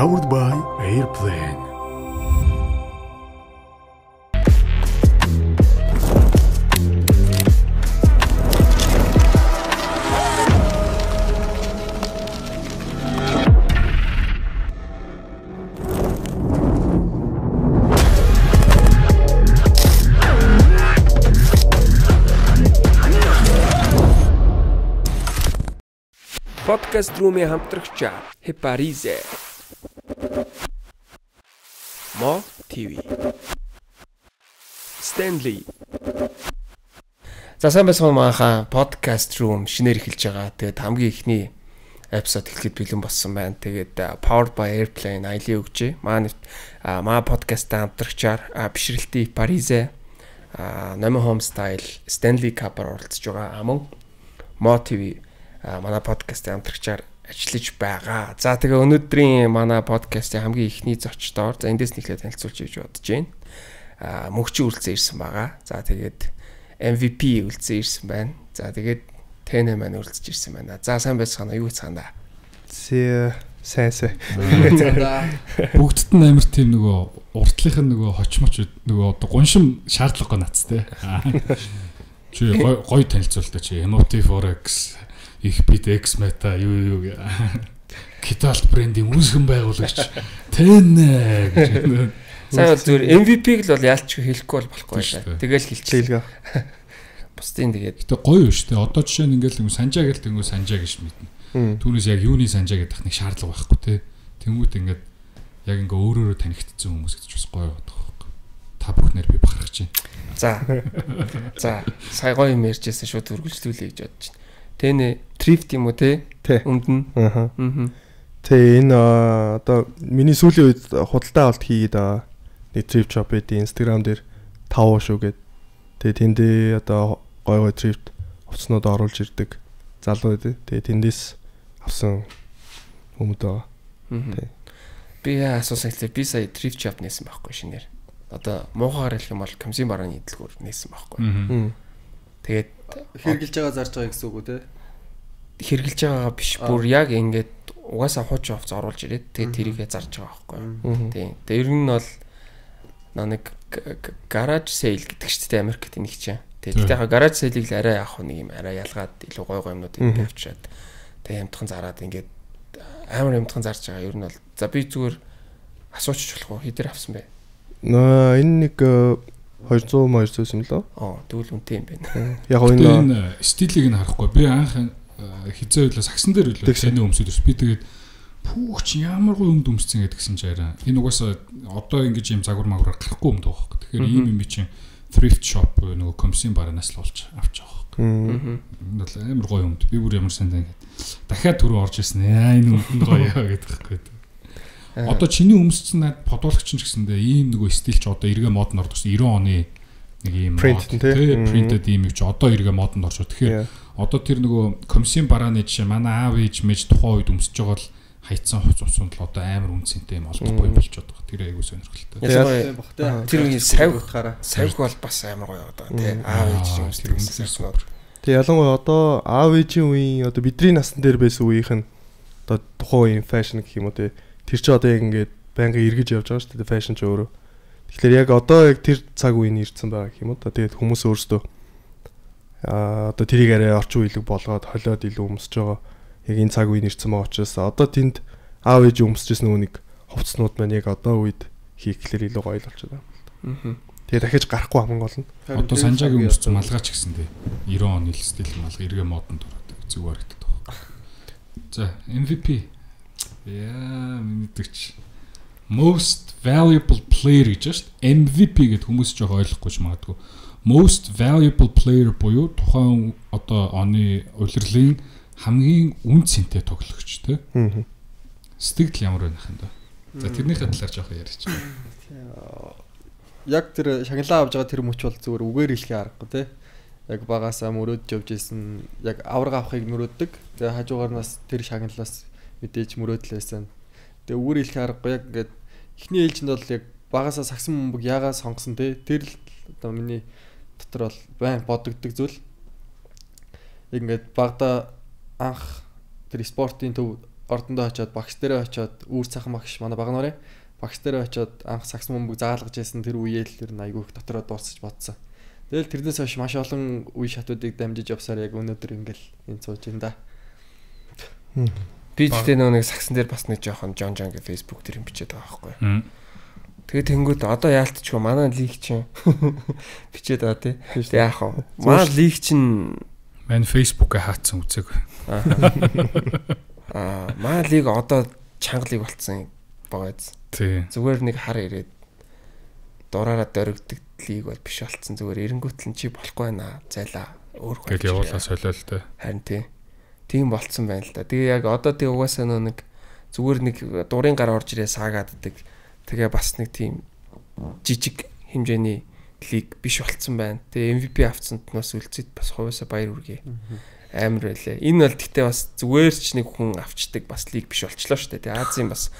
Powered by Airplane. Podcast Room-ийн хамтрагч Heparize. Mo TV. Stanley. За сайн байцгаана мааха Podcast Room шинээр эхэлж байгаа. Тэгээд хамгийн ихний эпизод эхлэхэд бэлэн болсон байна. Тэгээд Powered by Airplane аялын өгчээ. Маа подкастаа хамтрагчаар бишрэлтийн Heparize, Nomi Home Style, Stanley Kapar оролцож байгаа. Мөн Mo TV манай подкастын хамтрагчаар ажиллаж байгаа. За тэгээ өнөөдрийн манай подкастын хамгийн ихний зочдоор за эндээс нэглээд танилцуулж иж бодож байна. Мөнхчин үлцэн ирсэн байгаа. За тэгээд MVP үлцэн ирсэн байна. За тэгээд Тэнэ маань үлцэж ирсэн байна. За сайн байцгаана уу? Юу хийцгаана? Сайн. Бүгдд нь амар тийм нөгөө уртлынх нь нөгөө хочмоч нөгөө одоо гуншим шаардлагагүй нацтай. Чи гоё танилцуултаа чи Emotive Forex их бит X Meta юу Киталт брендийн үүсгэн байгуулагч Тэнэ гэж. Сайн зүгээр MVP-г л бол яалч хэлэхгүй болохгүй байлаа. Тэгэл хэлчихлээ. Бусдын тэгээд. Гэтэ гоё шүү дээ. Одоо жишээ нь ингээл санжаа гэлт ингэ санжаа гэж мэднэ. Түүнээс яг юуны санжаа гэдэг нэг шаардлага байхгүй те. Тэнгүүд ингээд яг ингээ өөрөөрөө танигдсан хүмүүс гэж бас гоё байдаг байхгүй. Та бүхнээр би бахархаж байна. За сая гоё юм ярьжсэн шууд үргэлжлүүлээ гэж бодож байна. Тэнэ трифт юм уу те? Өмд нь. Тэ энэ одоо миний сүүлийн үед худалдаа авалт хийгээд байгаа. Нэг трифт шоп гэдэг Instagram дээр 5 шүү гээд. Тэгээ тэндээ одоо гой трифт хувцснууд оруулж ирдэг залуу үү. Тэгээ тэндээс авсан хүмүүс байгаа. Би асуусан хэлээ би сая трифт шоп нээсэн байхгүй шинээр. Одоо муухайгаар хэлэх юм бол комиссын барааны идэлгүүр нээсэн байхгүй. Тэгээд хэрглэж байгаа зарж байгаа гэсэн үг үү те? Хэрглэж байгаа биш бүр яг ингээд угаасаа хуучин хувц оруулж ирээд тэгээд тэрийгээ зарж байгаа байхгүй. Тийм. Тэгээд ер нь бол нэг гараж сейл гэдэг ч тийм Америкт нэг чинь. Тэгээд яг гараж сейлийг л арай явах нэг юм арай ялгаад илүү гой юмнууд ингэ авчираад тэгээд ямтхан зараад ингээд амар ямтхан зарж байгаа. Ер нь бол за би зүгээр асуучих болох уу? Хэдэр авсан бэ? Энэ нэг 200 юм лөө. Тэгвэл үнэтэй юм байна. Яг энэ стилийг нь харахгүй. Би анх хизээ үйлээ сагсан дээр үйлээ таны өмсөд ус. Би тэгээд пүүч ямар гоё өмд өмсцэн гэдгсэн чи арай. Энэ угаасаа одоо ингэж юм загвар магвар гарахгүй өмд байгаа хөөх. Тэгэхээр ийм юм чинь thrift shop нөгөө комиссын баранаас л олж авч байгаа хөөх. Энэ бол амар гоё өмд. Би бүр ямар сандаа ингээд дахиад түрүү орж ирсэн. Энэ өмд гоё гэдэг хэвгүй. Одоо чиний өмсцэн над подуулагч ч гэсэндээ ийм нөгөө стил ч одоо эргээ мод нь ордогсон 90 оны нэг ийм принтэд ийм ч одоо эргээ мод нь орж. Тэгэхээр одоо тэр нөгөө комиссын барааны жишээ манай аав ээж мэж тухайн үед өмсөж байгаа л хайцсан хувцсууд л одоо амар үнцэнтэй юм олдохгүй болчиход байгаа. Тэр айгуу сонирхолтой. Тэр савг бол бас амар гоё байгаа тий. Аав ээж өмссөн. Тэг ялангуяа одоо аав ээжийн үеийн одоо бидний насн дээр байсан үеийнх нь одоо тухайн үеийн фэшн гэх юм уу тий. Тэр чи одоо яг ингээд байнгын эргэж явж байгаа шүү дээ фэшн ч өөрөө. Тэгэхээр яг одоо яг тэр цаг үеийн ирсэн байгаа гэх юм уу та. Тэгээд хүмүүс өөрсдөө одоо тэрийг арай орчин үеийг болгоод холиод илүү өмсөж байгаа. Яг энэ цаг үеийн ирсэн байгаа учраас одоо тэнд аав ээж өмсөжсэн нөгөө нэг хувцснууд маань яг одоо үед хийхлээр илүү гоё болчиход байгаа. Тэгээд дахиж гарахгүй хамгийн гол нь. Одоо санжаагийн өмссөн малгаач гэсэн дээ. 90 оны стил малгай эргээ модонд ороод зүгээр гэдэг байна. За MVP мэдээч most valuable player гэж шүү дээ. MVP гэдэг хүмүүс ч ойлгохгүй ч магадгүй. Most valuable player буюу тухайн одоо оны улирлын хамгийн үн цэнтэй тоглогч тий. Сэтгэл ямар байх юм бэ? За тэрнийхээ талаар жоох ярьж байна. Яг тэр шагналаа авж байгаа тэр мөч бол зүгээр үгээр хэлхий аргагүй тий. Яг багасаа мөрөөдж явж исэн яг авраг авахыг мөрөөддөг. Тэгээ хажуугаарнаас тэр шагналаас мэдээж мөрөөдлөөсөн. Тэгээ үгээр хэлхий аргагүй яг ингээд эхний ээлжинд бол яг багасаа сагсан бөмбөг яагаад сонгосон тий. Тэр л одоо миний дотор бол байн бодогддог зүйл. Яг ингээд багада анх тэр спортын төв ордондоо очиод багш дээрээ очиод үүр цахан багш манай баг нарын багш дээрээ очиод анх сакс мөмбөг заалгаж байсан тэр үеэл тэр айгүйх дотроо дуусч бодсон. Тэгэл тэрнээс хойш маш олон үе шатуудыг дамжиж явсаар яг өнөөдөр ингээл энэ сууж байна да. Би тэгтээ нэг саксан дээр бас нэг жоохон Жон гэ Facebook дээр юм бичээд байгаа байхгүй. Тэгээд тэнгууд одоо яалтчгүй манай лиг чинь бичээд байгаа тий. Тэгээд яах вэ? Манай лиг чинь манай Facebook-ыг хаацсан үзэг. Манай лиг одоо чангалыг болцсон байгааз. Тий. Зүгээр нэг хар ирээд дураараа дөрөгдөг лиг бол биш болцсон. Зүгээр эренгүүтэл чи болохгүй байна. Зайлаа. Өөр гэж явуулаа солиолтой. Харин тий. Тийм болцсон байна л да. Тэгээ яг одоо тэг угаасаа нэг зүгээр нэг дурын гар орж ирээ саагааддаг. Тэгээ бас нэг тийм жижиг хэмжээний лиг биш болцсон байна. Тэгээ MVP авцсанд нас үлцэд бас хувьсаа баяр хүргэе. Амар байлээ. Энэ бол тэгтээ бас зүгээр ч нэг хүн авчдаг бас лиг биш болчлоо шүү дээ. Тэгээ Азийн бас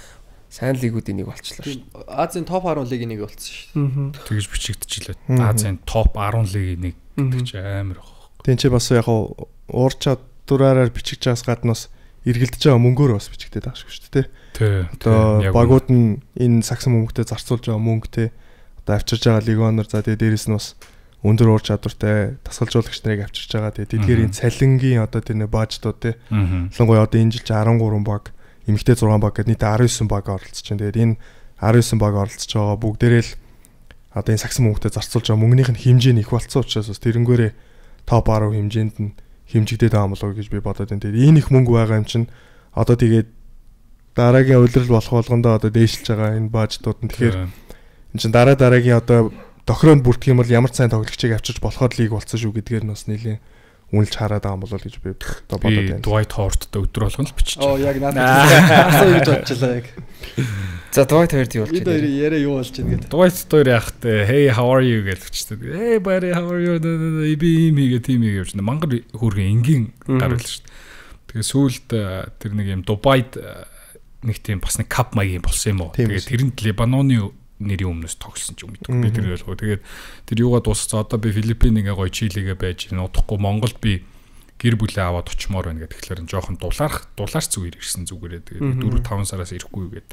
сайн лигүүдийн нэг болчлоо шүү дээ. Азийн топ 10 лигийн нэг болцсон шүү дээ. Тэгэж бичигдчихлээ. Азийн топ 10 лигийн нэг гэдэг чи амар баг. Тин чи бас яг уур чадвараар бичиж байгаас гаднаас эргэлдэж байгаа мөнгөөр бас бичигдээд байгаа шүү дээ. Тий. Одоо багууд нь энэ саксан мөнгөтэй зарцуулж байгаа мөнгөтэй одоо авчирж байгаа легионер за тэгээ дээрэс нь бас өндөр уур чадвартай тасгалжуулагч нарыг авчирж байгаа. Тэгээ дэлгэрийн цалингийн одоо тэр нэг баажтууд тий. Ялангуяа одоо энэ жил 13 баг, эмэгтэй 6 баг гэдэг нийт 19 баг оролцож байна. Тэгээд энэ 19 баг оролцож байгаа бүгдээрээ л одоо энэ саксан мөнгөтэй зарцуулж байгаа мөнгөнийх нь хэмжээ нь их болцсон учраас бас тэрнгээрээ топ 10 хэмжээнд нь хэмжигдээд байгаа юм болов уу гэж би бодоод байна. Тэгээд энэ их мөнгө байгаа юм чинь одоо тэгээд дараагийн удирдал болох болгондоо одоо дээшилж байгаа энэ баажтууд нь тэгэхээр энэ чинь дараагийн одоо тохироонд бүрдэх юм бол ямар сайн тоглогчийг авчирч болоход лиг болцсон шүү гэдгээр нь бас нэлээд үнэлж хараад байгаа юм болов уу гэж би одоо бодоод байна. Dwight Howard-тай өдөр болгоно л бичиж. Яг надад асуу гэж бодчихлаа яг. За Dwight Howard юу болж байна? Эд яриа юу болж байна гэдэг. Dwight Howard яах вэ? Hey how are you гэж бичсэн. Hey buddy how are you? Би мигээ тийм гэж байна. Мангар хөөргөн энгийн гар байл шүү дээ. Тэгээ сүүлд тэр нэг юм Дубайд нэг тийм бас нэг кап маягийн болсон юм уу? Тэгээ тэрэнд Лебаноны нэрийн өмнөөс тогсон ч юм уу. Би тэр ойлгоо. Тэгээд тэр юугаа дууссан. Одоо би Филиппин ингээ гоё чилигээ байж нуудахгүй Монголд би гэр бүлээ аваад очимоор байна гэдэг. Тэгэхээр жоохон дулаарч зүгээр ирсэн зүгээрээ. Тэгээд 4-5 сараас ирэхгүй гээд.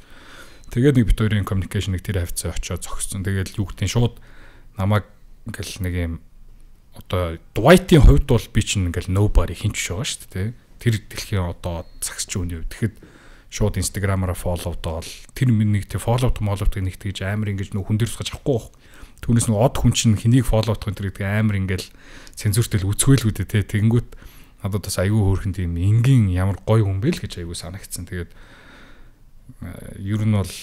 Тэгээд нэг бит хоёрын communication-ыг тэр хавцаа очиод зогссон. Тэгээд юу гэдэг нь шууд намайг ингээл нэг юм одоо Dwight-ийн хувьд бол би чинь ингээл nobody хинч байгаа шүү дээ. Тэр дэлхийн одоо цагсч үний үед. Тэгэхэд шууд Instagram-аараа follow-доод тэр нэг тийм follow-д нэг тэгж амар ингэж нөх хүн дээр тусгаж авахгүй байх. Түүнээс нэг од хүн чинь хэнийг follow-дох энэ тэр амар ингээл цензуртэл үзхээлгүүдээ те тэгэнгүүт надад бас айгүй хөөрхөн тийм энгийн ямар гоё хүн бэ л гэж айгүй санагдсан. Тэгээд ер нь бол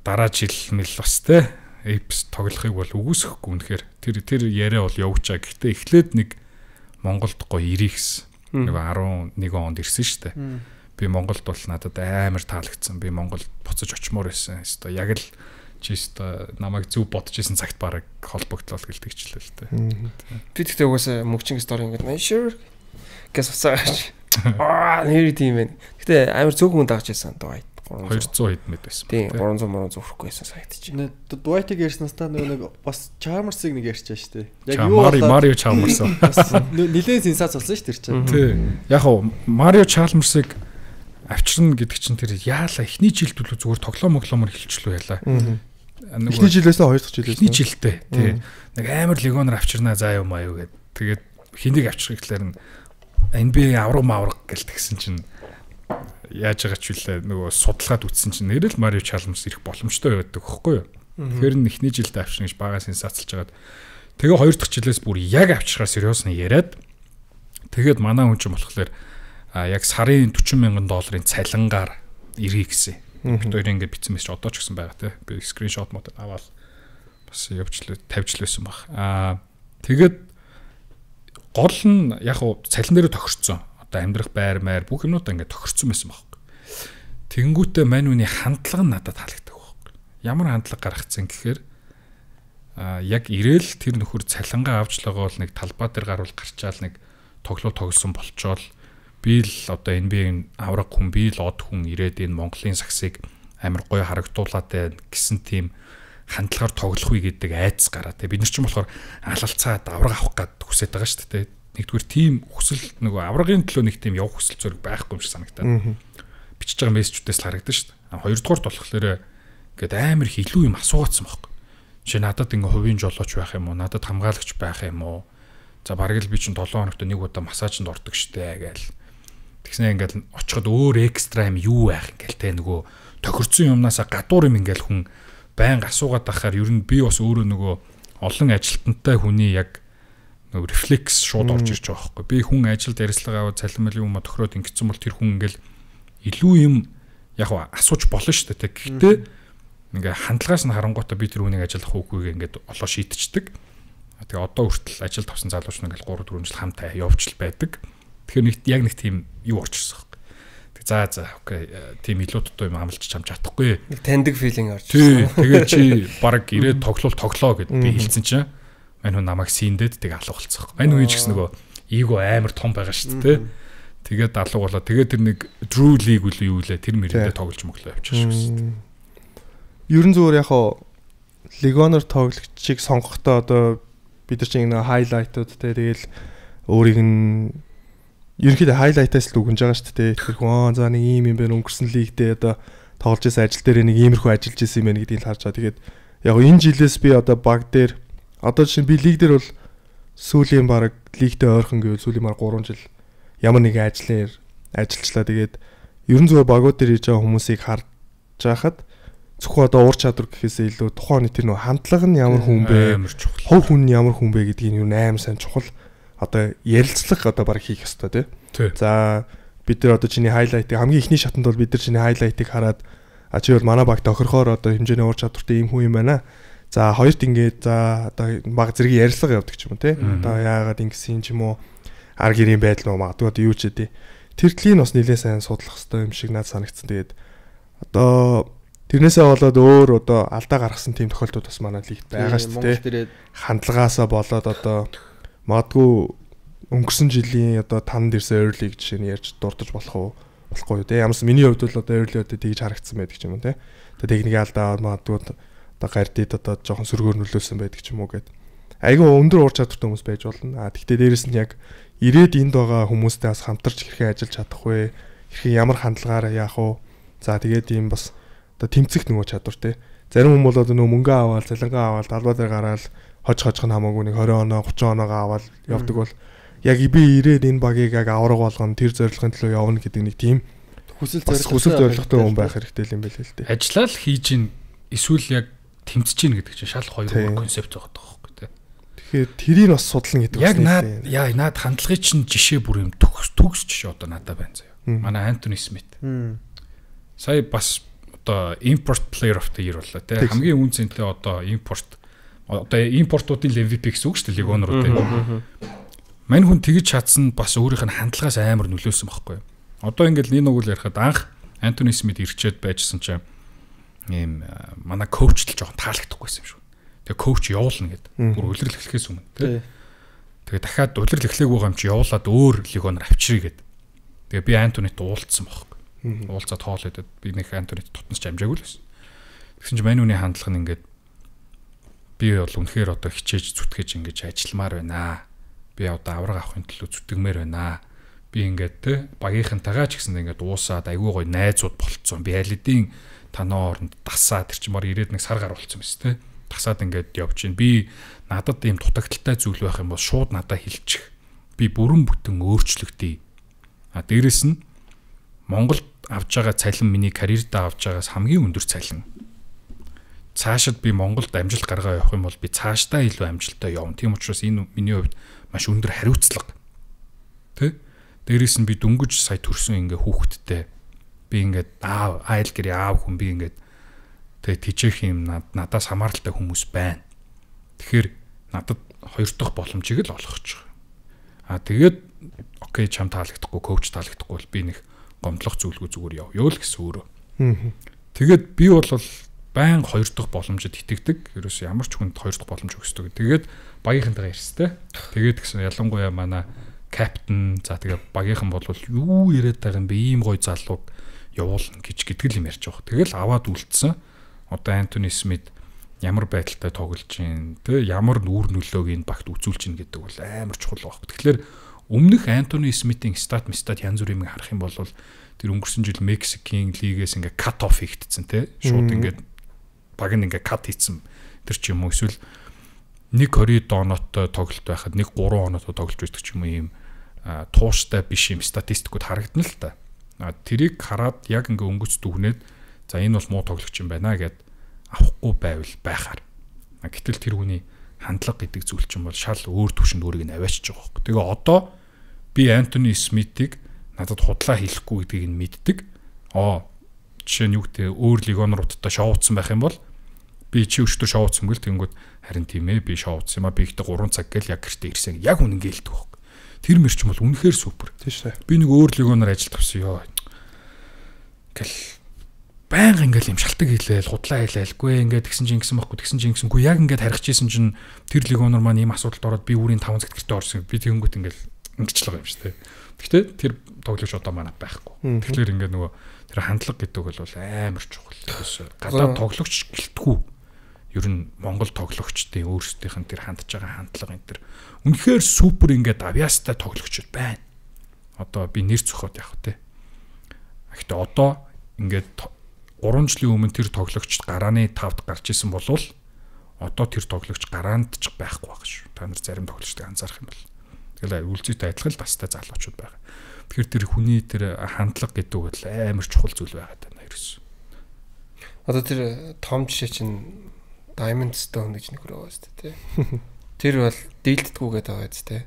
дараа жил мэл бас те Apes тоглохыг бол үгүйсэхгүй үнэхээр тэр яриа бол явуучаа. Гэхдээ эхлээд нэг Монголд гоё ирэх гэсэн. Нэг 11 онд ирсэн шүү дээ. Би Монголд бол надад амар таалагдсан. Би Монголд буцаж очимоор байсан. Хэвээ яг л чи хэвээ намайг зөв бодож исэн цагт бараг холбогдлол гэлдэгчлээ л дээ. Би тэгтээ угаасаа мөвчин стори ингээд man sure гэс усаач. Нэр тийм байна. Гэтэ амар зөв хүн дагж байсан Dwight 200 хэд мэд байсан. Тийм 300 зөвхгүй байсан сайтч. Dwight-ыг ярьснаас та нэг бас Chalmers-ыг нэг ярьчаа шүү дээ. Яг юу Mario Chalmers. Нилээн сенсац болсон шүү дээ. Тийм. Яг хоо Mario Chalmers-ыг авчирна гэдэг чинь тэр яалаа эхний жилд бол зүгээр тоглоомор хэлчлүү яалаа. Эхний жилээс 2 дахь жилээс. Эхний жилдээ тий. Нэг амар легионер авчирнаа заа юм аа юу гэд. Тэгээд хэнийг авчрах гэхлээр нь NBA авраг гэлтгсэн чинь яаж байгаа ч үлээ нөгөө судалгаад үтсэн чинь нэрэл Mario Chalmers ирэх боломжтой байдаг хөхгүй юу. Тэгэхээр нь эхний жилдээ авчирна гэж бага сенсацлж хагаад тэгээ 2 дахь жилээс бүр яг авчрахаар сериусны яриад тэгээд манай хүн чинь болохоор яг сарын $40,000 цалингаар ирье гэсэн. Бид хоёр ингээд бичсэн мэт ч одоо ч гэсэн байгаа те. Би скриншот мод аваад бас тавьчлээсэн баг. Тэгээд гол нь яг цалин дээр тохирцсон. Одоо амьдрах байр бүх юмнуудаа ингээд тохирцсон байсан баг. Тэнгүүтээ мань үний хандлага нь надад таалагддаг баг. Ямар хандлага гаргацсан гэхээр яг ирээл тэр нөхөр цалингаа авчлаагаа бол нэг талбай дээр гарвал гарчаал нэг тоглосон болчоол би л одоо NBA-ийн авраг хүн би л од хүн ирээд энэ Монголын саксыг амар гоё харагдуулаад байна гэсэн тийм хандлагаар тоглохыг гэдэг айдас гараа. Тэгээ бид нар ч юм болохоор алалцаад авраг авах гээд хүсэж байгаа шүү дээ. Нэгдүгээр тийм хүсэл нөгөө аврагын төлөө нэг тийм явах хүсэл зөрөг байхгүй юм шиг санагдаад. бичиж байгаа мессежүүдээс л харагдаж шүү дээ. Хоёрдугаарт болохоор ингээд амар их илүү юм асуугаадсан байхгүй. Чи надад ингээ хувийн жолооч байх юм уу? Надад хамгаалагч байх юм уу? За бараг л би чинь 7 хоногт нэг удаа массажинд ордог штэ гээл. Тэгснэ ингээл очиход өөр экстра юм юу байх ингээл те нөгөө тохирцсон юмнасаа гадуур юм ингээл хүн байнга асуугаад байхаар ер нь би бас өөрөө нөгөө олон ажилтнтай хүний яг нөгөө рефлекс шууд орж ирж байгаа байхгүй. Би хүн ажилд ярилцлага аваад цалинмал юм тохироод ингэсэн бол тэр хүн ингээл илүү юм яг асууж болно штэ те. Гэхдээ ингээ хандлагаас нь харангуйтаа би тэр үнийг ажиллах үгүйгээ ингээд олоо шийдчихдэг. Тэгээ одоо хүртэл ажилд авсан залууч нь ингээл 3 4 жил хамтаа явж л байдаг. Тэгэхээр нэг тийм юу орчихсон байхгүй. Тэг за окей тийм илүү дутуу юм амлаж чамж чадахгүй. Нэг таньдаг филинг орж ирсэн. Тэгээ чи баг ирээд тоглоо гэд би хэлсэн чинь мань хүн намайг синдээд тэг алга болцсон. Мань хүн ч гэсэн нөгөө эго амар том байгаа шүү дээ. Тэгээд алга болоо. Тэгээд тэр нэг Drew League үл юу лээ тэр мэрэндээ тоглож моглоо явчихсан шүү дээ. Ерөн зүгээр яг легонор тоглогчийг сонгохдоо одоо бид нар чинь нэг хайлайтууд те тэгэл өөрийг нь ерөнхийдөө хайлайтаас л үгэнж байгаа шүү дээ. Тэгэхээр хүн за нэг ийм юм байна өнгөрсөн лигдээ одоо тоглож байсан ажил дээр нэг иймэрхүү ажиллаж байсан юм байна гэдгийг л харж байгаа. Тэгээд яг энэ жилээс би одоо баг дээр одоо чинь би лиг дээр бол сүүлийн баг лигтэй ойрхон гэвэл сүүлийн баг 3 жил ямар нэгэн ажлаар ажиллажлаа. Тэгээд ерөн зүгээр багууд дээр хийж байгаа хүмүүсийг харж байхад зөвхөн одоо уур чадвар гэхээсээ илүү тухайн тэр нөх хандлага нь ямар хүн бэ? Хов хүн нь ямар хүн бэ гэдгийг юу амар сайн чухал одоо ярилцлага одоо баг хийх ёстой тий. За бид нар одоо чиний хайлайтыг хамгийн ихний шатанд бол бид нар чиний хайлайтыг хараад чи бол манай баг тохирохоор одоо хэмжээний уур чадвартай ийм хүн юм байна. За хоёрт ингээд за одоо баг зэрэг ярилцлага явдаг ч юм уу тий. Одоо яагаад ингэсэн ч юм уу ар гэрийн байдал нөө магадгүй одоо юу ч үдээ. Тэр тлийг бас нэлээд сайн судлах хэрэгтэй юм шиг надад санагдсан. Тэгээд одоо тэрнээсээ болоод өөр одоо алдаа гаргасан тийм тохиолдол бас манай лигт байгаа шүү дээ. Хандлагаасаа болоод одоо магадгүй өнгөрсөн жилийн одоо танд ирсэн early жишээ нь ярьж дурдж болохгүй юу те. Ямарс миний хувьд бол одоо early одоо тэгж харагдсан байдаг ч юм уу те. Одоо техникийн алдаа магадгүй одоо гардид одоо жоохон сөргөөр нөлөөсөн байдаг ч юм уу гэд. Айгүй өндөр уур чадвартай хүмүүс байж болно. Тэгтээ дээрэс нь яг ирээд энд байгаа хүмүүстэй бас хамтарч хэрхэн ажиллаж чадах вэ? Хэрхэн ямар хандлагаараа яах вэ? За тэгээд ийм бас одоо тэмцэх нөгөө чадвар те. Зарим хүмүүс бол одоо нөгөө мөнгө аваад, цалингаа аваад, талбай дээр гараад хожих нь хамаагүй нэг 20 оноо, 30 оноогоо аваад явдаг бол яг би ирээд энэ багийг яг авраг болгоно, тэр зорилгын төлөө явна гэдэг нэг тийм хүсэл зорилготой хүн байх хэрэгтэй юм байл л дээ. Ажиллаа л хийж ийн эсвэл яг тэмцэж ийн гэдэг чинь шал хоёр концепт байгаа байхгүй те. Тэгэхээр тэрийг бас судлана гэдэг үг. Яг наад хандлагын чинь жишээ бүр юм төгс жишээ одоо надад байна заяа. Манай Антони Смит. Сая бас одоо import player of the year боллоо те. Хамгийн үнцэнтэй одоо импортуудын MVP гэсэн үг шүү дээ легонорууд. Мань хүн тэгж чадсан бас өөрийнх нь хандлагаас амар нөлөөсөн байхгүй. Одоо ингээл нэг нүгэл ярихад анх Антони Смит ирчээд байжсэн чинь ийм манай коуч л жоохон таалагдахгүйсэн юм шүү. Тэгээ коуч явуулна гэд. Бүр улирал эхлэхээс өмнө тий. Тэгээ дахиад улирал эхлэх байгаа юм чи явуулаад өөр легонор авчиръя гэд. Тэгээ би Антонит уулзсан байхгүй. Уулзаад хоол идэд би нэг Антонит тутнаас амжаагүй л байсан. Тэгсэн чинь мань хүний хандлага нь ингээд би бол үнэхээр одоо хичээж зүтгэж ингэж ажилламаар байна. Би одоо авраг авахын төлөө зүтгэмээр байна. Би ингээд те багийнхантайгаа ч гэсэн ингээд уусаад айгүй гоё найзууд болцсон. Би алидийн танаа оронд дасаад тэр чинь мөр ирээд нэг сар гар болцсон биз те. Дасаад ингээд явж гин. Би надад ийм дутагдaltaй зүйл байх юм бол шууд надад хэлчих. Би бүрэн бүтэн өөрчлөгдөе. А дээрэс нь Монголд авж байгаа цалин миний карьердаа авж байгаас хамгийн өндөр цалин. Цаашид би Монголд амжилт гаргаа явах юм бол би цаашдаа илүү амжилттай явна. Тийм учраас энэ миний хувьд маш өндөр хариуцлага. Тэ? Дээрээс нь би дөнгөж сая төрсөн ингээ хүүхэдтэй. Би ингээд айл гэрээ аав хүн би ингээд тэгээ тижээх юм надаас хамааралтай хүмүүс байна. Тэгэхээр надад хоёр дахь боломжийг л олгож байгаа. Тэгээд окей чам таалагдахгүй, коуч таалагдахгүй бол би нэг гомдлох зүйлгүй зүгээр явъя л гэсэн өөрөө. Тэгээд би бол байн хоёр дахь боломжид итгэдэг. Ерөөс ямар ч хүнд хоёр дахь боломж өгсдөг. Тэгээд багийнхантайгаа ярьстай. Тэгээд гэсэн ялангуяа манай капитан за тэгээд багийнхан бол юу яриад байгаа юм бэ? Ийм гоё залууг явуулна гэж гэдэг юм ярьж байгаа. Тэгэл аваад үлдсэн. Одоо Антони Смит ямар байдалтай тоглож гин, тэ ямар нүүр нөлөөг энэ багт үзүүлж гин гэдэг бол амар чухал баг. Тэгэхээр Өмнөх Антони Смитийн стат янз бүрийн харах юм бол тэр өнгөрсөн жил Мексикийн лигээс ингээ кат офф хийгдсэн те. Шууд ингээ баг нь ингээ кат хийцэн тэр ч юм уу эсвэл 1-20 оноотой тоглолт байхад 1-3 оноотой тоглож байдаг ч юм уу ийм тууштай биш юм статистикууд харагдана л та. Тэрийг хараад яг ингээ өнгөц дүгнээд за энэ бол муу тоглогч юм байна гэд авахгүй байвал байхаар. Гэтэл тэр хүний хандлага гэдэг зүйл чинь бол шал өөр төвшөнд өөрийг нь аваачиж байгаа хөөх. Тэгээ одоо би Антони Смитийг надад худлаа хийхгүй гэдгийг нь мэддэг. Жишээ нь юу гэдэг өөр легионеруудтай шоуцсан байх юм бол би чи өчтөр шоуцсан гэл тэнгүүд харин тийм ээ би шоуцсан юм а би ихтэй 3 цаг гэл яг гэртээ ирсэн. Яг үнэн гэлдэг хөөх. Тэр мэрч бол үнэхээр супер. Тийм шээ. Би нэг өөр легионер ажилд авсан ёо. Гэл баян ингээл юм шалтгаан хийлээл худлаа хийлээлгүй ингээд тэгсэн чинь ингэсэн байхгүй тэгсэн чинь ингэсэнгүй яг ингээд харих чийсэн чинь тэр легионер маань ийм асуудалд ороод би үрийн 5 цаг гэртээ орсон би тэгэнгүүт ингээл ингэчлээ юм шүү дээ. Гэхдээ тэр тоглогч одоо манад байхгүй. Тэгэхээр ингээд нөгөө тэр хандлага гэдэг бол амар чухал. Гадаад тоглогч гэлтгүү. Ер нь Монгол тоглогчдын өөрсдийнх нь тэр хандж байгаа хандлага энэ тэр үнэхээр супер ингээд авьяастай тоглогч байна. Одоо би нэр зөхөд явах те. Гэхдээ одоо ингээд 3 жилийн өмнө тэр тоглогч гарааны 5-д гарч исэн болвол одоо тэр тоглогч гараанд ч байхгүй байх шүү. Та нар зарим тоглогчдыг анзаарах юм бол. Тэгэл үлзийтэй адилхан л бастай залуучууд байгаа. Тэгэхээр тэр хүний тэр хандлага гэдэг бол амар чухал зүйл байгаад байна ерөөс. Одоо тэр том жишээ чинь Diamond Stone гэж нэг өрөө байна тий. Тэр бол дийлдэдгүйгээд байгаа биз тий.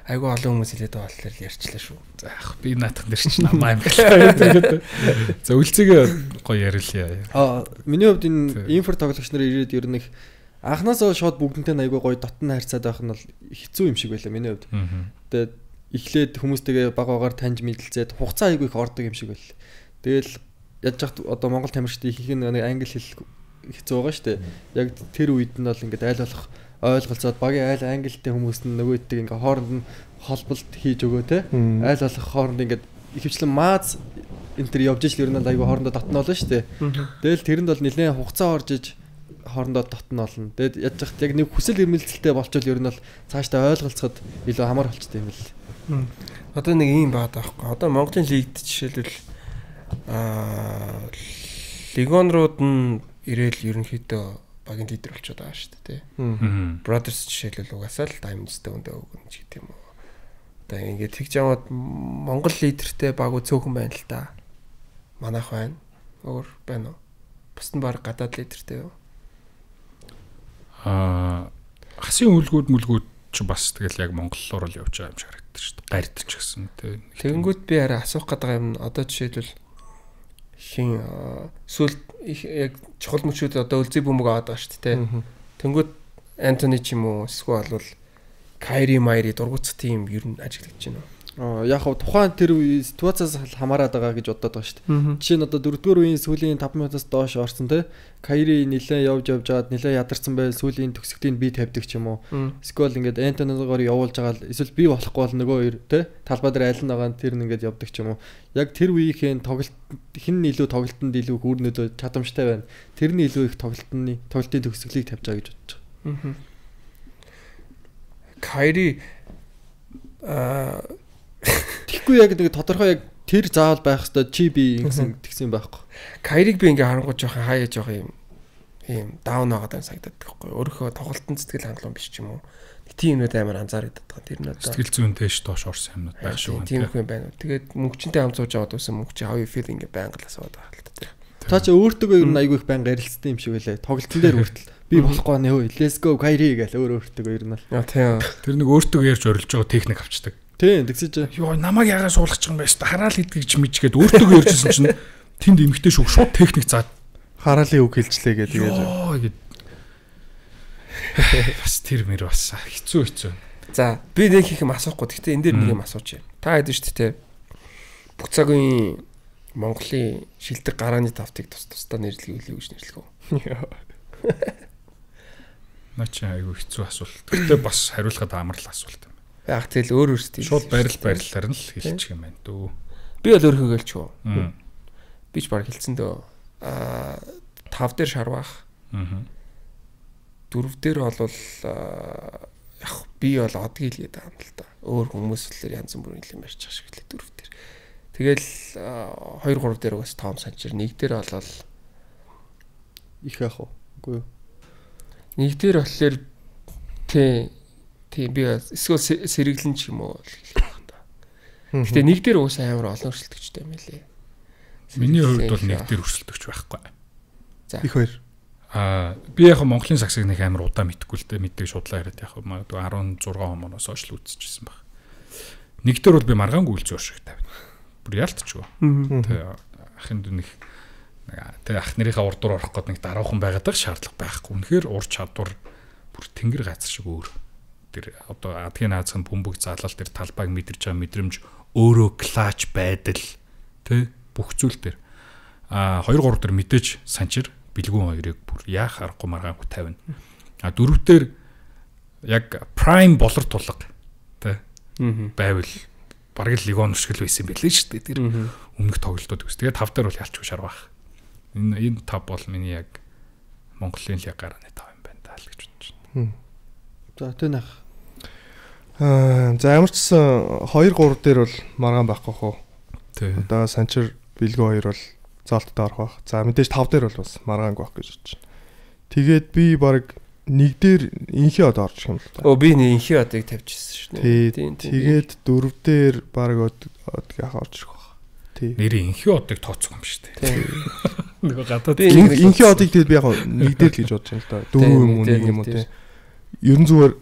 Айгу олон хүмүүс хэлээд байгаа болохоор ярьчлаа шүү. За би наатах нэр чинь намаа юм байна. За үлцгээ гоё ярилъя. Миний хувьд энэ инфер тоглогч нар ирээд ер нь их анхнаасаа шууд бүгднтэй айгу гоё дотн харьцаад байх нь бол хэцүү юм шиг байлаа миний хувьд. Тэгээд эхлээд хүмүүстэйгээ баг багаар таньж мэдэлцээд хугацаа айгу их ордог юм шиг байл. Тэгэл яаж яхад одоо Монгол тамирчдын ихэнх нь англи хэл хэцүү байгаа шүү дээ. Яг тэр үед нь бол ингээд айл болох ойлголцоод багийн айл англитэй хүмүүс нь нөгөөддөг ингээ хооронд нь холболт хийж өгөө те айл болох хооронд ингээ ихэвчлэн мааз энэ төр явж ижил ер нь айгүй хоорондоо дотно болно шүү дээ. Тэгэл тэрэнд бол нэлээд хугацаа орж иж хоорондоо дотно болно. Тэгэд яаж яхад яг нэг хүсэл эрмэлзэлтэй болчвол ер нь бол цаашдаа ойлголцоход илүү амар болчтой юм л. Одоо нэг юм баад байхгүй. Одоо Монголын лигт жишээлбэл легионерууд нь ирээл ерөнхийдөө багийн лидер болчиход байгаа шүү дээ тий. Brothers жишээлбэл угаасаа л Diamond Stone дэв өгнө ч гэдэм үү. Одоо ингээд тэгж яваад Монгол лидертэй баг цөөхөн байна л да. Манайх байна. Өөр байна уу? Бус нь баг гадаад лидертэй юу? Хасын үлгүүд ч бас тэгэл яг монголоор л явж байгаа юм шиг харагддаг шүү дээ. Гард ч гэсэн тий. Тэгэнгүүт би арай асуух гэдэг юм одоо жишээлбэл хин сүлд яг чухал мөчүүд одоо үлзий бөмбөг аваад байгаа шүү дээ. Тэнгүүд Антони ч юм уу эсвэл бол Кайри Майри дургуцах тийм ер нь ажиглаж байна. Яг хав тухайн тэр ситуацаас хамаарат байгаа гэж бодоод байгаа шүү дээ. Жишээ нь одоо 4-р үеийн сүүлийн 5 минутаас доош орсон те. Кайри нилээ явж жаад нилээ ядарсан байл сүүлийн төгсгтийг би тавьдаг ч юм уу. Эсвэл ингээд Антонигоор явуулж байгаа эсвэл би болохгүй бол нөгөө хоёр те. Талбай дээр аль нь байгаа тэр нь ингээд явдаг ч юм уу. Яг тэр үеийн тоглолт хин илүү тоглолтод илүү хүрнөдөө чадамжтай байна. Тэрний илүү их тоглолтын төгсгөлийг тавьж байгаа гэж бодож байгаа. Кайри Тэгэхгүй яг нэг тодорхой яг тэр заавал байх хэвээр чи би ингэсэн тэгсэн байхгүй. Кайриг би ингээ харангуй жоохон хаяа жоохон юм даун байгаад санагдаад байхгүй. Өөрийнхөө тоглолтын сэтгэл хангалуун биш ч юм уу. Тийм юмуд амар анзаарэгдээд байгаа. Тэр нь одоо сэтгэл зүйн дэш доош орсон юмнууд байх шүү. Тийм их юм байна. Тэгээд мөнгөчөнтэй хам сууж аваад үсэн мөнгөч how you feel ингээ байнга л асууад байгаа л та. Та чи өөртөө ер нь айгүй их байнга ярилцсан юм шиг байлаа. Тоглолтын дээр хүртэл би болохгүй нэ хөө let's go Кайри гэл өөртөө ер нь л. Тийм. Тэр нэг өөртөө ярьж орилж байгаа техник авчдаг. Тийм тэгсэж ёо намайг ягаа суулгах юм бэ шүү. Хараал идгийг ч мэдчихэд өөртөө ярьжсэн чинь тэнд эмхтэй шүүх шууд техник заад хараалын үг хэлжлээ гэдэг. Бас тэр мэр бас хэцүү. За би нэг их юм асуухгүй. Гэхдээ энэ дээр нэг юм асууч юм. Та хэд шүү дээ. Бүх цагийн Монголын шилдэг гарааны тавтыг тусдаа нэрлэе гэж нэрлэх үү? Начи айгүй хэцүү асуулт. Гэхдээ бас хариулахад амар л асуулт. Яг тэгэл өөр өөрсдөө шууд байрлалаар нь л хэлчих юм байна дөө. Би бол өөрхөө гэлч үү. Би ч баг хэлсэн дөө. 5 дээр шарвах. 4 дээр бол яг би бол одгийг л гэдэг юм л да. Өөр хүмүүс л янз бүрийн юм ярьж байгаа шиг лээ дөрөв дээр. Тэгэл 2 3 дээр бас том санчир, нэг дээр болол их яах вэ? Үгүй юу. Нэг дээр болохоор тийм би эсвэл сэргэлэн ч юм уу хэлэх байх та. Гэтэ нэг дээр уус амар олон өрсөлдөгчтэй юм лээ. Миний хувьд бол нэг дээр өрсөлдөгч байхгүй. За. Их хоёр. Би яг Монголын сагсыг нэг амар удаа мэдгүй л дээ, мэддэг шудлаа яриад яг магадгүй 16 хоногоос хойш л үзчихсэн баг. Нэг дээр бол би маргаангүй л зөөр шиг тавина. Бүр ялтчихгүй. Тэгээ ахын дүнх тэгээ ах нарынхаа урд дуур орох гээд нэг дараахан байгаад байгаа шаардлага байхгүй. Үнэхээр ур чадвар бүр тэнгэр газар шиг өөр. Тэр одоо адгийн наазхан бөмбөг залал тэр талбайг мэдэрч байгаа мэдрэмж өөрөө клач байдал тэ бүх зүйл дээр 2 3 дээр мэдээж санчир бэлгүүн хоёрыг бүр яах аргагүй маргаангүй тавина. 4 дээр яг prime болор тулга тэ байвал бараг л лигон шиг л байсан байлээ шүү дээ. Тэр өмнөх тоглолтууд үс. Тэгээ 5 дээр бол ялчгүй шарвах. Энэ 5 бол миний яг Монголын лиг гарааны 5 юм байна даа л гэж бодож байна. За тэнах. За ямар ч гэсэн 2 3 дээр бол маргаан байхгүй хөө. Тий. Одоо санчир бэлгүү хоёр бол зоолттой орох байх. За мэдээж 5 дээр бол бас маргаангүй байх гэж бодож байна. Тэгээд би баг нэг дээр инхи од орж юм л та. Би нэг инхи одыг тавьчихсан шүү дээ. Тэгээд 4 дээр баг одгийг орж ирэх байх. Тий. Нэрийн инхи одыг тооцох юм шүү дээ. Нэг гадаад инхи одыг тэгээд би яг нэг дээр л гэж бодож байна л да. 4 юм уу 1 юм уу тий. Ерөн зүгээр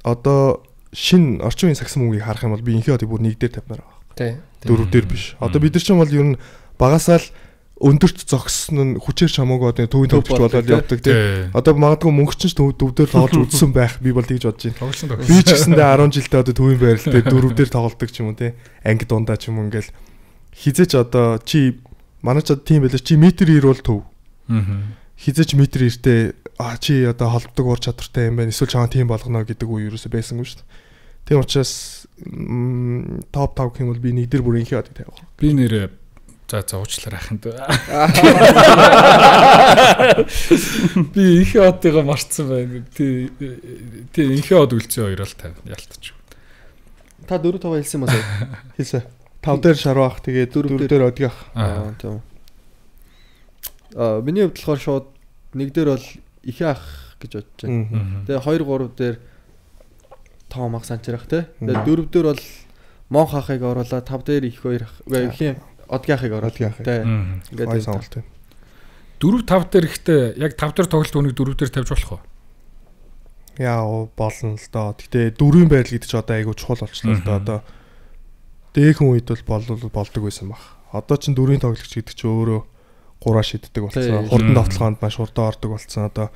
одоо шин орчин үеийн сагсан мөнгөийг харах юм бол би инхи одыг бүр нэг дээр тавьмаар байгаа. Тий. 4 дээр биш. Одоо бид нар ч юм бол ер нь багасаа л өндөрт зогссон нь хүчээр чамаагүй одоо төвийн төвч болоод явдаг тий. Одоо магадгүй мөнгө чинь төвдөр тоглож үзсэн байх би бол тэгж бодож байна. Би ч гэсэндээ 10 жилдээ одоо төвийн байралтай 4 дээр тоглолдог ч юм уу тий. Анги дундаа ч юм уу ингээл хизээч одоо чи манай ч тийм байлаа чи метр 90 бол төв. Хизээч метр 90-тэй чи одоо холбдог ур чадвартай юм байна. Эсвэл чамаа тийм болгоно гэдэг үе юусоо байсангүй шүү дээ. Тийм учраас топ 5 гэх юм бол би нэг дээр бүр инхи одыг тавих. Би нэр за уучлаарай аханд. Би инхи одыг марцсан байна. Тий инхи од үлцэн хоёр л тавина ялтчих. Та 4 5 хэлсэн юм уу? Хэлсэн. 5 дээр шарвах тэгээд 4 дээр одгийг. Тийм. Миний хувьд болохоор шууд нэг дээр бол их ах гэж бодож байна. Тэгээ 2 3 дээр том ах санчрах те. Тэгээ 4 дээр бол монх ахыг оруулаад 5 дээр их хоёр ихийн одгийн ахыг оруулаад те. Ингээд сонголт байна. 4 5 дээр ихтэй яг 5 дээр тоглолт хүнийг 4 дээр тавьж болох уу? Яа болно л доо. Гэтэ 4-ийн байдал гэдэг чи одоо айгүй чухал болчихлоо л доо. Одоо дээхэн үед бол болдог байсан баг. Одоо чин 4-ийн тоглогч гэдэг чи өөрөө 3 шиддэг болсон. Хурдан давталгаанд маш хурдан ордог болсон. Одоо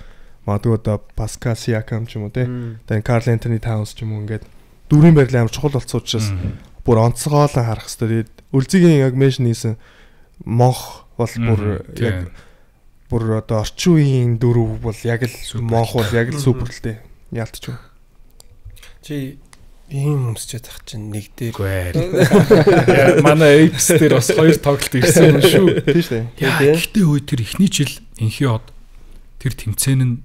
магадгүй одоо Паскал Сиакам ч юм уу те. Тэгээ Карл Антони Таунс ч юм уу ингээд 4-ийн байрлал амар чухал болсон учраас бүр онцгойлон харах хэрэгтэй. Тэгээд Үлзигийн яг меншн хийсэн монх бол бүр яг бүр одоо орчин үеийн 4 бол яг л монх бол яг л супер л те. Яалтч юу. Чи ийм өмсчээд тах чинь нэг дээр манай Apes дээр бас 2 тоглолт ирсэн юм шүү. Тийм шүү дээ. Гэхдээ үе тэр эхний жил инхи од тэр тэмцээн нь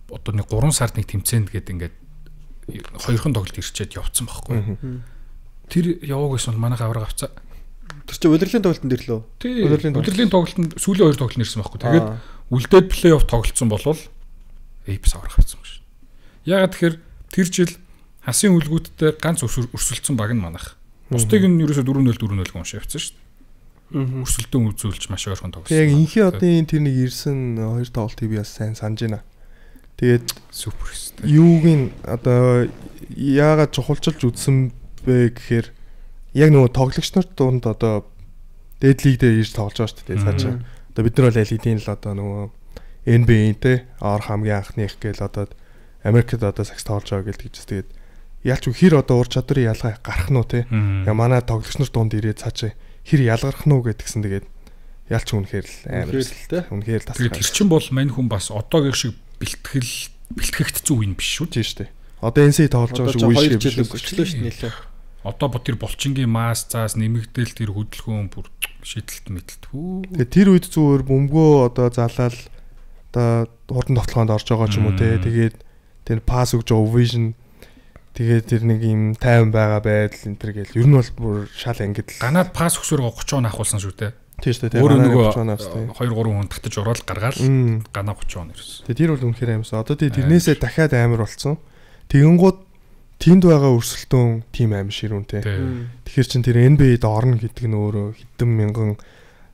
одоо нэг 3 сард нэг тэмцээнд гэдэг ингээд 2хан тоглолт ирчээд явцсан байхгүй. Тэр яваг гэсэн бол манайх авраг авцаа. Тэр чинь удирдлагын тоглолтын дээр лөө. Тийм. Удирдлагын тоглолтод сүүлийн 2 тоглолт нэрсэн байхгүй. Тэгээд үлдээд плей-офф тоглолцсон болвол Apes авраг авцсан шүү. Ягаад тэгэхээр тэр жил хасын үлгүүдтэй ганц өрсөлдсөн баг нь манайх. Бусдыг нь ерөөсө 4-0 4-0 гон шавьцсан шүү дээ. Өрсөлдөөн үзүүлж маш ойрхон тоглосон. Яг инхи одын тэр нэг ирсэн 2 тоглолтыг би бас сайн санаж байна. Тэгээд супер шүү дээ. Юуг нь одоо яагаад чухалчилж үзсэн бэ гэхээр яг нөгөө тоглогч нарт дунд одоо дээд лиг дээр ирж тоглож байгаа шүү дээ цаашаа. Одоо бид нар бол LED-ийн л одоо нөгөө NBA-тэй ор хамгийн анхных гээл одоо Америкт одоо сакс тоглож байгаа гэлдэг ч тэгээд ялч хэр одоо ур чадварын ялгаа гарах нь уу те. Яа манай тоглогч нар дунд ирээд цаашаа хэр ялгарх нь уу гэдгсэн тэгээд ялч үнэхээр л амар те. Үнэхээр л тасгал. Тэр чин бол мань хүн бас одоогийн шиг бэлтгэгдсэн үе биш шүү дээ шүү дээ. Одоо NC тоглож байгаа шиг үе шиг биш өчлөө шүү нэлээ. Одоо тэр булчингийн мас цаас нэмэгдээл тэр хөдөлгөөн бүр шидэлт мэдлэлт. Тэгээд тэр үед зүгээр бөмбөгөө одоо залаал одоо хурдан тоглохонд орж байгаа ч юм уу те. Тэгээд тэр пас өгж байгаа vision Тэгээд тэр нэг юм тайван байгаа байдал энэ төр гэл ер нь бол бүр шал ангид ганаад пас өгсөөр 30 он авахулсан шүү дээ. Тийм шүү дээ. Өөрөө нөгөө 2 3 хүн татаж ороод гаргаал ганаа 30 он ирсэн. Тэгээд тэр бол үнэхээр аимсан. Одоо тэрнээсээ дахиад амар болсон. Тэгэнгүүт тэнд байгаа өрсөлдөөн тим аим ширүүнтэй. Тэгэхээр чин тэр NBA-д орно гэдэг нь өөрөө хэдэн мянган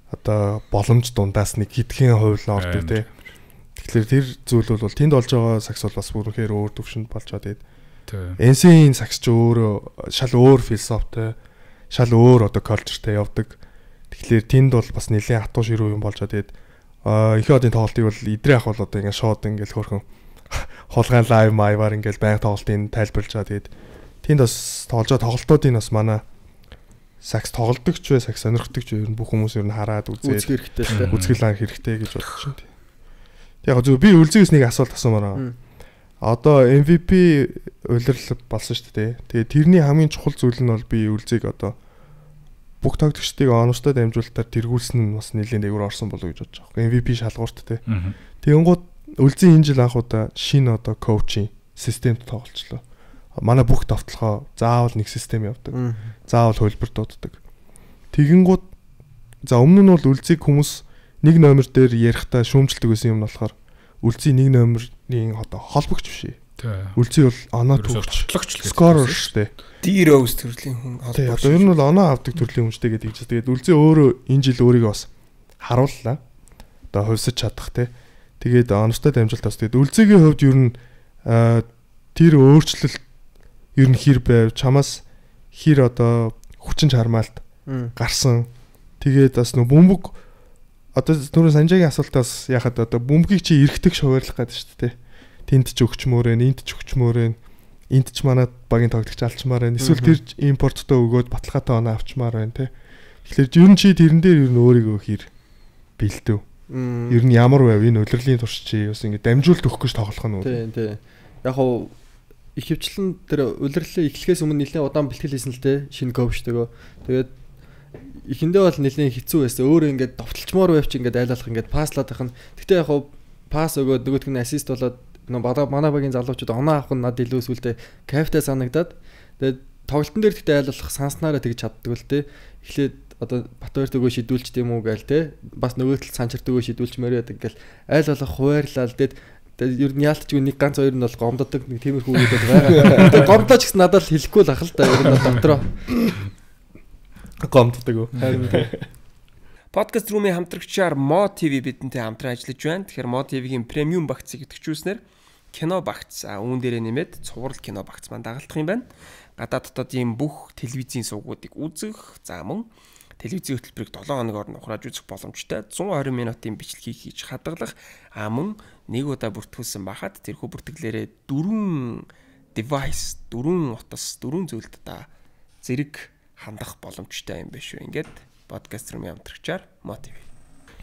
одоо боломж дундаас нэг хэдхэн хувь л ордог тий. Тэгэхээр тэр зүйл бол тэнд олж байгаа сакс бол бас бүрнхээр өөр төвшөнд болж байгаа тэгээд NC-ийн сакс ч өөрөө шал өөр философитой, шал өөр одоо калчертай явдаг. Тэгэхээр тэнд бол бас нэлийн хатуу ширүү юм болж байгаа тэгээд их одын тоглолтыг бол идрээ ах бол одоо ингээд шууд ингээд хөрхөн хулгайн лайв майваар ингээд байнга тоглолтын тайлбарлаж байгаа тэгээд тэнд бас тоглож байгаа тоглолтуудын бас манай сакс тоглолдог ч бай сакс сонирхдаг ч ер нь бүх хүмүүс ер нь хараад үзээд үзгэлэн хэрэгтэй гэж бодож байна. Яг зөв би үлзэгээс нэг асуулт асуумаар байна. Одоо MVP улирал болсон шүү дээ. Тэгээ тэрний хамгийн чухал зүйл нь бол би үлзэг одоо бүх тоглогчдыг оновчтой дамжуулалтаар тэргүүлсэн нь бас нэлээд дээгүүр орсон болов гэж бодож байгаа. MVP шалгуурт те. Тэгэнгუთ үлзэн энэ жил анх удаа шинэ одоо коучинг системд тоглолцлоо. Манай бүх товтлохоо заавал нэг систем явдаг. Заавал хөлбөр дууддаг. Тэгэнгუთ за өмнө нь бол үлзэг хүмүүс нэг номер дээр ярихдаа шүүмжилдэг байсан юм болохоор үлзий нэг номерийн одоо холбогч биш. Үлзий бол оноо төвч скорер шүү дээ. D-Rose төрлийн хүн холбогч. Одоо ер нь бол оноо авдаг төрлийн хүнтэй гэдэг чинь тэгээд үлзий өөрөө энэ жил өөрийгөө бас харууллаа. Одоо хувьсаж чадах те. Тэгээд оновчтой дамжуулалтаас тэгээд үлзийгийн хувьд ер нь тэр өөрчлөлт ер нь хэр байв чамаас хэр одоо хүчин чармаалт гарсан. Тэгээд бас нөө бөмбөг одоо түрүү Санжагийн асуултаас яхад одоо бөмбөгийг чи эргэтэг шуваарлах гэдэг шүү дээ. Тэнд ч өгчмөр ээ, энд ч өгчмөр ээ. Энд ч манай багийн тоглогч алчмаар байна. Эсвэл тэр импорттой өгөөд баталгаатай оноо авчмаар байна те. Тэгэхээр ер нь чи тэрэн дээр ер нь өөрийгөө хэр бэлдэв. Ер нь ямар байв энэ улирлын турш чи бас ингэ дамжуулт өгөх гэж тоглох нь үү? Тий. Яг хоо ихэвчлэн тэр улирлын эхлэхээс өмнө нэлээд удаан бэлтгэл хийсэн л те. Шинэ коучтойгоо. Тэгээд ихэндээ бол нэлээд хэцүү байсан. Өөрөө ингээд довтлчмоор байв чи ингээд айлалах ингээд паслаад байх нь. Гэтэ яг хоо пас өгөөд нөгөөдг нь ассист болоод манай багийн залуучууд оноо авах нь над илүү сүлдээ кайфтай санагдаад тэгээд тоглолтын дээр тэгтээ айлуулах санснараа тэгж чаддаг л те. Эхлээд одоо Батбаяр төгөө шидүүлч тийм үү гээл те. Бас нөгөө тал Санчар төгөө шидүүлчмээр яадаг ингээл айлуулах хуваарлал тэгээд ер нь яалтчгүй нэг ганц хоёр нь бол гомддог нэг тиймэрхүү үед бол байгаа. Тэгээд гомдооч гэсэн надад л хэлэхгүй л ах л та ер нь дотроо гомддог үү. Podcast room-ийн хамтрагчаар Mo TV бидэнтэй хамтран ажиллаж байна. Тэгэхээр Mo TV-ийн премиум багцыг идэвхжүүлснээр кино багц үүн дээрээ нэмээд цуврал кино багц маань дагалдах юм байна. Гадаад дотоодын бүх телевизийн сувгуудыг үзэх, за мөн телевизийн хөтөлбөрийг 7 хоногоор нухрааж үзэх боломжтой 120 минутын бичлэгийг хийж хадгалах мөн нэг удаа бүртгүүлсэн бахад тэрхүү бүртгэлээрээ 4 device 4 утас 4 зүйлд та зэрэг хандах боломжтой юм биш үү. Ингээд podcast room-ийн хамтрагчаар Mo TV.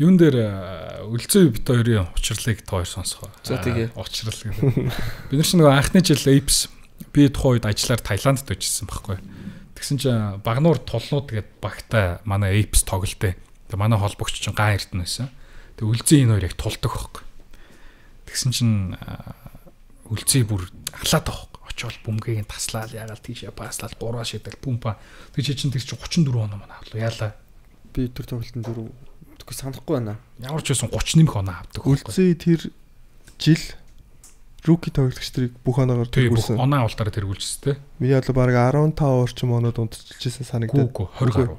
Юун дээр үлзээ бит хоёрын учрлыг та хоёр сонсгоо. За тэгээ. Учрал гэдэг. Бид нар ч нөгөө анхны жил Apes би тухайн үед ажиллаар Таиландд очижсэн байхгүй. Тэгсэн чинь Багнуур тулнууд гэдэг багтай манай Apes тоглолттой. Тэгээ манай холбогч чинь Ган Эрдэнэ байсан. Тэгээ үлзээ энэ хоёр яг тулдаг байхгүй. Тэгсэн чинь үлзээ бүр ахлаад байгаа. Очоод бөмбөгийг таслаад ягаал тийшээ паслаад 3 шидэл пумпа. Тэгээ чинь тэр чинь 34 оноо манай авлаа. Яалаа. Би тэр тоглолтын дөрөв тэггүй санахгүй байна. Ямар ч байсан 30 нэмэх оноо авдаг. Үлзээ тэр жил руки тоглогч нарыг бүх оноогоор тэргүүлсэн. Оноо авалтаараа тэргүүлжсэн те. Би яа л баг 15 орчим оноод унтчихсан санагдаад. 20 гаруй.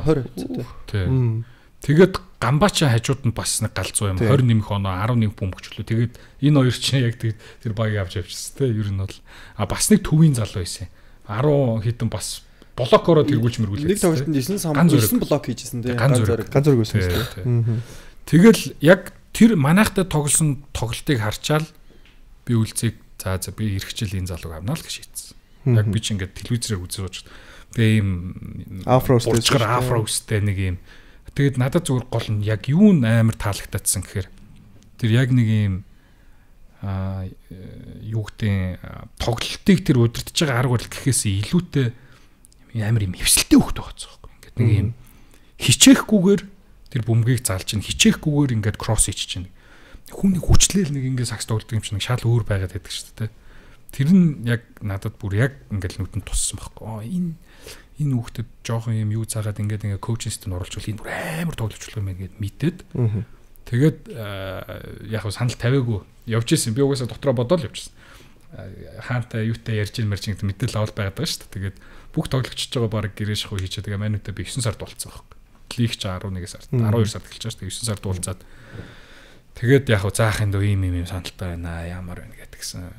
20. Тэгээд Гамбача хажууд нь бас нэг галзуу юм 20 нэмэх оноо 11 бөмбөгчлөө. Тэгээд энэ хоёр чинь яг тэр багийг авч явчихсан те. Ер нь бол бас нэг төвийн залуу байсан. 10 хэдэн бас блокороо тэргүүлж мэргүүлээ. Нэг тоглолтод 9 блок хийжсэн те. Ганц зөрөг байсан те. Тэгэл яг тэр манайхтай тоглосон тоглолтыг харчаал би үлцгийг за би эх хичээл энэ залууг авнаа л гэж шийдсэн. Яг би ч ингээд телевизээр үзэж сууж би ийм афростэй нэг ийм тэгээд надад зүгээр гол нь яг юу амар таалагдсан гэхээр тэр яг нэг ийм юу гэдэг тоглолтыг тэр удирдах байгаа арга барил гэхээс илүүтэй амар юм хөвсөлтэй хөхтэй байгаа байхгүй. Ингээд нэг ийм хичээхгүйгээр тэр бөмбөгийг залж чинь хичээхгүйгээр ингээд кросс хийж чинь. Хүн нэг хүчлээл нэг ингээд сакс тоглодог юм чинь шал өөр байгаад байдаг шүү дээ. Тэр нь яг надад бүр яг ингээл нүдэнд туссан байхгүй. Энэ хүүхдэд жоохон юм юу цаагаад ингээд коучинг системд оруулж бол энэ бүр амар тоглож болох юм байна гэд мэдээд. Тэгээд яг санал тавиагүй явж исэн. Би угаасаа дотроо бодоод явж исэн. Хаантай юутай ярьж ин мэрчин гэдэг мэдээлэл авал байгаад байгаа шүү дээ. Тэгээд бүх тоглогчж байгаа баг гэрээ шахуу хийчихээ. Тэгээ манайтай би 9 сард болцсон байхгүй. Лиг ч 11 сард 12 сард эхэлж байгаа шүү дээ. 9 сард уулзаад тэгээд яг заахын дөө ийм саналтай байна ямар байна гэдгсэн.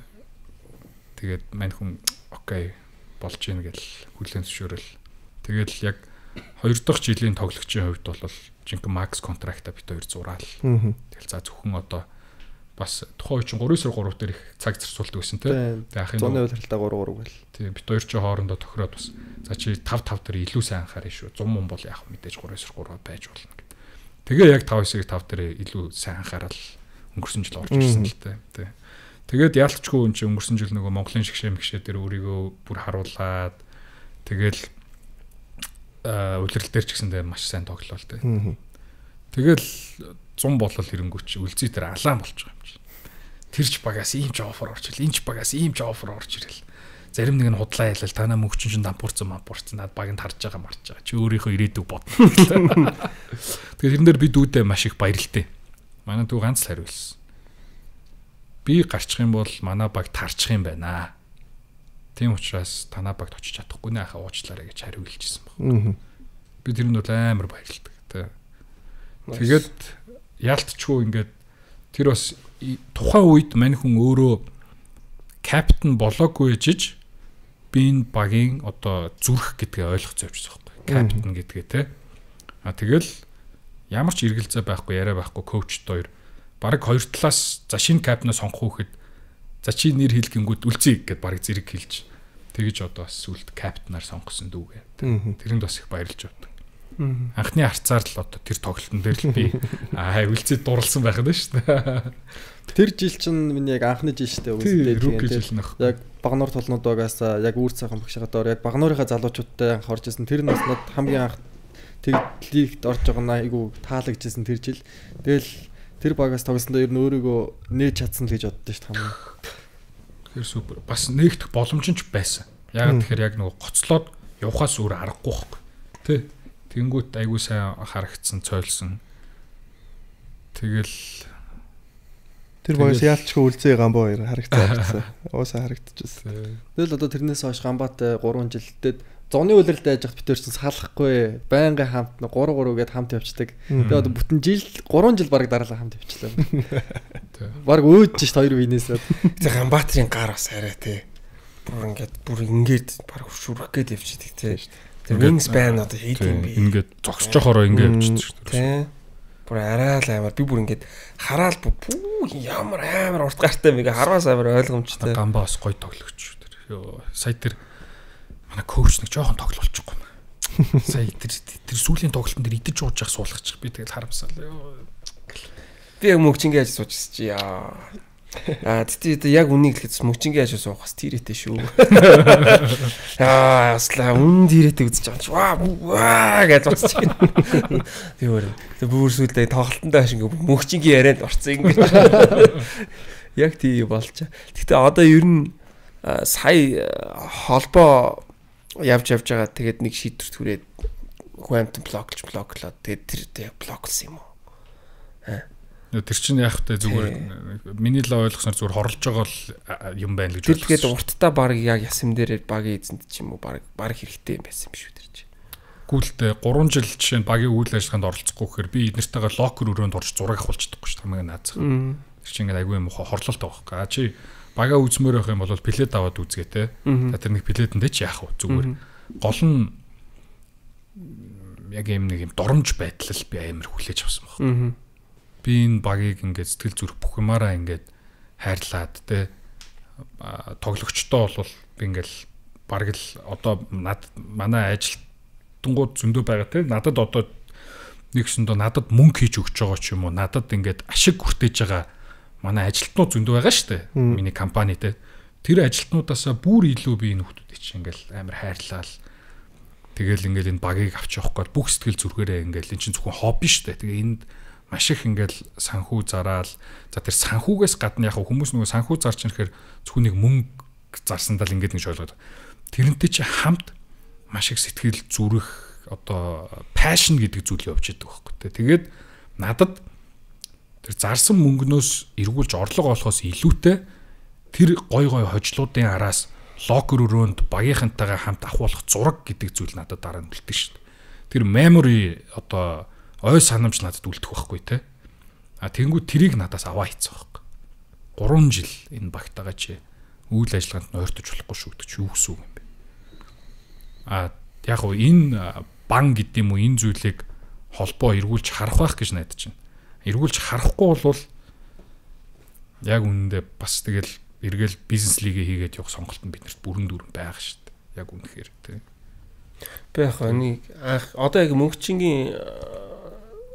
Тэгээд мань хүн окей болж ийн гэл хүлэн зөвшөөрөл. Тэгээд яг 2 дахь жилийн тоглогчийн хувьд бол жинхэнэ макс контрактаа бит 2 зураал. Тэгэл за зөвхөн одоо бас тухайн үеийн 3-3 дээр их цаг зарцуулдаг байсан тийм. Тэгээ ахын 100% харилцаа 3-3 гэл. Тийм бит 2 ч хоорондоо тохироод бас за чи 5-5 дээр илүү сайн анхаарна шүү. 100 мөн бол яг мэдээж 3-3 байж болно гэд. Тэгээ яг 5-9-ийг 5 дээр илүү сайн анхаарал өнгөрсөн жил орж ирсэн л тийм. Тэгээд яалтчгүй энэ чинь өнгөрсөн жил нөгөө Монголын шгшээ дээр өөрийгөө бүр харуулад тэгэл үлрэл дээр ч гэсэндээ маш сайн тоглолоо л тийм. Тэгэл 100 болол хэрэнгүүч үлзий дээр алаан болж байгаа юм чинь. Тэрч багаас ийм ч офер орж ирэл, энэ ч багаас ийм ч офер орж ирэл. Зарим нэг нь худлаа ялал танаа мөнгөчин чинь дампуурсан над багнд харж байгаа марж байгаа. Чи өөрийнхөө ирээдүг бодно. Тэгэхээр тэрэн дээр би дүүдээ маш их баярлалтай. Манай дүү ганц л хариулсан. Би гарчих юм бол манай баг тарчих юм байна. Тийм учраас танаа багт очиж чадахгүй нэ хаа уучлаарай гэж хариулжсэн баг. Би тэр нь бол амар баярлалтай. Тэгээд яалтчгүй ингээд тэр бас тухайн үед мань хүн өөрөө капитан болоогүй жиж би энэ багийн одоо зүрх гэдгээ ойлгоцсон явчихсан байхгүй. Капитан гэдгээ те. Тэгэл ямар ч эргэлзээ байхгүй яриа байхгүй коуч хоёр баг хоёр талаас за шинэ капитнаа сонгох хүүхэд за чи нэр хэлгэнгүүд үлцээ гэд баг зэрэг хэлж тэгэж одоо бас сүлд капитнаар сонгосон дүүгээ. Тэрэнд бас их баярлж байна. Анхны харцаар л одоо тэр тоглолтын дээр л би үлцэд дурлсан байх нь шүү дээ. Тэр жил чинь миний яг анхны жил шүү дээ. Яг багнуур толнууд байгаас яг үүр цаахан багшаагаар яг багнуурынхаа залуучуудтай анх орж исэн. Тэр наснууд хамгийн анх тэглийгт орж байгаа нь айгу таалагдчихсэн тэр жил. Тэгэл тэр багаас тоглосондоо ер нь өөрийгөө нээж чадсан л гэж боддоо шүү дээ. Тэр супер. Бас нээгдэх боломж нь ч байсан. Яг тэгэхээр яг нөгөө гоцлоод явахаас өөр аргагүй байхгүй. Тэ. Тэнгүүт айгуу сайн харагдсан, цойлсон. Тэгэл тэр багаас яалчгүй үлзээ гамбаа хоёр харагдсан. Уусаа харагдчихсан. Тэгэл одоо тэрнээс хойш гамбаатай 3 жилдээ зуны үлрэлд байж хат битэр чинь салахгүй байнгын хамт 3-3 гээд хамт явцдаг. Тэгээ одоо бүтэн жил 3 жил баг дараалал хамт явчлаа. Баг өөж ш хоёр винээсээ. Тэгээ гамбаатрийн гар бас арай тий. Бүр ингээд баг шүрх гээд явчихдаг тий. Тэр wings band одоо хийд юм би. Ингээд зогсожохороо ингээд явчихдаг шүү дээ. Тий. Бүр арай л амар би бүр ингээд хараад ямар амар урт гартай мэг харваас амар ойлгомжтой. Гамбаа бас гоё тоглогч шүү дээ. Сая тэр манай коуч нэг жоохон тоглолчихгүй юм. Сая тэр сүүлийн тоглолтын дээр идэж ууж явах суулгачих. Би тэгэл харамсаа. Би яг мөгчингээ яаж суужсэн чи яа. Тэгтээ яг үнийг хэлэхэд мөгчингээ яаж суухаас тийрээтэй шүү. Аслаа үн тийрээтэй үзэж байгаа чи ваа гэж бодчих. Тэр бүр сүлдээ тоглолтондоо хаш ингээ мөгчингээ яриад орцсон ингээ. Яг тий болчаа. Тэгтээ одоо ер нь сая холбоо явж байгаа тэгээд нэг шийдвэр түрээд Quantum блоклоод тэгээд тэр блоклсан юм уу? Тэр чинь яг та зүгээр миний л ойлгосноор зүгээр хорлож байгаа л юм байна гэж ойлгосон. Тэгээд урттаа баг яг ясам дээр багийн эзэнт ч юм уу баг хэрэгтэй юм байсан юм шүү тэр чинь. Гүйлдэ 3 жил жишээ нь багийн үйл ажиллагаанд оролцохгүй гэхээр би эднэртэйгээ локер өрөөнд орж зураг авахулчихдаггүй шүү хамгийн наазах. Тэр чинь ингээд айгүй юм хорлолт байгаа байхгүй. Чи багаа үзмээр байх юм бол плед аваад үзгээ те. Тэр нэг пледэндээ ч яах вэ зүгээр. Гол нь яг юм нэг юм доромж байдлал би амар хүлээж авсан байна. Би энэ багийг ингээд сэтгэл зүрх бүх юмараа ингээд хайрлаад те тоглогчтой бол би ингээд бараг л одоо манай ажилтнууд зөндөө байгаа те надад одоо нэгсэндээ надад мөнгө хийж өгч байгаа ч юм уу надад ингээд ашиг хүртээж байгаа манай ажилтнууд зөндөө байгаа шүү дээ миний компани те тэр ажилтнуудаасаа бүр илүү би энэ хүмүүстэй чинь ингээд амар хайрлал тэгэл ингээд энэ багийг авч явахгүй бүх сэтгэл зүрхээрээ ингээд энэ чинь зөвхөн хобби шүү дээ тэгээ энд маш их ингээл санхүү зараал за тэр санхүүгээс гадна яг хүмүүс нөгөө санхүү зарч ирэхээр зөвхөн нэг мөнгө зарсандаа л ингэж ойлгоод. Тэрнтэй чи хамт маш их сэтгэл зүрэх одоо passion гэдэг зүйл явж идэг байхгүй тий. Тэгээд надад тэр зарсан мөнгнөөс эргүүлж орлого олохоос илүүтэй тэр гой хожлуудын араас локер өрөөнд багийнхантайгаа хамт ахуулах зураг гэдэг зүйл надад дараа нь үлддэг шүү дээ. Тэр memory одоо ой санамж надад үлдэх байхгүй те. Тэнгүү тэрийг надаас аваа хийцэн байхгүй. 3 жил энэ багтаага чи үйл ажиллагаанд нойртож болохгүй шүү гэдэг чи юу гэсэн үг юм бэ? Яг гоо энэ бан гэдэг юм уу энэ зүйлийг холбоо эргүүлж харах байх гэж найдаж байна. Эргүүлж харахгүй бол яг үнэндээ бас тэгэл эргэл бизнес лигээ хийгээд явах сонголт нь биднэрт бүрэн дүүрэн байгаа шүү дээ. Яг үнэхээр тий. Би яг энийг одоо яг мөнгөчингийн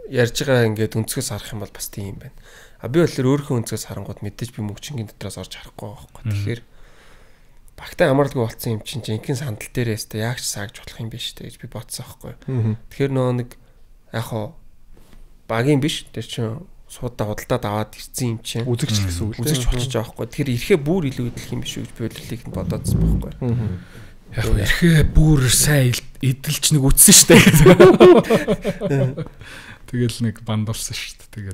ярьж байгаа ингээд өнцгөөс харах юм бол бас тийм байна. Би бол өөрийнхөө өнцгөөс харангууд мэдээж би мөнгөчингийн дотроос орж харахгүй байхгүй. Тэгэхээр багтаа амарлаггүй болцсон юм чинь жинхэнэ сандал дээрээс тэ яг ч саагж болох юм биш тэ гэж би бодсон байхгүй. Тэгэхээр нөө нэг яг хоо багийн биш тэр чинь суудаа худалдаад аваад ирсэн юм чинь үзэгч гэсэн үг л үзэгч болчих жоох байхгүй. Тэгэхээр ирэхээ бүр илүү идэх юм биш үү гэж би бодлыг нь бодоодсон байхгүй. Яг ирэхээ бүр сайн идэлч нэг үтсэн шүү дээ. Тэгэл нэг бандалсан шүү дээ.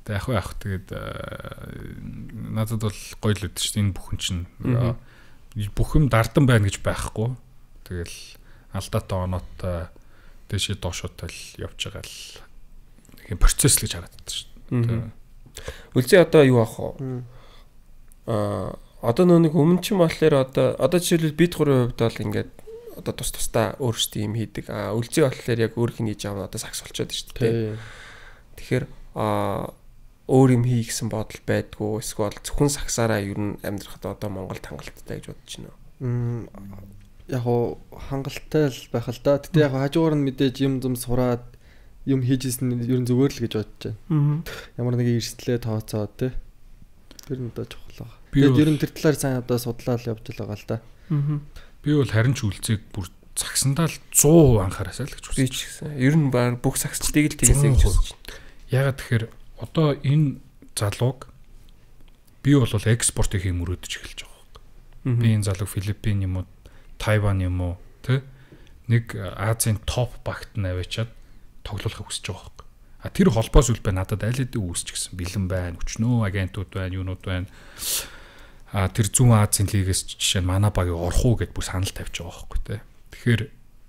Тэгэл яг тэгээд надад бол гоё л үдэж шүү дээ. Энэ бүхэн чинь бүхэм дардан байна гэж байхгүй. Тэгэл алдаатай оноотой дэшээ доошоотой л явж байгаа л нэг процесс л гэж хараад байна шүү дээ. Үлзий одоо юу аах вэ? Одоо нэг өмнө ч юм болохоор одоо жишээлбэл бид 3 хувьд бол ингээд одоо тусдаа өөрсдөө юм хийдэг. Үлзий болохоор яг өөр хин хийж аваад одоо сакс болчиход шүү дээ. Тэгэхээр өөр юм хий гэсэн бодол байдгүй эсвэл зөвхөн саксаараа ер нь амьдрахад одоо Монголд хангалттай гэж бодож байна уу? Яг хоо хангалттай л байх л да. Тэгтээ яг хажуугаар нь мэдээж юм сураад юм хийжсэн нь ер нь зүгээр л гэж бодож байна. Ямар нэг эрсдлээ тооцоод тий. Тэр нь одоо чухал байгаа. Тэгээд ер нь тэр талаар сайн одоо судлаад явж байгаа л да. Би бол харин ч үлцгийг бүр цагсандаа л 100% анхаараасаа л гэж үзэж гисэн. Ер нь баг бүх саксчдыг л тгийсэй гэж үзэж байна. Ягаад тэгэхээр одоо энэ залууг би бол экспортыг хийх мөрөөдөж эхэлж байгаа юм. Би энэ залууг Филиппин юм уу, Тайван юм уу, тэ нэг Азийн топ багт нь аваачаад тоглуулахыг хүсэж байгаа юм. Тэр холбоос үлбэ надад аль хэдийн үүсч гисэн. Бэлэн байна, өчнөө агентууд байна, юунууд байна. Тэр зүүн Азийн лигээс жишээ нь манай багийг орох уу гэд бүр санал тавьж байгаа байхгүй тий. Тэгэхээр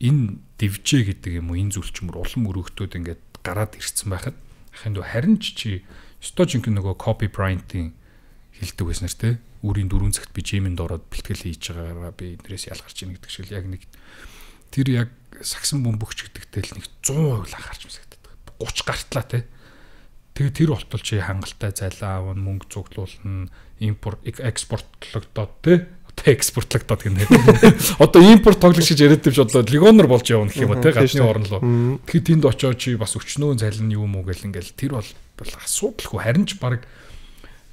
энэ дивжээ гэдэг юм уу энэ зүйлчмөр улам өргөтөөд ингээд гараад ирсэн байхад ахын дөө харин чи стожинг нөгөө Kobe Bryant-ийн хэлдэг байснаар тий. Үрийн 4 цагт би жимэнд ороод бэлтгэл хийж байгаагаа би эднэрээс ялгарч ийн гэдэг шиг яг нэг тэр яг сагсан бөмбөгч гэдэгтэй л нэг 100% анхаарч мэсэгддэг. 30 гартлаа тий. Тэгээ тэр болтол чи хангалттай зайлаа аавн мөнгө цуглуулна, импорт экспортлогдоод тий. Одоо экспортлогдоод гэнэ. Одоо импорт тоглогч гэж яриад тавьж бодлоо легонор болж явна гэх юм уу тий гадны орн руу. Тэгэхээр тэнд очоод чи бас өчнөө зайлна юу мүү гэл ингээл тэр бол асуудалгүй харин ч баг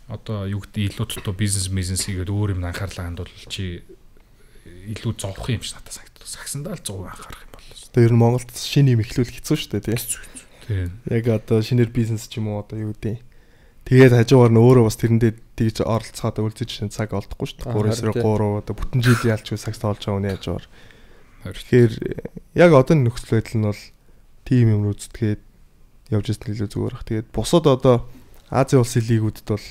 одоо юу гэдэг илүү тотоо бизнес хийгээд өөр юм анхаарлаа хандвал чи илүү зовх юм шиг надад санагдав. Сагсандаа л 100% анхаарах юм боллоо. Тэр нь Монголд шинэ юм эхлүүл хэцүү шүү дээ тий. Тийм. Яг одоо шинээр бизнес ч юм уу одоо юу гэдэг. Тэгээд хажуугаар нь өөрөө бас тэрэндээ тэгж оролцоод үлзэж шинэ цаг олдохгүй шүү дээ. 3-3 одоо бүтэн жил ялчгүй сагс тоолж байгаа үний хажуугаар. Тэгэхээр яг одоо нөхцөл байдал нь бол тим юм үздэгээд явж ирсэн илүү зүгээр бах. Тэгээд бусад одоо Азийн улсын лигүүдэд бол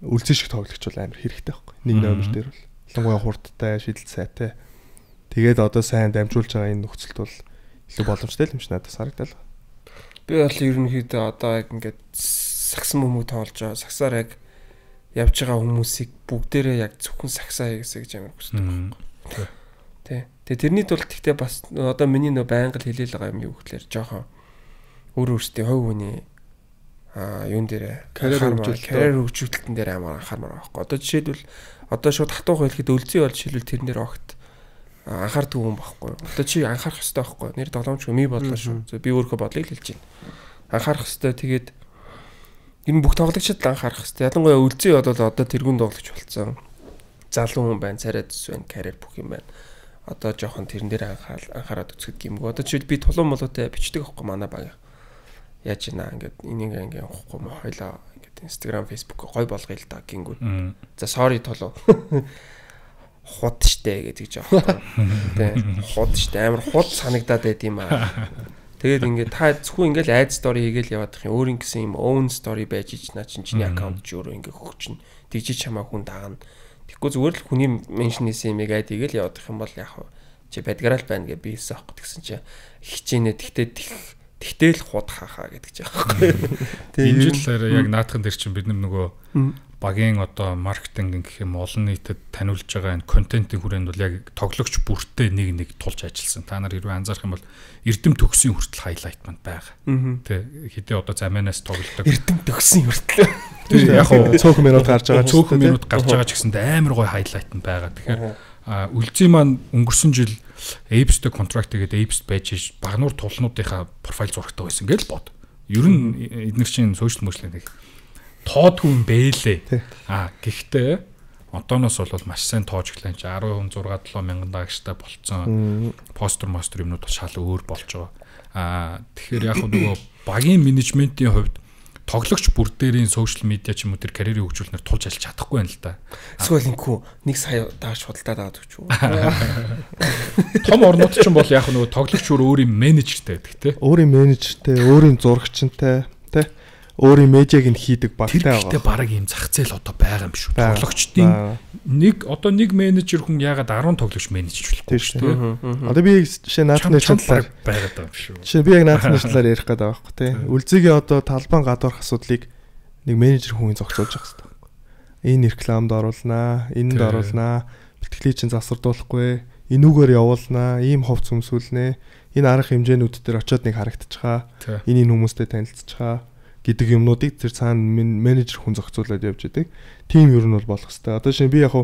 үлзэн шиг тоглогч бол амар хэрэгтэй байхгүй. Нэг номер дээр бол ялангуяа хурдтай, шидэлт сайтай. Тэгээд одоо сайн дамжуулж байгаа энэ нөхцөлд бол илүү боломжтой юм шиг надад санагдал. Би бол ерөнхийдөө одоо яг ингээд сагсан бөмбөг тоолж байгаа. Сагсаар яг явж байгаа хүмүүсийг бүгдээрээ яг зөвхөн сагсаа хийгээсэй гэж амар хүсдэг байхгүй. Тэ. Тэгээ тэрний тулд гэхдээ бас одоо миний нөө байнга л хэлээл байгаа юм юу гэхээр жоохон өөрөөсөө хувь хүний юун дээр карьер хөгжүүлэлтэн дээр амар анхаармаар байхгүй. Одоо жишээлбэл одоо шууд хатуух хэлэхэд өлзий бол жишээлбэл тэрэн дээр огт анхаардаг юм байхгүй. Одоо чи анхаарах хэрэгтэй байхгүй. Нэр тоглоомч ми бодлоо шүү. Би өөрийнхөө бодлыг хэлж байна. Анхаарах хэрэгтэй. Тэгээд энэ бүх тоглогчид л анхаарах хэрэгтэй. Ялангуяа өлзий бол одоо тэргүүн тоглогч болсон. Залуу хүн байна, царай дэс байна, карьер бүх юм байна. Одоо жоохон тэрэн дээр анхаарад үзэх гэмгүй. Одоо чи би тулуун молоотой бичдэг байхгүй манай баг. яаж ийна ингээд энийг ингээд явахгүй мó хоёлаа ингээд Instagram, Facebook гой болгоё л да гингүүд. За sorry толоо. Хот штэ гэж аахгүй. Тэ хот штэ амар хот санагдаад байд юм аа. Тэгээд ингээд та зөвхөн ингээд ad story хийгээл яваад их өөр ингэсэн юм own story байж ич наа чиний аккаунт ч өөрөө ингээд хөгчнө. Тэгжиж чамаа хүн дагна. Тэгэхгүй зүгээр л хүний меншнээс юм яг ad хийгээл яваад их юм бол яг чи бадгараа л байна гэж би хэлсэн аахгүй тэгсэн чи хичээнэ тэгтээ л худ хаахаа гэдэг ч аахгүй. Энэ жилээр яг наадхан дээр чинь бид нөгөө багийн одоо маркетинг гэх юм олон нийтэд таниулж байгаа энэ контентын хүрээнд бол яг тоглогч бүртээ нэг тулж ажилласан. Та нар хэрвээ анзаарах юм бол Эрдэм төгсийн хүртэл хайлайт манд байгаа. Тэ хэдий одоо заманаас тоглодог. Эрдэм төгсийн хүртэл. Тэг яг цөөхөн минут гарч байгаа. Цөөхөн минут гарч байгаа ч гэсэнд амар гоё хайлайт нь байгаа. Тэгэхээр үлзий маань өнгөрсөн жил Apes-тэй контракт хийгээд Apes байж багнуур тулнуудынхаа профайл зурагтай байсан гэж бод. Ер нь эдгээр чинь сошиал медиа нэг тоодгүй юм бэлээ. Гэхдээ одооноос бол маш сайн тоож гэлэн чи 16-7 мянган дагчтай болцсон. Постэр юмнууд шал өөр болж байгаа. Тэгэхээр яг нөгөө багийн менежментийн хувьд тоглогч бүр дээрийн сошиал медиа ч юм уу тэр карьерийг хөгжүүлнээр тулж алж чадахгүй байна л да. Эсвэл инкүү нэг сая дааш худалдаад аваад өгч үү. Том орнууд ч юм бол яг нөгөө тоглогч өөрийн менежертэй байдаг те. Өөрийн менежертэй, өөрийн зурагчтай те. Өөрийн медиаг нь хийдэг багтай байгаа. Тэр ихтэй бараг юм зах зээл одоо байгаа юм шүү. Тоглогчдын нэг менежер хүн ягаад 10 тоглогч менежж болохгүй шүү дээ. Одоо би жишээ наадхны талаар байгаад байгаа юм шүү. Жишээ би яг наадхны талаар ярих гэдэг байгаа байхгүй тий. Үлзигийн одоо талбайн гадуурх асуудлыг нэг менежер хүн зохицуулж байгаа хэрэгтэй. Энэ рекламд оруулнаа, энэнд оруулнаа, бэлтгэлийг чинь засвардуулахгүй, энүүгээр явуулнаа, ийм ховц өмсүүлнэ. Энэ арга хэмжээнүүд дээр очиод нэг харагдчихаа. Энэ хүмүүстэй танилцчихаа гэдэг юмнуудыг тэр цаана менежер хүн зохицуулаад явж идэг. Тим ер нь бол болох хэвээр. Одоо шинэ би яг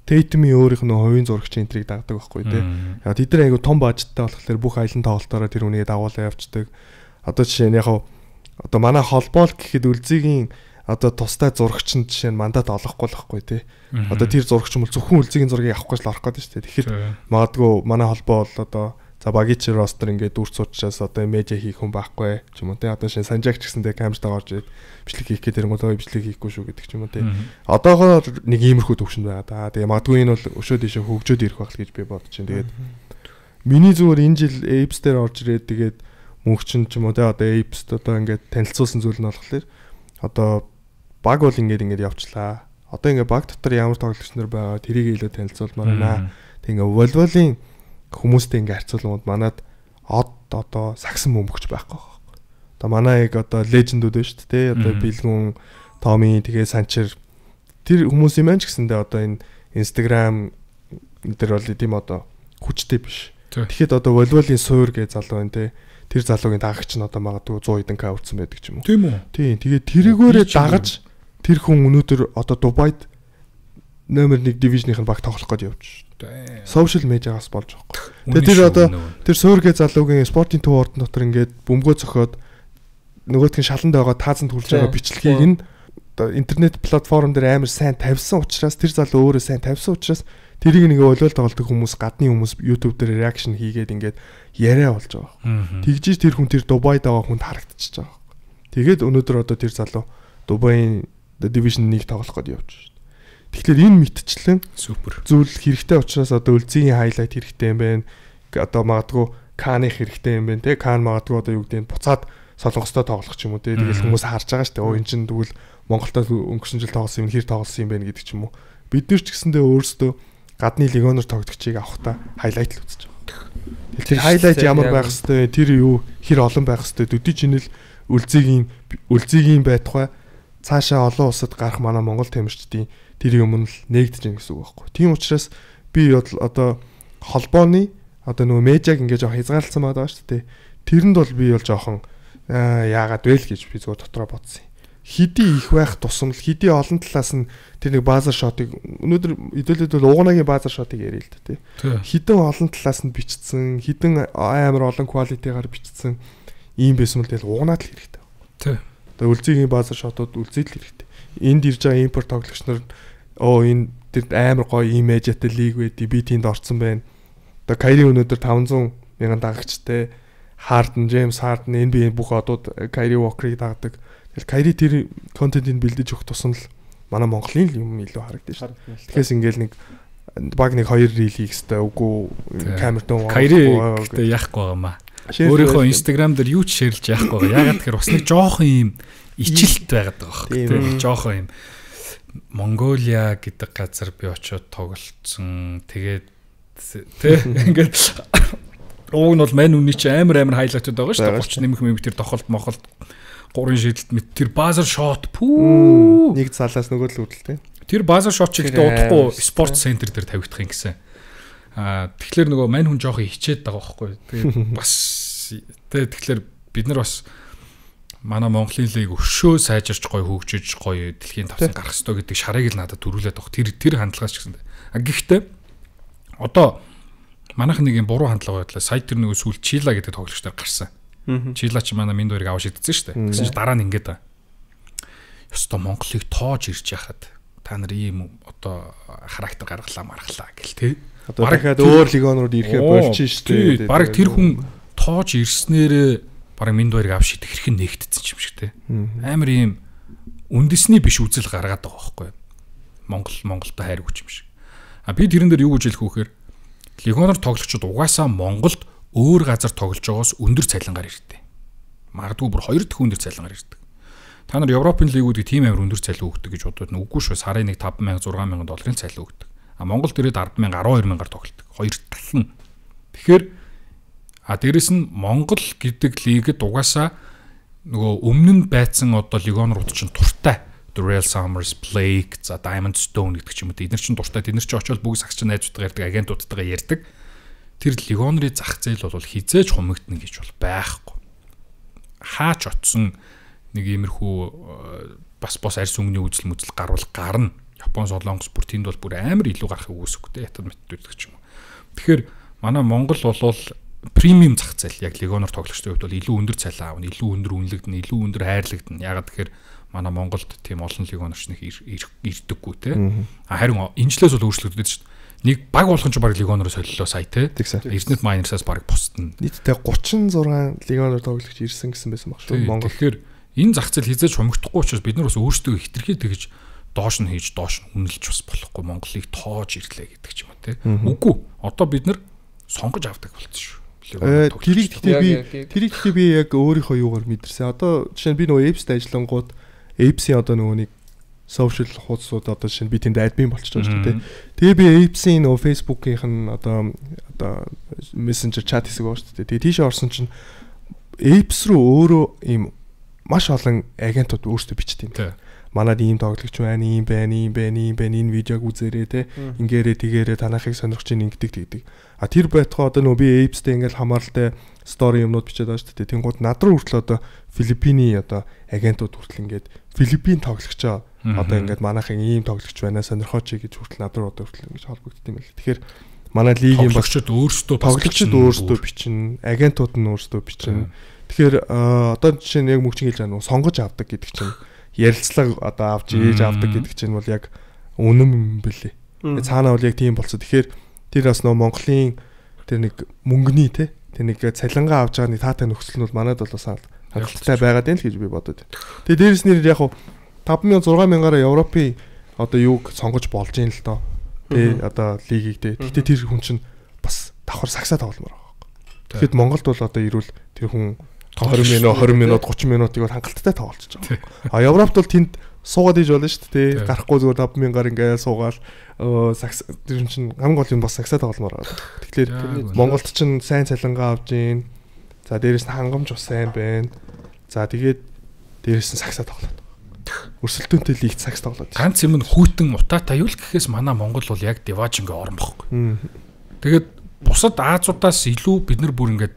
Tatum-ийн өөрийнх нь хувийн зурагчийн энтрийг дагдаг байхгүй тий. Яг тэд нар айгу том бажеттай болохоор бүх аялын тоглолтоороо тэр үнийг дагуулаа явждаг. Одоо жишээ нь яг одоо манай холбоол гэхэд Үлзигийн одоо тустай зурагч нь жишээ нь мандат олохгүй л байхгүй тий. Одоо тэр зурагч юм бол зөвхөн Үлзигийн зургийг авахгүй л орох гэдэг шүү дээ. Тэгэхээр магадгүй манай холбоо бол одоо за багич ростер ингээд дүрц уучраас одоо медиа хийх хүн байхгүй ч юм уу те одоо шинэ санжаагч гэсэндээ камертаа орж ирээд бичлэг хийх гэдэг юм уу бичлэг хийхгүй шүү гэдэг ч юм уу те одоогоор нэг иймэрхүү төвшөнд байгаа да тэгээ магадгүй энэ бол өшөө дэшээ хөгжөөд ирэх байх л гэж би бодож байна тэгээд миний зүгээр энэ жил Apes дээр орж ирээд тэгээд мөнхчин ч юм уу те одоо Apes одоо ингээд танилцуулсан зүйл нь болохоор одоо баг бол ингээд явчлаа одоо ингээд баг дотор ямар тоглогч нар байгаа тэрийг илүү танилцуулмаар байна тэгээ волейболын хүмүүстэй ингээ харьцуулмууд манад одоо сагсан бөмбөгч байхгүй. Одоо манай яг одоо лежендүүд байна шүү дээ. Одоо Билгүн, Томи, тэгээ Санчер тэр хүмүүс юм аа ч гэсэндээ одоо энэ Instagram дээр бол тийм одоо хүчтэй биш. Тэгэхэд одоо волейболын суур гэж залуу байна те. Тэр залуугийн дагагч нь одоо магадгүй 100 хэдэн к үрдсэн байдаг ч юм уу. Тийм үү? Тийм. Тэгээд тэрэгөөрөө дагаж тэр хүн өнөөдөр одоо Дубайд номер 1 дивижных нь баг тоглох гээд явж шүү. Social media-гаас болж байгаа. Тэгээд тэр одоо тэр суургээ залуугийн спортын төв ордон дотор ингээд бөмбөгөө цохиод нөгөөтг нь шаланд байгаа таазанд хүлж байгаа бичлэгийг нь одоо интернет платформ дээр амар сайн тавьсан учраас тэр залуу өөрөө сайн тавьсан учраас тэрийг нэг волейбол тоглодог хүмүүс гадны хүмүүс YouTube дээр реакшн хийгээд ингээд яриа болж байгаа. Тэгжиж тэр хүн тэр Дубайд байгаа хүнд харагдчихж байгаа. Тэгээд өнөөдөр одоо тэр залуу Дубайн Division 1 тоглох гээд явж шүү. Тэгэхээр энэ мэдчлэн супер зүйл хэрэгтэй учраас одоо Үлзигийн хайлайт хэрэгтэй юм байна. Одоо магадгүй Каных хэрэгтэй юм байна те. Кан магадгүй одоо юу гэдэг нь буцаад Солонгостой тоглох ч юм уу те. Тэгэл хүмүүс харж байгаа шүү дээ. Оо эн чинь тэгвэл Монголтой өнгөрсөн жил тоглосон юм хэр тоглосон юм бэ гэдэг ч юм уу. Бид нар ч гэсэндээ өөрсдөө гадны легионер тоглогчийг авахта хайлайт л үзэж байгаа. Тэгэхээр хайлайт ямар байх хэвээр тэр юу хэр олон байх хэвээр төдий чинэл Үлзигийн байтугай цаашаа олон улсад гарах манай Монгол тамирчдын тэр юм л нэгдэж гин гэсэн үг байхгүй. Тийм учраас би одоо холбооны одоо нөгөө медиаг ингэж жоох хязгаарлалсан байгаа шүү дээ. Тэрэнд бол би бол жоохон яагаад вэ л гэж би зүгээр дотроо бодсон юм. Хэдий их байх тусам л хэдий олон талаас нь тэр нэг базар шотыг өнөөдөр хэдүүлээд бол угаанагийн базар шотыг ярил л да тий. Хэдэн олон талаас нь бичсэн, хэдэн амар олон квалитигаар бичсэн ийм байсан бол тэгэл угаанаад л хэрэгтэй. Тий. Одоо Үлзигийн базар шотууд үлзээд л хэрэгтэй. Энд ирж байгаа импорт тоглогч нар энэ тэр амар гоё имижтэй лиг байдий би тэнд орсон байна. Одоо Кайри өнөөдөр 500 мянган дагагчтай Harden, James Harden, NBA бүх одууд Kyrie Walker-ыг дагдаг. Тэгэхээр Kyrie тэр контентыг бэлдэж өгөх тусам л манай Монголын юм илүү харагдаж шүү. Тэгэхээр ингээл нэг баг нэг 2 рeel хийх хэрэгтэй үгүй камертон Kyrie гэдэг яахгүй байгаамаа. Өөрийнхөө Instagram дээр юу ч шеэрлж яахгүй байгаа. Ягаад тэгэхээр бас нэг жоохон юм ичилт байгаад байгаа байхгүй. Жоохон юм Монголиа гэдэг газар би очиод тоглолцсон. Тэгээд ингээд уг нь бол мань үний чи амар хайлайтууд байгаа шүү дээ. 30 нэмэх мэмэг тэр тохолт мохолт 3 шидэлт мэд тэр базар шот пүү нэг залаас нөгөө л үүдэлтэй. Тэр базар шот ч ихтэй удахгүй спорт центр дээр тавигдах юм гэсэн. Тэгэхээр нөгөө мань хүн жоохон хичээд байгаа байхгүй. Тэгээд бас тэгэхээр бид нар бас манай Монголын лиг өшөө сайжирч гоё хөгжиж гоё дэлхийн тавсан гарах ёстой гэдэг шарыг л надад төрүүлээд баг. Тэр хандлагаас ч гэсэн. Гэхдээ одоо манайх нэг юм буруу хандлага байдлаа. Сая тэр нөгөө сүүл Чила гэдэг тоглогчдоор гарсан. Чила ч манай минь дөрийг аваа шидсэн шүү дээ. Гэсэн чинь дараа нь ингээд байна. Ёстой Монголыг тоож ирж яхад та нар ийм одоо характер гаргалаа маргалаа гэл тээ. Одоо дахиад өөр лигонууд ирэхэд болчих шүү дээ. Бараг тэр хүн тоож ирснээр бараг минь дөрийг аваа шидэх хэрэг нэгтдсэн юм шиг тээ. Амар ийм үндэсний биш үзэл гаргаад байгаа байхгүй. Монголтой хайр өгч юм шиг. Би тэрэн дээр юу гэж хэлэх вөхөр лигоноор тоглогчид угаасаа Монголд өөр газар тоглож байгаас өндөр цалингаар ирдэг. Магадгүй бүр 2 дахин өндөр цалингаар ирдэг. Та нар Европын лигүүдийг тийм амар өндөр цалин өгдөг гэж бодоод үгүй шүү. Сарын нэг 5,000 6,000 долларын цалин өгдөг. Монгол дээрээ 10,000 12,000-аар тоглолдог. 2 дахин. Тэгэхээр дээрэс нь Монгол гэдэг лигд угаасаа нөгөө өмнө нь байцсан одоо лигонрууд чинь туртай. Real Summers, Blake, за Diamond Stone гэдэг ч юм уу. Эдгээр чинь дуртай. Тэд нар чинь очиод бүгд сагч найзуудтайгаа ярьдаг, агентуудтайгаа ярьдаг. Тэр лигонрын зах зээл бол хизээж хумигдна гэж бол байхгүй. Хаач очсон нэг иймэрхүү бас арьс өнгөний үзэл мүзэл гарна. Япон, Солонгос бүр тэнд бол бүр амар илүү гарахыг үүсэхтэй. Ятад мэддэг ч юм уу. Тэгэхээр манай Монгол бол премиум зах зээл яг лигоноор тоглогчдын хувьд бол илүү өндөр цалин аавна, илүү өндөр үнэлэгдэн, илүү өндөр хайрлагдана. Ягаад тэгэхээр манай Монголд тийм олон лигонорч нэг ирдэггүй те. Харин энэ жилээс бол өөрчлөгдөж шүү дээ. Нэг баг болгон ч баг лигоноор солилоо сая те. Эрдэнэт Майнерсаас баг босдно. Нийтдээ 36 лигоноор тоглогч ирсэн гэсэн байсан баг шүү Монгол. Тэгэхээр энэ зах зээл хязгаарч хумигдахгүй учраас бид нар бас өөрсдөө хитрхий тэгж доош нь хийж доош нь үнэлж бас болохгүй Монголыг тоож ирлээ гэдэг ч юм уу те. Үгүй. Одоо бид нар сонгож авдаг болчихсон шүү. Тэрийг би яг өөрийнхөө юугаар мэдэрсэн. Одоо жишээ нь би нөгөө Apps-д ажиллангууд Apps-ийн одоо нөгөө нэг social хуудасууд одоо жишээ нь би тэнд админ болчихж байгаа шүү дээ. Тэгээ би Apps-ийн нөгөө Facebook-ийнх нь одоо Messenger chat хэсэг байгаа шүү дээ. Тэгээ тийш орсон чинь Apps руу өөрөө ийм маш олон агентууд өөрсдөө бичдэг юм. Манад ийм тоглогч байна, ийм байна, энэ видеог үзээрэй те. Ингээрээ тэгээрээ танахыг сонирхож ин ингэдэг тэгдэг. Тэр байтугай одоо нөгөө би Apps-тэй ингээл хамааралтай story юмнууд бичээд байгаа шүү дээ. Тэнгууд над руу хүртэл одоо Филиппиний одоо агентууд хүртэл ингээд Филиппин тоглогчоо одоо ингээд манайхын ийм тоглогч байна сонирхооч гэж хүртэл над руу одоо хүртэл ингэж холбогдсон юм байна. Тэгэхээр манай лигийн багчид өөрсдөө бичнэ, агентууд нь өөрсдөө бичнэ. Тэгэхээр одоо жишээ нь яг мөгчин хэлж байгаа нь сонгож авдаг гэдэг чинь ярилцлага одоо авч ээж авдаг гэдэг чинь бол яг үнэн юм бэлээ. Цаанаа бол яг тийм болцоо. Тэгэхээр тэр бас нөө Монголын тэр нэг мөнгөний те тэр нэг цалингаа авч байгаа нэг таатай нөхцөл нь бол манайд бол бас хангалттай байгаад байна л гэж би бодод. Тэгээ дээрэс нэр яг 5,000 6,000-аар Европын одоо юуг сонгож болж юм л доо. Тэ одоо лигийг те. Гэтэ тэр хүн чинь бас давхар сагсаа тогломоор байгаа. Тэгэхэд Монголд бол одоо ирүүл тэр хүн 20 минут 30 минутыг бол хангалттай тоглолцож байгаа. Европт бол тэнд суугаад иж болно шүү дээ. Гарахгүй зүгээр 5,000-аар ингээд суугаад сагс тэр чинь хамгийн гол юм бас сагсаа тогломоор байгаа. Тэгэхээр Монголд чинь сайн цалингаа авж гин. За дээрэс нь хангамж бас сайн байна. За тэгээд дээрэс нь сагсаа тоглоод. Өрсөлдөөнтэй лигт сагс тоглоод. Ганц юм нь хүйтэн утаатай юу л гэхээс манай Монгол бол яг диваж ингээ орон бохгүй. Тэгээд бусад Азиудаас илүү бид нар бүр ингээд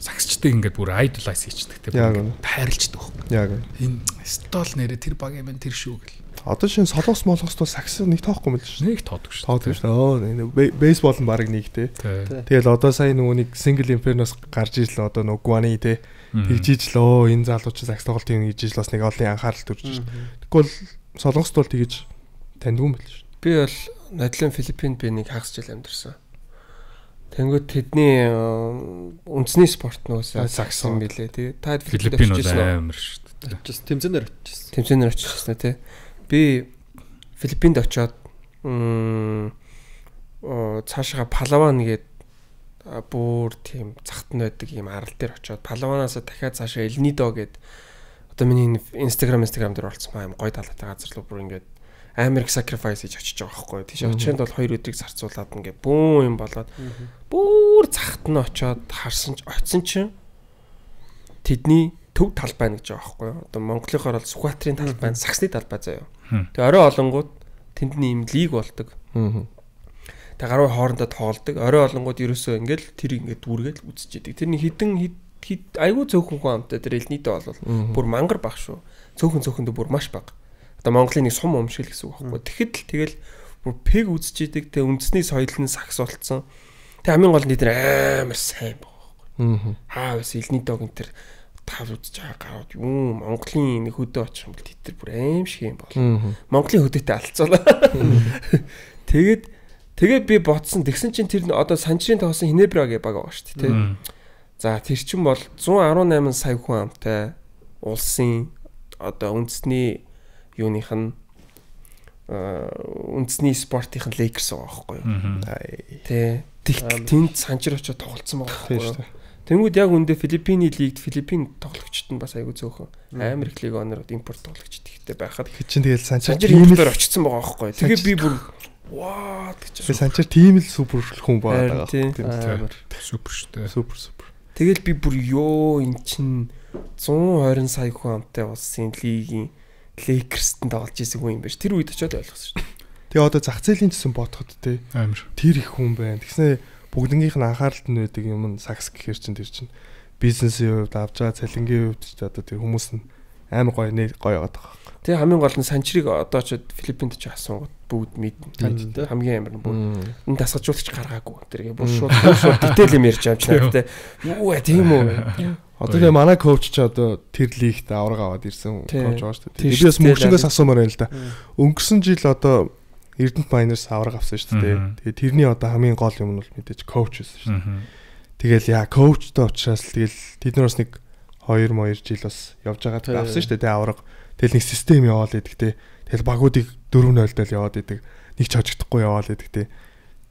сагсчдаг ингээд бүр idolize хийчихдэг тийм тайрлцдаг байхгүй. Яг энэ стол нэрэ тэр баг юм тэр шүү гэл. Одоо шин солонгос молгост бол сагс нэг тоохгүй мэл шүү. Нэг тоодог шүү. Тоодог шүү. Бейсбол нь баг нэг те. Тэгэл одоо сая нөгөө нэг single inferno-с гарч ижил одоо нөгөө Guani те. Тэгж ижил энэ залууч сагс тоглолт юм гэж ижил бас нэг олон анхаарал төрж шүү. Тэгвэл солонгост бол тэгж таньдгүй мэл шүү. Би бол нодлын Филиппинд би нэг хагас жил амьдэрсэн. Тэнгүүд тэдний үндэсний спорт нөөсөө сакс юм билээ тий. Та Филиппин бол амар шүү дээ. Just тэмцээнээр очижсэн. Тэмцээнээр очижсэн тий. Би Филиппинд очиод цаашаа Палаван гээд бүр тийм цагтан байдаг юм арал дээр очиод Палаванаас дахиад цаашаа Элнидо гээд одоо миний Instagram дээр олцсон юм гоё талаатай газар руу бүр ингээд Америк sacrifice хийж очиж байгаа байхгүй. Тийш очинд бол 2 өдрийг зарцуулаад ингээд бүүн юм болоод бүр цагтан очиод харсан очисон чинь тэдний төв талбай гэж байгаа байхгүй. Одоо Монголынхоор бол Сүхбаатарын талбай, саксны талбай заяа. Тэгээ орой олонгууд тэндний юм лиг болдог. Тэг гаруй хоорондоо тоолдог. Орой олонгууд ерөөсөө ингээл тэр ингээд дүүргээд үзэж яадаг. Тэрний хідэн айгүй цөөхөн хүн амтай тэр элнийдээ бол бүр мангар баг шүү. Цөөхөндөө бүр маш баг. Одоо Монголын нэг сум өмшил гэсэн үг байхгүй. Тэгэхэд л тэгэл бүр пег үзэж яадаг. Тэг үндэсний соёл нь сакс болцсон. Тэг хамгийн гол нь тэр амар сайн байгаа байхгүй. Бас элнийдэг энэ тэр тав үзэж байгаа гарууд юм Монголын нэг хөдөө очих юм бол тэр бүр аим шиг юм бол. Монголын хөдөөтэй алцуулаа. Тэгээд би ботсон. Тэгсэн чинь тэр одоо санчрын тоосон Хинебра гэх баг байгаа шүү дээ, тий. За тэр чинь бол 118 сая хүн амтай улсын одоо үндэсний юуных нь үндэсний спортын Lakers байгаа байхгүй юу. Тий. Тэнд санчир очиж тоглолцсон байгаа байхгүй юу. Тэнгүүд яг үндэ Филиппиний лигт Филиппин тоглогчд нь бас айгүй зөөхөн амар их лиг оноор импорт тоглогчд ихтэй байхад чинь тэгэл санчир тиймээр очсон байгаа байхгүй. Тэгээ би бүр ваа гэж. Би санчир тийм л супер хүн байгаа. Амар супер шүү дээ. Супер. Тэгэл би бүр ёо эн чин 120 сая хүн амтай улсын лигийн Lakers-т тоглож исэн хүн юм байна ш. Тэр үед очиод ойлгосон шүү. Тэгээ одоо зах зээлийн төсөн бодоход те амар тэр их хүн байна. Тэгснэ бүгднгийнх нь анхааралд нь байдаг юм нь сакс гэхэр чинь тэр чинь бизнесийн хувьд авч байгаа цалингийн хувьд ч одоо тэр хүмүүс нь амар гоё яваад байгаа. Тэгээ хамгийн гол нь санчрыг одоо ч Филиппинд ч асуугаад бүгд мэднэ. Хамгийн амар нь бүр энэ дасгалжуулагч гаргаагүй. Тэргээ бүр шууд дитэйл юм ярьж байгаа юм чинь тэ. Юу тийм үү. Одоо тэгээ манай коуч ч одоо тэр лигт авраг аваад ирсэн коуч байгаа шүү дээ. Би бас мөнгөшгөөс асуумаар байна л да. Өнгөрсөн жил одоо Эрдэнэт Майнерс авраг авсан шүү дээ. Тэгээ тэрний одоо хамгийн гол юм нь бол мэдээж коуч байсан шүү дээ. Тэгэл яа коучтой учраас л тэгэл тэд нар бас нэг 2 жил бас явж байгаа авсан шүү дээ авраг. Тэгэл нэг систем яваал идэг те. Тэгэл багуудыг 4-0 дэл яваад идэг. Нэг ч хожигдохгүй яваал идэг те.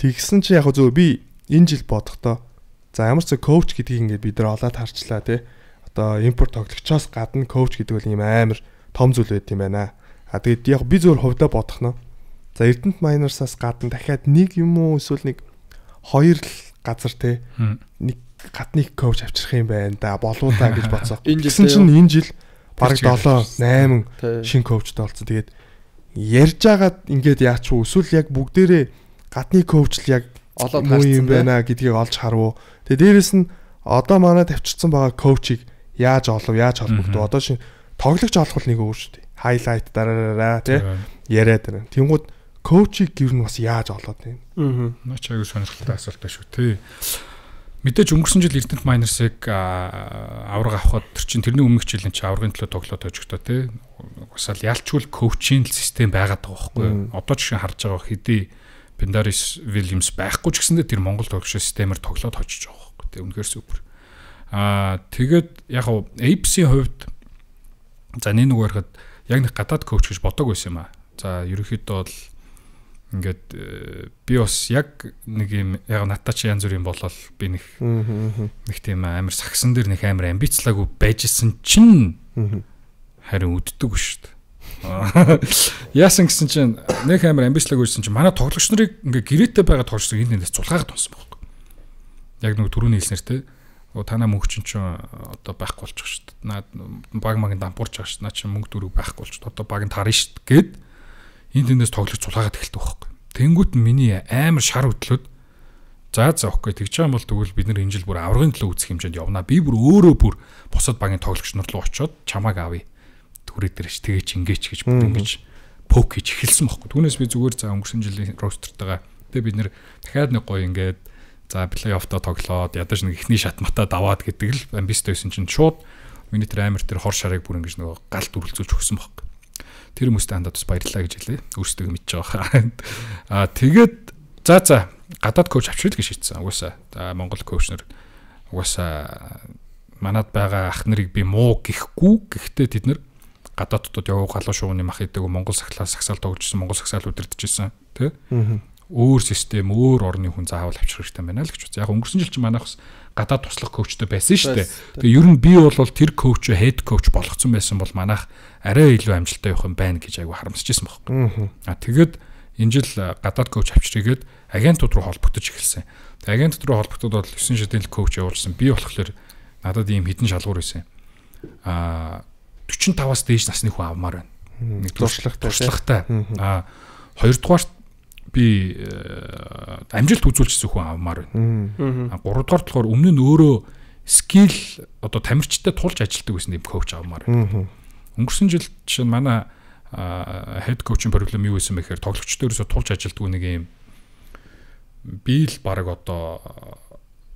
Тэгсэн чи яг зөв би энэ жил бодохдоо за ямар ч коуч гэдгийг ингээд бид нар олоод харчлаа те. Одоо импорт тоглогчоос гадна коуч гэдэг бол юм амар том зүйл байт юм байна. Тэгээд яг би зөвөр хувьдаа бодох нь. За Эрдэнэт Майнерсаас гадна дахиад нэг юм уу эсвэл нэг 2 л газар те. Нэг гадныг коуч авчрах юм байна да болоо да гэж бодсоо. Гэсэн чинь энэ жил бараг 7-8 шинэ коучтой болсон. Тэгээд ярьж агаад ингээд яач вэ? Эсвэл яг бүгдээрээ гадны коуч л яг олоод харсан байна гэдгийг олж харав. Тэгээд дээрэс нь одоо манай тавьчихсан байгаа коучийг яаж холбогдов? Одоо шинэ тоглогч олох нэг өөр шүү дээ. Хайлайт дараараа тий яриад байна. Тэнгууд коучийг гэр нь бас яаж олоод байна? Наач аягүй сонирхолтой асуулт байна шүү тий. Мэдээж өнгөрсөн жил Эрдэнэт Майнерсыг авраг авахд тэр чинь тэрний өмнөх жилийн чи аврагын төлөө тоглоод хожигдоо тий. Угсаал ялчгүй коучинг систем байгаад байгаа байхгүй. Одоо жишээ харж байгаа хэдий Пендарис Вильямс байхгүй ч гэсэндээ тэр Монгол тоглогч системээр тоглоод хожиж байгаа байхгүй. Тэг үнэхээр супер. Тэгээд яг нь Apes-ийн хувьд за нэг харахад яг нэг гадаад коуч гэж бодог байсан юм аа. За ерөнхийдөө бол ингээд би бас яг нэг юм яг надад чи янз бүрийн болол би нэг тийм амар сагсан дээр нэг амар амбицлаагүй байжсэн чинь харин үддэг шүү дээ. Яасан гэсэн чинь нэг амар амбицлаагүй байсан чинь манай тоглогч нарыг ингээ гэрээтэй байгаа тоглогч нарыг энд цулгаагаад тунсан байхгүй. Яг нэг түрүүний хэлснээр те танаа мөнгө чинь одоо байхгүй болчих шүү дээ. Наад баг магийн дампуурч байгаа шүү. Наа чи мөнгө дөрөв байхгүй болчих. Одоо баг нь тарна шүү гэд энэ тэндээс тоглож цулгаагаад эхэлдэг байхгүй. Тэнгүүт нь миний амар шар хөдлөөд за окей тэгж байгаа юм бол тэгвэл бид нар энэ жил бүр аврагын төлөө үзэх хэмжээнд явна. Би бүр өөрөө бүр босод багийн тоглогч нар руу очиод чамааг авъя. Түрээ дээрч тэгээч ингээч гэж бүр ингэж пок хийж эхэлсэн байхгүй. Түүнээс би зүгээр за өнгөрсөн жилийн ростертайгаа тэгээ бид нэр дахиад нэг гоё ингээд за плей-оффто тоглоод ядаж нэг ихний шат матаа даваад гэдэг л амбицтай байсан чинь шууд миний тэр амир тэр хор шарыг бүр ингэж нөгөө галт үргэлжлүүлж өгсөн байхгүй. Тэр хүмүүст хандаад бас баярлалаа гэж хэлээ. Өөрсдөө мэдж байгаа. Тэгээд за гадаад коуч авчрах гэж шийдсэн. Угаасаа Монгол коуч нар угаасаа манад байгаа ах нарыг би муу гэхгүй. Гэхдээ тэд нар гадааддууд яваа галуу шуугны мах идэг Монгол сагсаал тогложсэн, Монгол сагсаал удирдахжсэн тий. Өөр систем, өөр орны хүн заавал авчрах хэрэгтэй байна л гэж үзье. Яг өнгөрсөн жил чинь манайх бас гадаад туслах коучтой байсан шүү дээ. Тэгээ ер нь би бол тэр коуч, хед коуч болгоцсон байсан бол манайх арай илүү амжилттай явах юм байна гэж айгу харамсаж байсан байхгүй. Тэгээд энэ жил гадаад коуч авчрыгээд агентууд руу холбогдож эхэлсэн. Тэгээ агентууд руу холбогдоод бол 9 шидэл коуч явуулсан. Би болохоор надад ийм хідэн шалгуур байсан. 45-аас дээш насны хүн авмаар байна. Нэг туршлагатай. Хоёрдугаар би амжилт үзүүлчихсэн хүн авмаар байна. Гуравдугаар болохоор өмнө нь өөрөө скил одоо тамирчтай тулж ажилладаг байсан юм коуч авмаар байна. Өнгөрсөн жил чинь манай head coach-ийн проблем юу байсан бэхээр тоглогчдоо ерөөсө тулж ажилладаг нэг юм би л баг одоо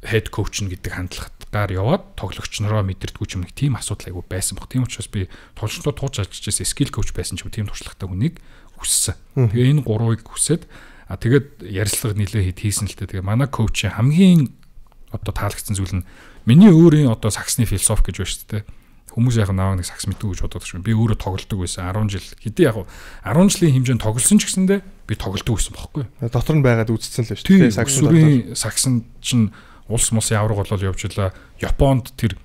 head coach нь гэдэг хандлагатаар яваад тоглогч нараа мэдэрдэггүй ч юм нэг тийм асуудал айгу байсан баг. Тийм учраас би тоглогчдоо тулж ажиллаж байсан skill coach байсан ч юм тийм туршлагатай хүнийг хүссэн. Тэгээ энэ гурвыг хүсээд тэгээд ярилцлага нэлээ хийсэн л дээ. Тэгээ манай коуч хамгийн одоо таалагдсан зүйл нь миний өөрийн одоо саксны философи гэж байна шүү дээ. Хүмүүс яг наваа нэг сакс мэдүү гэж боддог шүү. Би өөрөө тоглодог байсан 10 жил. Хэдий яг 10 жилийн хэмжээнд тоглосон ч гэсэндээ би тоглодог байсан байхгүй. Дотор нь байгаад үзсэн л шүү дээ. Саксын чинь улс мусын авраг болол явжлаа. Японд тэр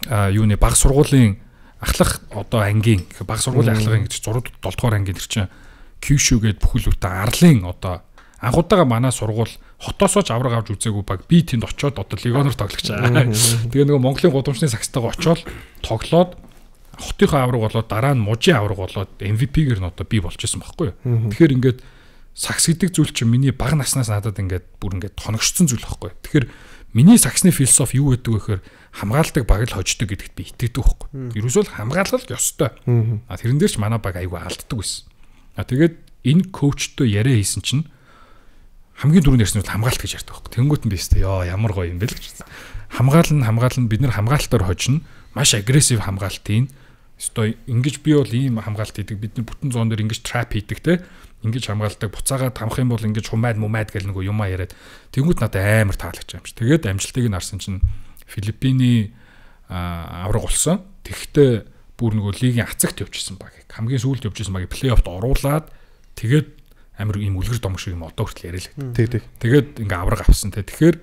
юуны баг сургуулийн ахлах одоо ангийн баг сургуулийн ахлагын гэж 6 7 дугаар ангийн тэр чинь Kyushu гээд бүхэл бүтэн арлын одоо анхудаага манай сургууль хотоосоо ч авраг авч үзээгүй баг би тэнд очиод одоо легоноор тоглож байгаа. Тэгээ нөгөө Монголын гудамжны сагстайгаа очиод тоглоод хотынхоо авраг болоод дараа нь мужийн авраг болоод MVP-гээр нь одоо би болж исэн байхгүй юу. Тэгэхээр ингээд сакс гэдэг зүйл чинь миний бага наснаас надад ингээд бүр ингээд тоногшсон зүйл байхгүй юу. Тэгэхээр миний саксны философи юу гэдэг вэ гэхээр хамгаалдаг баг л хождог гэдэгт би итгэдэг байхгүй. Ерөөсөө хамгаалал ёстой. Тэрэн дээр ч манай баг айгүй алддаг байсан. Тэгээд энэ коучтой яриа хийсэн чинь хамгийн түрүүнд ярьсан нь хамгаалт гэж ярьдаг байхгүй. Тэнгүүт нь би өстэй ёо ямар гоё юм бэ л гэж. Хамгаална бид нар хамгаалтаар хожно. Маш агрессив хамгаалт ийн. Өстой ингэж би бол ийм хамгаалт хийдэг. Бид нар бүтэн зоон дээр ингэж трап хийдэг те. Ингэж хамгаалдаг. Буцаагаа тамах юм бол ингэж хумайд гэл нэг юмаа яриад. Тэнгүүт надад амар таалагч юм чи. Тэгээд амжилтыг нь харсан чинь Филиппиний авраг болсон. Тэгэхдээ бүр нөгөө лигийн ацагт явчихсан баг. Хамгийн сүүлд явчихсан баг плей-оффт оруулаад тэгээд амар ийм үлгэр домог шиг юм одоо хүртэл яриа л. Тэгээд ингээ авраг авсан те. Тэгэхээр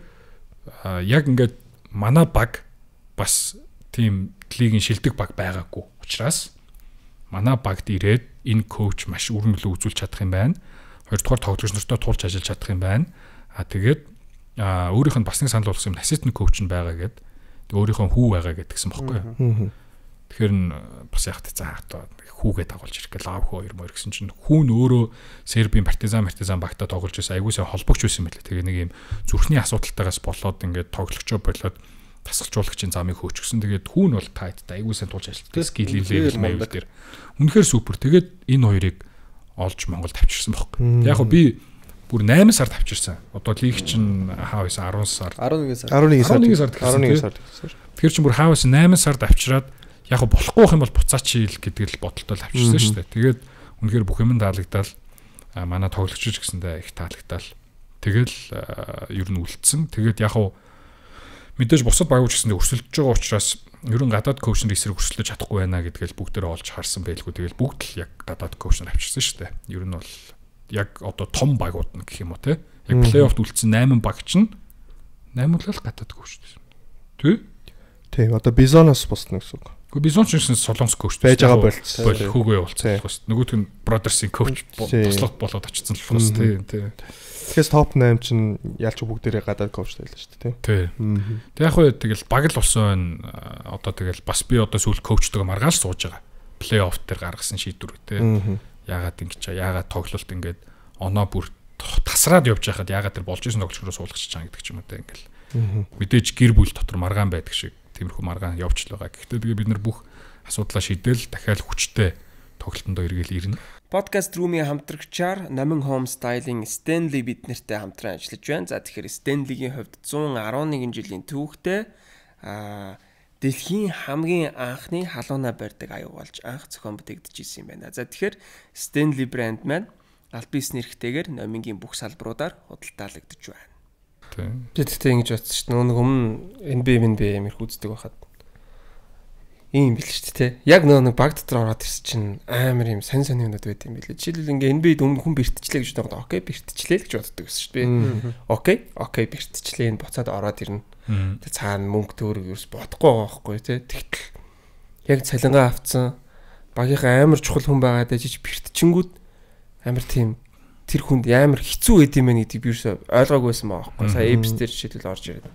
яг ингээд манай баг бас тийм лигийн шилдэг баг байгаагүй учраас манай багт ирээд энэ коуч маш өрнөлөө үзүүлж чадах юм байна. Хоёрдугаар тоглогч нартай тулж ажиллаж чадах юм байна. Тэгээд өөрийнх нь бас нэг санал болгосон юм ассистент коуч нь байгаа гэдэг. Өөрийнхөө хүү байгаа гэдгсэн бохоггүй. Тэгэхээр бас яг цаа одоо хүүгээ дагуулж ирэх гэл аав хөө 2 гэсэн чинь хүүн өөрөө Сербийн партизан багтаа тоглож байсан аягуулсан холбогч байсан байлээ. Тэгээ нэг юм зүрхний асуудалтайгаас болоод ингээд тоглогчоо болоод тасалжуулагчийн замыг хөөчихсөн. Тэгээд хүүн бол тайттай аягуулсан тулж ажилладаг скил левел мэйл дээр. Үнэхээр супер. Тэгээд энэ хоёрыг олж Монголд авчирсан бохоггүй. Яг би бүр 8 сард авчирсан. Одоо лиг чинь хаа байсан 10 сар. 11 сард. Тэгэхээр чинь бүр хаа байсан 8 сард авчираад яг болохгүй байх юм бол буцаачил гэдэг л бодолтой л авчирсан шүү дээ. Тэгээд үнэхээр бүх юм таалагдал манай тоглогч гэсэндээ их таалагдал. Тэгэл ер нь үлдсэн. Тэгээд яг мэдээж бусад багууч гэсэндээ өрсөлдөж байгаа учраас ер нь гадаад коуч нар эсрэг өрсөлдөж чадахгүй байна гэдгээл бүгдээрээ олж харсан байлгүй. Тэгэл бүгд л яг гадаад коуч нар авчирсан шүү дээ. Ер нь бол яг одоо том багууд нь гэх юм уу те. Яг плей-оффт үлдсэн 8 баг чинь 8 л гадаад коуч дээ. Тийм одоо Бизоноос босно гэсэн үг. Гэхдээ Бизон ч гэсэн Солонгос коуч байж байгаа болцсон. Хүүгээ явуулсан болохос. Нөгөөх нь Бродерсийн коуч туслах болоод очсон болохос тийм. Тэгэхээр топ 8 чинь ялч бүгдээрээ гадаад коучтай л шүү дээ тийм. Тэг яг хөө тэгэл баг л болсон байна. Одоо тэгэл бас би одоо сүүл коучтойгоо маргааш сууж байгаа. Плей-офф дээр гаргасан шийдвэр үү. Яагаад ингэж яагаад тоглолт ингээд оноо бүр тасраад явж байхад яагаад тэр болж исэн тоглогчроо суулгачих чам гэдэг ч юм уу те ингээл. Мэдээж гэр бүл дотор маргаан байдаг шиг тиймэрхүү маргаан явж л байгаа. Гэхдээ тэгээ бид нар бүх асуудлаа шийдэл дахиад хүчтэй тоглолтондоо эргэл ирнэ. Podcast room-ийн хамтрагчаар Номин Home Styling Stanley бид нартай хамтран ажиллаж байна. За тэгэхээр Stanley-гийн хувьд 111 жилийн түүхтэй дэлхийн хамгийн анхны халууна барьдаг аюу болж анх зохион бүтээгдэж ирсэн юм байна. За тэгэхээр Stanley брэнд маань аль биесний эрхтэйгээр номингийн бүх салбаруудаар худалдаалагдж байна. Тийм. Тэгэхдээ ингэж бодсон шүү дээ. Нэг өмнө NBA амир үздэг байхад ийм бил шүү дээ. Яг нэг баг дотор ороод ирсэн чинь амар юм сонь юмнууд байт юм билээ. Жишээлбэл ингээ NBA-д өмнө хүн бэртчлээ гэж боддог. Окей, бэртчлээ гэж боддог гэсэн шүү дээ. Окей, бэртчлээ энэ буцаад ороод ирнэ. Тэг цаана мөнгө төөрөг ерөөс бодохгүй байгаа байхгүй тий. Тэгтэл яг цалингаа авцсан багийнхаа амар чухал хүн байгаад ажиж бэртчингүүд амар тийм тэр хүнд амар хэцүү байд юм байна гэдгийг би юусоо ойлгоогүйсэн байгаа байхгүй. Сая эпс дээр жишээлбэл орж ирээд.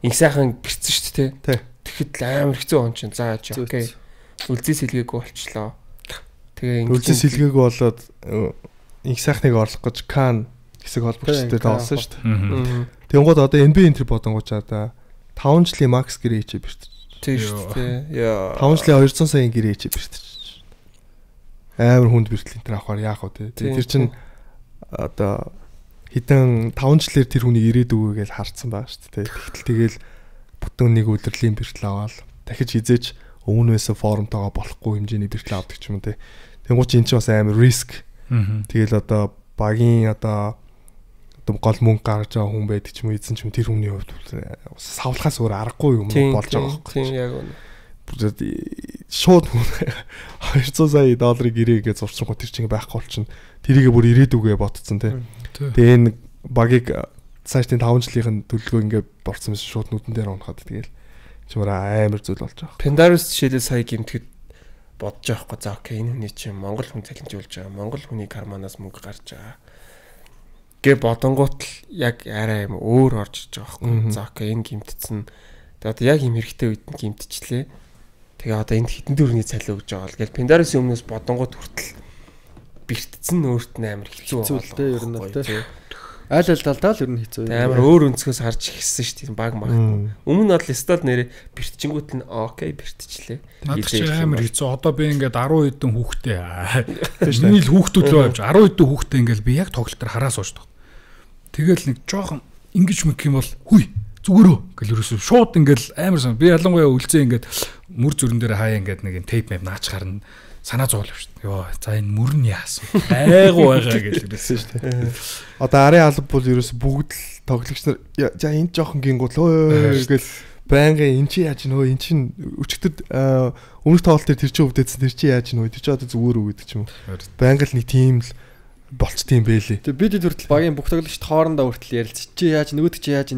Инх сайхан бэртсэн шүү дээ тий. Тэгэхэд амар хэцүү он чинь зааж окей. Үлзий сэлгээгүй болчлоо. Тэгээ үлзий сэлгээгүй болоод инх сайхныг орлох гэж Кан хэсэг холбогчтой таасан шүү дээ. Тэнгууд одоо NBA энтер бодонгуучаа 5 жилийн макс гэрээ хийчээ бэртэж. Тийм шүү дээ. Яа. 5 жилийн 200 саяын гэрээ хийчээ бэртэж. Амар хүнд бэртэл энтер авахаар яах вэ те. Тэр чин одоо хэдэн 5 жилээр тэр хүнийг ирээдүгөө гэж харцсан байгаа шүү дээ. Тэгтэл тэгэл бүтэн нэг удирдлийн бэртэл аваад дахиж хизээч өмнөөсөө форумтойгоо болохгүй хэмжээний бэртэл авдаг ч юм уу те. Тэнгууд чи эн чинь бас амар риск. Тэгэл одоо багийн одоо гол мөнгө гаргаж байгаа хүн байдаг ч юм уу эзэн ч юм тэр хүний хувьд савлахаас өөр аргагүй юм болж байгаа байхгүй. Тийм яг үнэ. Шууд $200 сая гэрээгээ зурчихгүй тэр чинь байхгүй болчихно. Тэрийгээ бүр ирээдүгөө ботцсон те. Тэгээ энэ багийг цаашдын 5 жилийн төлөвлөгөө ингээд борцсон байсан шууд нүдэн дээр унахад тэгэл чимээр амар зүйл болж байгаа. Pendarus жишээлээ сая гэмтгэд бодож байгаа хгүй. За окей энэ хүний чинь Монгол хүн цалинжуулж байгаа. Монгол хүний карманаас мөнгө гарч байгаа. Гэ бодонгууд л яг арай юм өөр орж иж байгаа хгүй. За окей энэ гэмтцэн. Тэгээ одоо яг юм хэрэгтэй үед нь гэмтчлээ. Тэгээ одоо энд хитэн дөрвний цалин өгж байгаа л. Гэл Pendarus өмнөөс бодонгууд хүртэл бэртцэн өөрт нь амар хэцүү болтой ер нь те. Аль талдаа л ер нь хэцүү. Амар өөр өнцгөөс харж ихсэн шүү дээ баг мах. Өмнө нь бол стол нэрээ бэртчингүүт нь окей бэртчлээ. Надад ч амар хэцүү. Одоо би ингээд 10 хэдэн хүүхдээ. Миний л хүүхдүүд рүү авч 10 хэдэн хүүхдээ ингээд би яг тоглолтоор хараа суучдаг. Тэгэл нэг жоохон ингэж мэх юм бол хүй зүгээрөө гэл ерөөсөө шууд ингээд амар сан. Би ялангуяа үлзээ ингээд мөр зүрэн дээр хаяа ингээд нэг тейп мэв наач гарна. Санаа зовлоо шүү дээ. Йоо, за энэ мөр нь яасан. Айгу байгаа гэж хэлсэн шүү дээ. Одоо арын алба бол ерөөс бүгд л тоглогч нар за энэ жоохон гингуул өө гэл байнгын эн чи яаж нөө эн чин өчигдөр өмнөх тоглолт дээр тэр чи өвдөдсөн тэр чи яаж нөө тэр чи одоо зүгээр үү гэдэг ч юм уу. Байнга л нэг тим л болцсон юм бэлээ. Тэгээ бид хүртэл багийн бүх тоглогчд хоорондоо хүртэл ярилцчих чи яаж нөгөөд чи яаж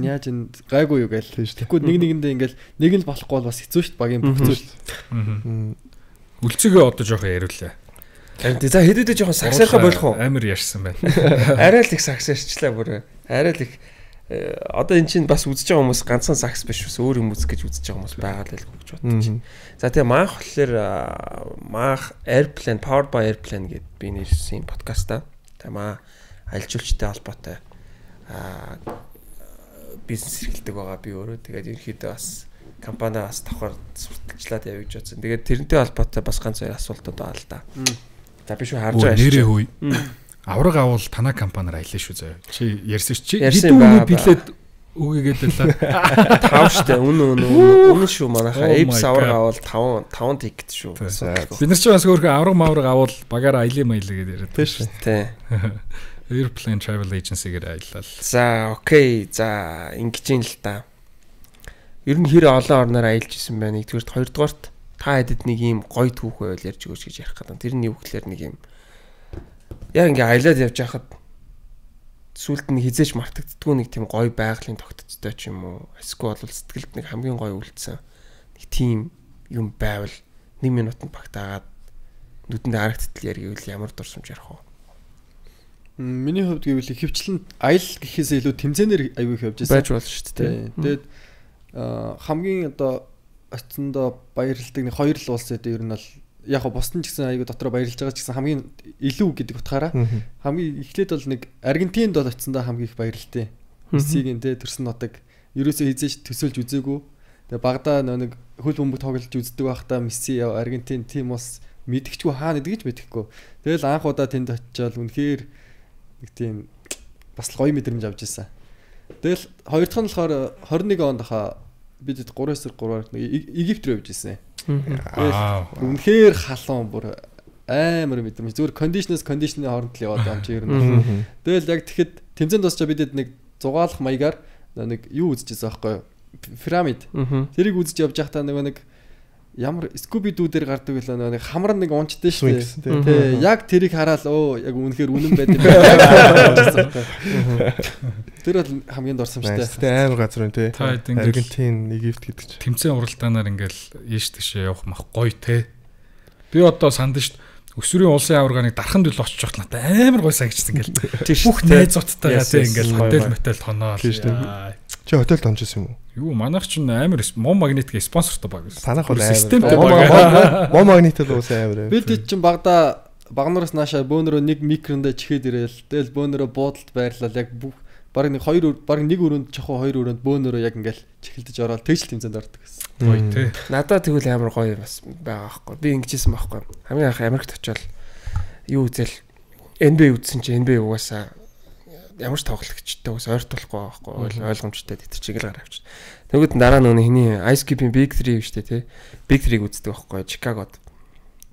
гайгүй юу гээл. Тэгэхгүй нэгэндээ ингээл нэг нь болохгүй бол бас хэцүү шүү дээ багийн бүх зүйл. Үлцэгээ одоо жоохон яриулаа. За хэдүүдээ жоохон сагсаархаа болох уу? Амар ярьсан байна. Арай л их сагсаарчлаа бүр. Арай л их одоо эн чинь бас үзэж байгаа хүмүүс ганцхан сакс биш бас өөр юм үзэх гэж үзэж байгаа хүмүүс байгаа л гэж бодож байна. За тэгээ маах болохоор маах Airplane Powered by Airplane гэдэг би нэрсэн подкастаа. Тэгээ маа аялжуулчтай холбоотой бизнес эрхэлдэг байгаа би өөрөө. Тэгээд ерөнхийдөө бас компани бас давхар сурталчлаад явж бодсон. Тэгээд тэрнтэй холбоотой бас ганц хоёр асуултууд байна л да. За би шүү харж байгаа шүү. Нэрээ хүй. Авраг авал танаа компаниар аялаа шүү заяа. Чи ярьсан чи хэдүүний билет өгөөгээд байлаа. 5 штэ үнэн шүү манайхаа Apes авраг авал 5 тикет шүү. Бид нар ч бас өөрхөн авраг авал багаараа аялын маялаа гэдээ яриад тийм шүү. Тийм. Airplane Travel Agency-гээр аялал. За окей. За ингэж юм л та. Ер нь хэр олон орноор аялж исэн байна. Нэгдүгээрт хоёрдугаарт та хэдэд нэг ийм гоё түүх байвал ярьж өгөөч гэж ярих гэдэг. Тэр нь юу гэхээр нэг юм яг ингээ аялаад явж байхад сүлд нь хизээч мартагддгүй нэг тийм гоё байгалийн тогтцтой ч юм уу. Эсвэл бол сэтгэлд нэг хамгийн гоё үлдсэн нэг тийм юм байвал 1 минутанд багтаагаад нүдэнд харагдтал яригвэл ямар дурсамж ярих вэ? Миний хувьд гэвэл ихэвчлэн аял гэхээс илүү тэмцээнээр аягүй их явж байсан. Байж болно шүү дээ. Тэгээд хамгийн одоо очиндоо баярлдаг нэг хоёр л улс гэдэг ер нь бол яг го бусдын ч гэсэн аягүй дотроо баярлж байгаа ч гэсэн хамгийн илүү гэдэг утгаараа хамгийн эхлээд бол нэг Аргентинд бол очиндоо хамгийн их баярлалтай. Мессигийн тэ төрсөн нотог ерөөсөө хизээж төсөөлж үзээгүй. Тэгээ багада нэг хөл бөмбөг тоглож үздэг байхдаа Месси Аргентин тим ус мэдгчгүй хаана идэгж мэдэхгүй. Тэгэл анх удаа тэнд очичаал үнэхээр нэг тийм бас гоё мэдрэмж авч ирсэн. Тэгэл хоёр дахь нь болохоор 21 онд хаа бид 3-3-аар Египт рүү явж ирсэн. Үнэхээр халуун бүр амар мэдрэмж. Зүгээр кондишны хооронд л яваад байгаа юм чи ер нь. Тэгэл яг тэгэхэд тэмцээнд дуусчаа бидэд нэг зугаалах маягаар нэг юу үзчихсэн байхгүй юу? Пирамид. Тэрийг үзэж явж байхдаа нэг ямар Scooby Doo дээр гардаг байлаа нэг хамар нэг унцтай шүү дээ. Тэ яг тэрийг хараад яг үнэхээр үнэн байд юм байна. Тэр бол хамгийн дурсамжтай. Тэ амар газар үнэ тэ. Аргентин, Египт гэдэг чинь. Тэмцээн уралдаанаар ингээл ийш тийшээ явах мах гоё тэ. Би одоо санд шүү дээ. Өсвөрийн улсын аваргааныг дархан дэл очиж явах надад амар гоё санагдсан ингээл. Бүх найзуудтайгаа тэ ингээл хотел тоноол. Чи хотелд онжсэн юм уу? Юу манайх ч амар мом магнитик спонсортой баг. Санах бол системтэй баг. Мом магнитик уус амар. Бид чинь багнараас наашаа бөөнөрөө нэг микрондоо чихээд ирээл. Тэгэл бөөнөрөө буудалд байрлал яг баг нэг өрөөнд чохоо хоёр өрөөнд бөөнөрөө яг ингээл чихэлдэж ороод тэгж тэмцээнд ордог гэсэн. Гоё тий. Надад тэгвэл амар гоё бас байгаа байхгүй. Би ингэжсэн байхгүй. Хамгийн анх Америкт очивол юу үзэл NBA үзсэн чи NBA угаасаа ямар ч тоглогчтой ус ойртуулахгүй байхгүй ойлгомжтой тэр чигээр гараа авчих. Тэгвэл дараа нь хиний Ice Cube-ийн Big 3 шүү дээ тий. Big 3-г үздэг байхгүй Чикагод.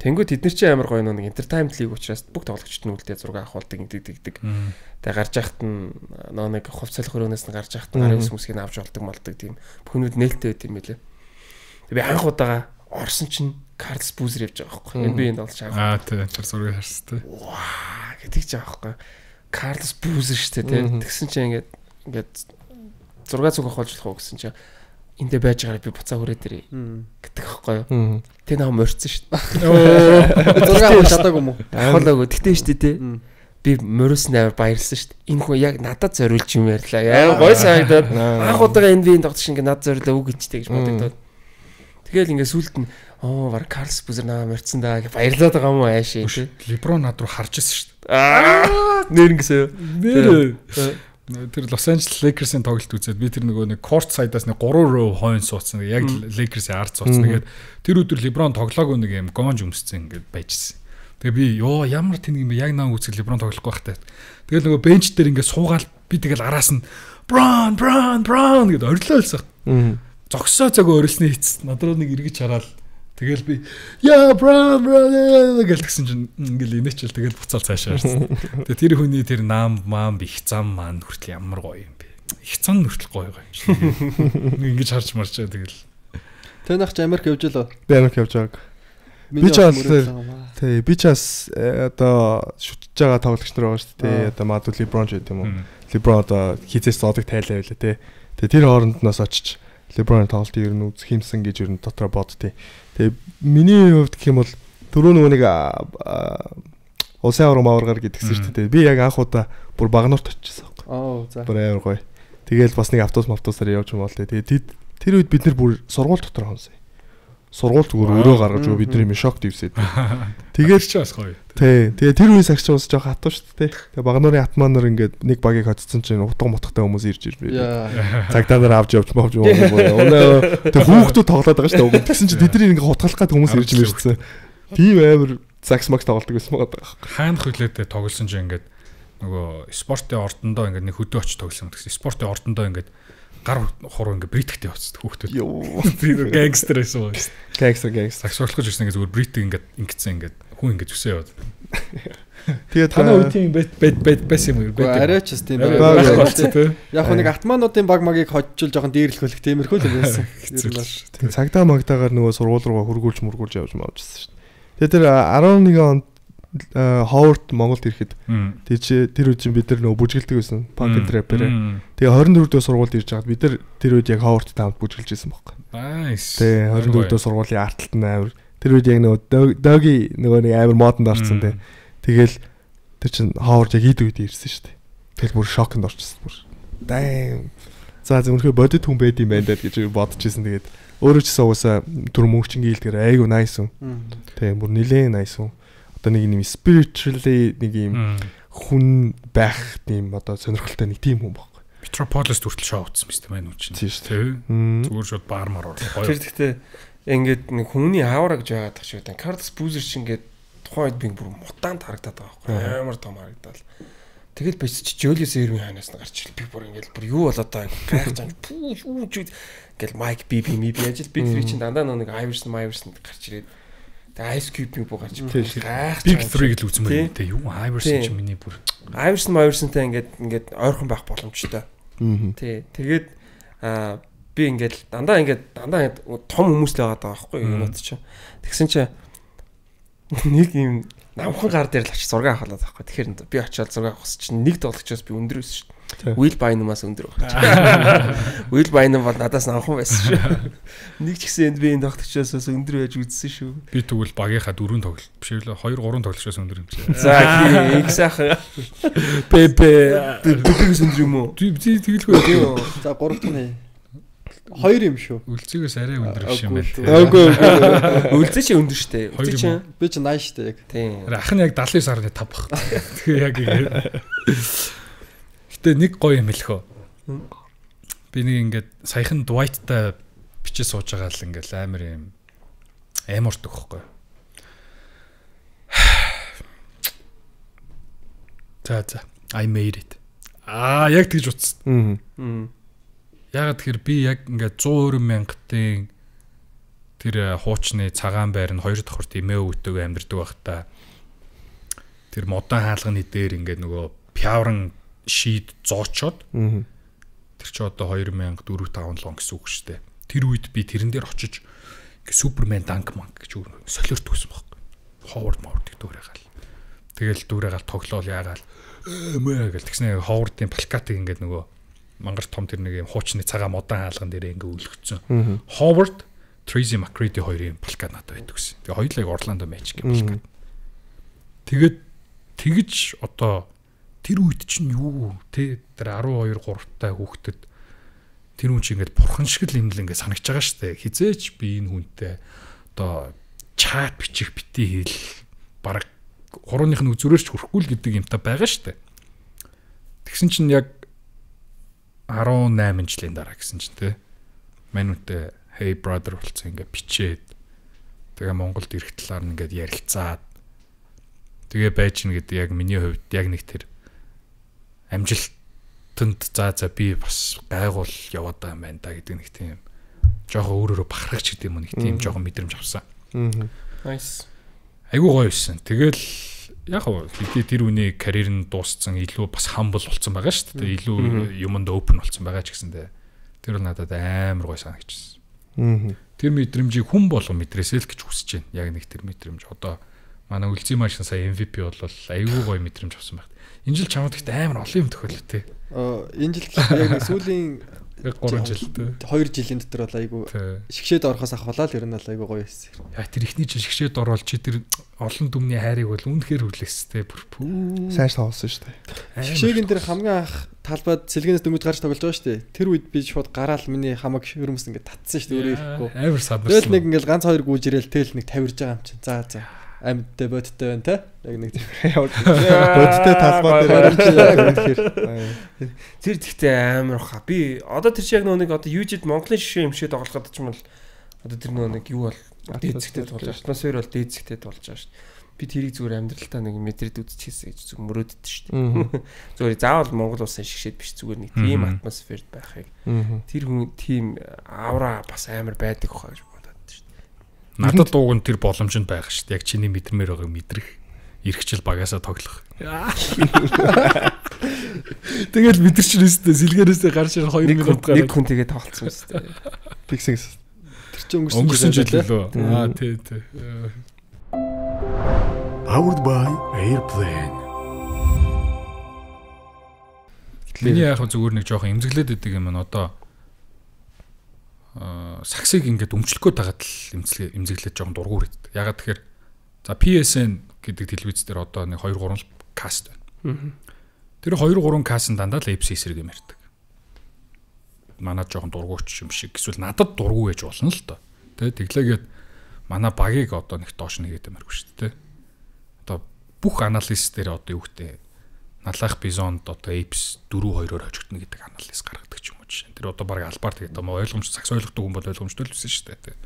Тэнгүүд тэд нар чи амар гоё нэг entertainment league учраас бүх тоглогчид нь үлдээ зураг авахулдаг ингэдэг. Тэгээ гарч яхад нь нэг хувцалах хөрөөнөөс нь гарч яхад нь гарын сүмсгийг авч болдог тийм бүхнүүд нээлттэй байт юм байлээ. Тэгээ би анх удаага орсон чинь Carlos Boozer явж байгаа байхгүй. NBA-нд олж байгаа. Тий тэр зургийг харсан тий. Ваа гэдэг ч байгаа байхгүй. Carlos Boozer шүү дээ тий. Тэгсэн чинь ингээд зураг зүг авах болж болох уу гэсэн чинь эндээ байж байгаараа би буцаа хүрээд ирээ гэдэг байхгүй юу. Тэ нам морьцсон шүү дээ. Зураг авах чадаагүй юм уу? Ахуулаагүй. Тэгтээ шүү дээ тий. Би мөрөөс нээр баярлсан шүү дээ. Энэ хүн яг надад зориулж юм ярьлаа. Яа гой санагдаад анх удаага NBA-нд тоглож ингээд надад зориулаа үг гэжтэй гэж бодогдоод. Тэгэл ингээд сүлд нь баг Carlos Boozer намайг морьцсон даа гэж баярлаад байгаа юм уу аашаа тий. Леброн над руу харж ирсэн шүү дээ. Нэр ингэсэн. Нэр тэр Лос Анжелес Lakers-ийн тоглолт үзээд би тэр нэг court side-аас 3 row хойно суудсан. Яг Lakers-ийн ард суудсан. Тэгээд тэр өдөр LeBron тоглоогүй нэг юм гонж өмссөн ингээд байжсэн. Тэгээ би ямар тэнэг юм бэ? Яг наа үзэх LeBron тоглохгүй байхтай. Тэгэл нөгөө бенч дээр ингээд суугаал би тэгэл араас нь Bron гэд орилоолсон. Зогсоо цагөө орилсны хийц. Надруу нэг эргэж хараад тэгэл би Bron гэлсэн чинь ингээл инээчэл тэгэл буцаал цаашаа харсан. Тэгээ тэр хүний тэр наам их зам маань хүртэл ямар гоё юм бэ? Их зам хүртэл гоё юм шиг. Ингэж харж марчаа тэгэл. Тэнийх ч Америк явж лөө. Би Америк явж байгааг. Би ч бас одоо шүтж байгаа тоглогч нар байгаа шүү дээ. Одоо Маду LeBron ч гэдэг юм уу. LeBron одоо хизээс зодог тайлаа байлаа те. Тэгээ тэр хооронд нас очиж LeBron тоглолтыг ер нь үзэх юмсан гэж ер нь дотроо боддتي. Тэгээ миний хувьд гэх юм бол түрүү нэг улсын аваргаар гэдгсэн шүү дээ. Би яг анх удаа бүр Багнуурт очижсэн байхгүй. За. Бүр амар гоё. Тэгээл бас нэг автобусаар явж юм бол тэгээ тэр үед бид нар бүр сургууль дотор хонсон. Сургууль зүгээр өрөө гаргаж өгөө бидний минь шок дивсээд. Тэгээд ч бас гоё. Тий. Тэгээ тэр үеэс агч бас жоох хатуу шүү дээ. Тэгээ Багнуурын атманаар ингээд нэг багийг хоцсон чинь утга мутгатай хүмүүс ирж ирвэ. Цагдаа нар авч явж мовж юм. Тэгээ хүүхдүүд тоглоод байгаа шүү дээ. Тэгсэн чинь тэдний ингээд хутгалах гад хүмүүс ирж ирсэн. Тийм амар загс макс тоглолдог байсан байгаа. Хаана хөлөөдөө тоглосон чинь ингээд нөгөө спортын ордондоо ингээд нэг хөдөө очиж тоглосон гэсэн. Спортын ордондоо ингээд гар хуруу ингээ бритгтэй явцдаг хүүхдүүд. Тэр гангстер байсан уу? Гангстер. Саксуулах ирсэн ингээ зүгээр бритг ингээ ингэсэн ингээ хүн ингээ зүсээ яваад. Тэгээд танаа үеийн байсан юм уу? Арай ч тийм байх. Яг нэг атмануудын баг магийг хоцчул жоохон дээрлэх тиймэрхүү л байсан. Тийм цагдаа магдаагаар нөгөө сургууль руугаа хургуулж явж маавчсан шүү дээ. Тэгээд тэр 11 онд Ховард Монголд ирэхэд тэр үед бид нар нөгөө бүжгэлдэг байсан панк рэпер. Тэгээ 24 дэх сургуульд ирж байгаад бид нар тэр үед яг Ховардтай хамт бүжгэлж байсан байхгүй. Nice. Тэгээ 24 дэх сургуулийн артталт нь амар. Тэр үед яг нөгөө доги нөгөө нэг амар модонд орсон те. Тэгэл тэр чин Ховард яг ийд үед ирсэн шүү дээ. Тэгэл бүр шокнд орчихсон бүр. Дай. За зөвхөн бодит хүн байд юм байна даа гэж бодчихсон. Тэгээд өөрөө ч уусаа түр мөнгөчингийн хэлдгээр айгу nice юм. Тэгээ бүр нилээн nice юм. Нэг юм spiritually нэг юм хүн байх тийм одоо сонирхолтой нэг тийм хүн байхгүй. Metropolis хүртэл шоу утсан биз дээ маань үуч. Тийм шүү. Зүгээр шууд баармаар орлоо. Тэр гэхдээ ингээд нэг хүний аавра гэж байгаад тах шиг байна. Carlos Boozer ч ингээд тухайн үед би бүр мутант харагдаад байгаа байхгүй. Амар том харагдаад. Тэгэл бич Julius Erving ханаас нь гарч ирэл би бүр ингээд бүр юу болоод байгаа байх зам пүүж ингээл Mike BB ажил Big 3 чинь дандаа нэг Iverson гарч ирээд Тэгээ Ice Cube-ийг буугач гайх. Big 3 гэж үзмээр те юу Iverson ч миний бүр. Iverson-тай ингээд ойрхон байх боломжтой. Тий. Тэгээд би ингээд дандаа том хүмүүс л байгаа даа байхгүй юу ч. Тэгсэн чинь нэг юм намхан гар дээр л очиж зураг авахлаа байхгүй. Тэгэхээр би очиод зураг авахс чинь нэг тоглогчоос би өндөр байсан шүү дээ. Will Bynum-аас өндөр байгаа. Will Bynum бол надаас намхан байсан шүү. Нэг ч гэсэн би энэ тоглогчоос өндөр байж үзсэн шүү. Би тэгвэл багийнхаа 4 тоглолт биш ээ 2 3 тоглогчоос өндөр юм шиг. За их сайхан. Бэбээс өндөр юм уу? Би тэгэлгүй. За 3 дахь 2 юм шүү. Үлцгээс арай өндөр биш юм байна. Үгүй. Үлцээ чи өндөр штэ. Үлцээ чи би ч 80 штэ яг. Тийм. Ах нь яг 79.5 баг. Тэгээ яг ингэ. Гэтэ нэг гоё юм хэлэхөө. Би нэг ингээд саяхан Dwight-тай бичиж сууж байгаа л ингээд амар юм амарт өгөхгүй. За I made it. Яг тэгж утсан. Ягаад тэгэхээр би яг ингээд 120,000-ын тэр хуучны цагаан байр нь 2 давхарт эмээ өвтөг амьдэрдэг байхдаа тэр модон хаалганы дээр ингээд нөгөө пявран шийд зоочоод тэр чи одоо 2004-5 лон гэсэн үг шүү дээ. Тэр үед би тэрэн дээр очиж ингээд Супермен данк манк гэж солиорт өгсөн байхгүй. Ховард моврд дүүрээгаал. Тэгэл дүүрээгаал тоглоол яагаал мэ гэл тэгснэ Ховардын плакатыг ингээд нөгөө мангар том тэр нэг юм хуучны цагаан модон хаалган дээр ингээ үлгцсэн. Howard, Tracy McGrady хоёрын плакат надад байдаг гэсэн. Тэгээ хоёулаа Орландо Magic плакат. Тэгээд тэгж одоо тэр үед чинь юу те тэр 12 3-тай хүүхдэд тэр хүн чинь ингээд бурхан шиг л юм л ингээ санагч байгаа штэ. Хизээч би энэ хүнтэй одоо чат бичих бити хэл бараг 3-ных нь үзүүрээр ч хүрхгүй л гэдэг юмтай байгаа штэ. Тэгсэн чинь яг 18 жилийн дараа гэсэн чинь те манүнтэй hey brother болцсон ингээ бичээд тэгээ Монголд ирэх талаар ингээд ярилцаад тэгээ байж гэнэ гэдэг яг миний хувьд яг нэг тэр амжилтанд за би бас гайгуул яваад байгаа юм байна да гэдэг нэг тийм жоохон өөрөөрөө бахархагч гэдэг юм уу нэг тийм жоохон мэдрэмж авсан. Nice. Айгуу гоё байсан. Тэгэл яг хөө тэр үний карьер нь дууссан илүү бас humble болсон байгаа шүү дээ. Илүү юмд open болсон байгаа ч гэсэндээ тэр бол надад амар гоё санагдчихсан. Тэр мэдрэмжийг хүн болго мэдрээсэй л гэж хүсэж байна. Яг нэг тэр мэдрэмж одоо манай үлзий машин сая MVP болвол айгүй гоё мэдрэмж авсан байна. Энэ жил чамд ихтэй амар олон юм тохиолоо те. Энэ жил яг нэг сүүлийн 3 жилтэй 2 жилийн дотор бол айгүй шигшээд орохоос ахвалаа л ер нь бол айгүй гоё байсан. Яа тэр ихний жил шигшээд орвол чи тэр олон дүмний хайрыг бол үнэхээр хүлээстэй бүр сайн тоглосон шүү дээ. Шигшээгийн тэр хамгийн анх талбайд сэлгэнээс дөнгөж гарч тоглож байгаа шүү дээ. Тэр үед би шууд гараал миний хамаг хөрмөс ингээд татсан шүү дээ өөрөө ирэхгүй. Амар садарсан. Тэгэл нэг ингээд ганц хоёр гүйж ирээл тэл нэг тавирж байгаа юм чинь. За амьдтай бодтой байна те. Яг нэг бодтой талбай дээр тэр тэгтээ амар хаа. Би одоо тэр шиг нэг одоо юужид Монголын шишээ юмшээд тоглоход ч юм бол одоо тэр нэг юу бол дээцэгтэй болж байгаа. Атмосфер бол дээцэгтэй болж байгаа шүү дээ. Би тэрийг зүгээр амьдралтаа нэг мэдрээд үзчихсэн гэж зүг мөрөөддөг шүү дээ. Зүгээр заавал Монгол улсын шишээд биш зүгээр нэг тийм атмосферд байхыг. Тэр хүн тийм аура бас амар байдаг хаа гэж бодоод шүү дээ. Надад дууг нь тэр боломжинд байгаа шүү дээ. Яг чиний мэдрэмээр байгааг мэдрэх. Ирхчил багасаа тоглох. Тэгэл мэдэрч нэстэй сэлгээрээсээ гарч ирэх 2 минут гараад нэг хүн тэгээ тоглолцсон шүү дээ. Фиксинг. Тэр чинь өнгөрсөн жил лөө. Тий. Powered by Airplane. Миний яг зүгээр нэг жоохон эмзэглээд байдаг юм аа одоо саксыг ингээд өмчлөхөд тагаад л эмзэглээд жоохон дургуур идэв. Ягаад тэгэхээр за PSN гэдэг телевиз дээр одоо нэг 2-3 каст байна. Тэр 2-3 каст дандаа л APC эсрэг юм ярьдаг. Манай жоохон дургуйч юм шиг эсвэл надад дургуй байж болно л доо. Тэ тэглээгээд манай багийг одоо нэг доош нэгээд юмаргүй шүү дээ. Одоо бүх анализ дээр одоо юу гэдэг налах бизонд одоо APS 4-2-оор хожигдно гэдэг анализ гаргадаг ч юм уу жишээ. Тэр одоо баг албаар тэгээд ойлгомж сакс ойлгодог хүн бол ойлгомжтой л байсан шүү дээ.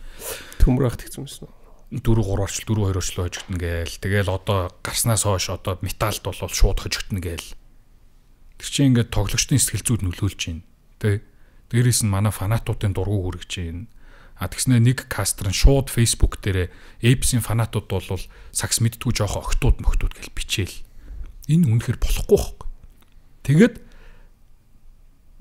Төмөр ахт гэсэн юм. 4-3-орчл 4-2-орчл хожигдно гээл. Тэгэл одоо гарснаас хойш одоо металд бол шууд хожигдно гээл. Тэр чинь ингээд тоглогчдын сэтгэл зүйд нөлөөлж байна. Тэ. Дээрээс нь манай фанатуудын дургу хүргэж байна. Тэгснэ нэг кастер нь шууд Facebook дээр Apes-ийн фанатууд бол сакс мэддгүй жоохон огтуд гэж бичээл. Энэ үнэхээр болохгүй байхгүй. Тэгээд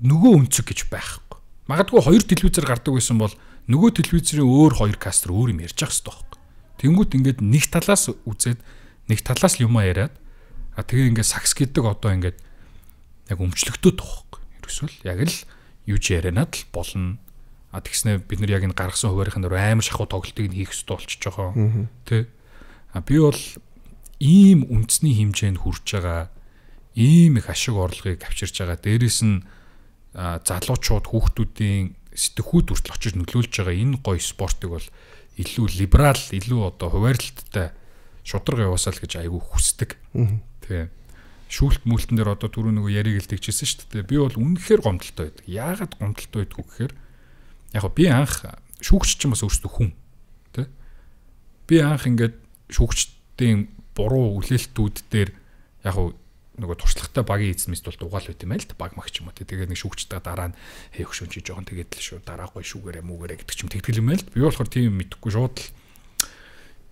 нөгөө өнцөг гэж байхгүй. Магадгүй хоёр телевизээр гардаг байсан бол нөгөө телевизийн өөр хоёр кастер өөр юм ярьж ах хэрэгтэй байхгүй. Тэнгүүт ингээд нэг талаас үзээд нэг талаас юмаа яриад тэгээ ингээд сакс гэдэг одоо ингээд яг өмчлөгдөд байхгүй. Ерөөсөл яг л юу ч ярианаад л болно. Тэгснэ бид нар яг энэ гаргасан хуваарийн дээр амар шахуу тоглолтыг хийх хэрэгтэй болчихж байгаа. Тэ. Би бол ийм үндэсний хэмжээнд хүрж байгаа ийм их ашиг орлогыг авчирч байгаа. Дээрээс нь залуучууд хүүхдүүдийн сэтгхүүд хүртэл очиж нөлөөлж байгаа энэ гоё спортыг бол илүү либерал, илүү одоо хуваарлттай шударга яваасаа л гэж айгүй хүсдэг. Тэ. Шүүлт мүлтэн дээр одоо түрүү нөгөө яриг л тэгчихсэн шүү дээ. Би бол үнэхээр гомдолтой байдаг. Яагаад гомдолтой байдгүй гэхээр яг би анх шүүгч ч юм бас өөрсдөө хүн тий. Би анх ингээд шүүгчдийн буруу үлээлтүүд дээр яг нөгөө туршлагатай багийн эзэмст бол дугаал байт юм аа л баг магч юм уу тий. Тэгээд нэг шүүгчтэй дараа нь хөшөн чи жоохон тэгээд л шүү дараа гой шүүгээрээ мүгээрээ гэдэг ч юм тэгтгэл юм аа л. Би болохоор тийм мэдэхгүй шууд л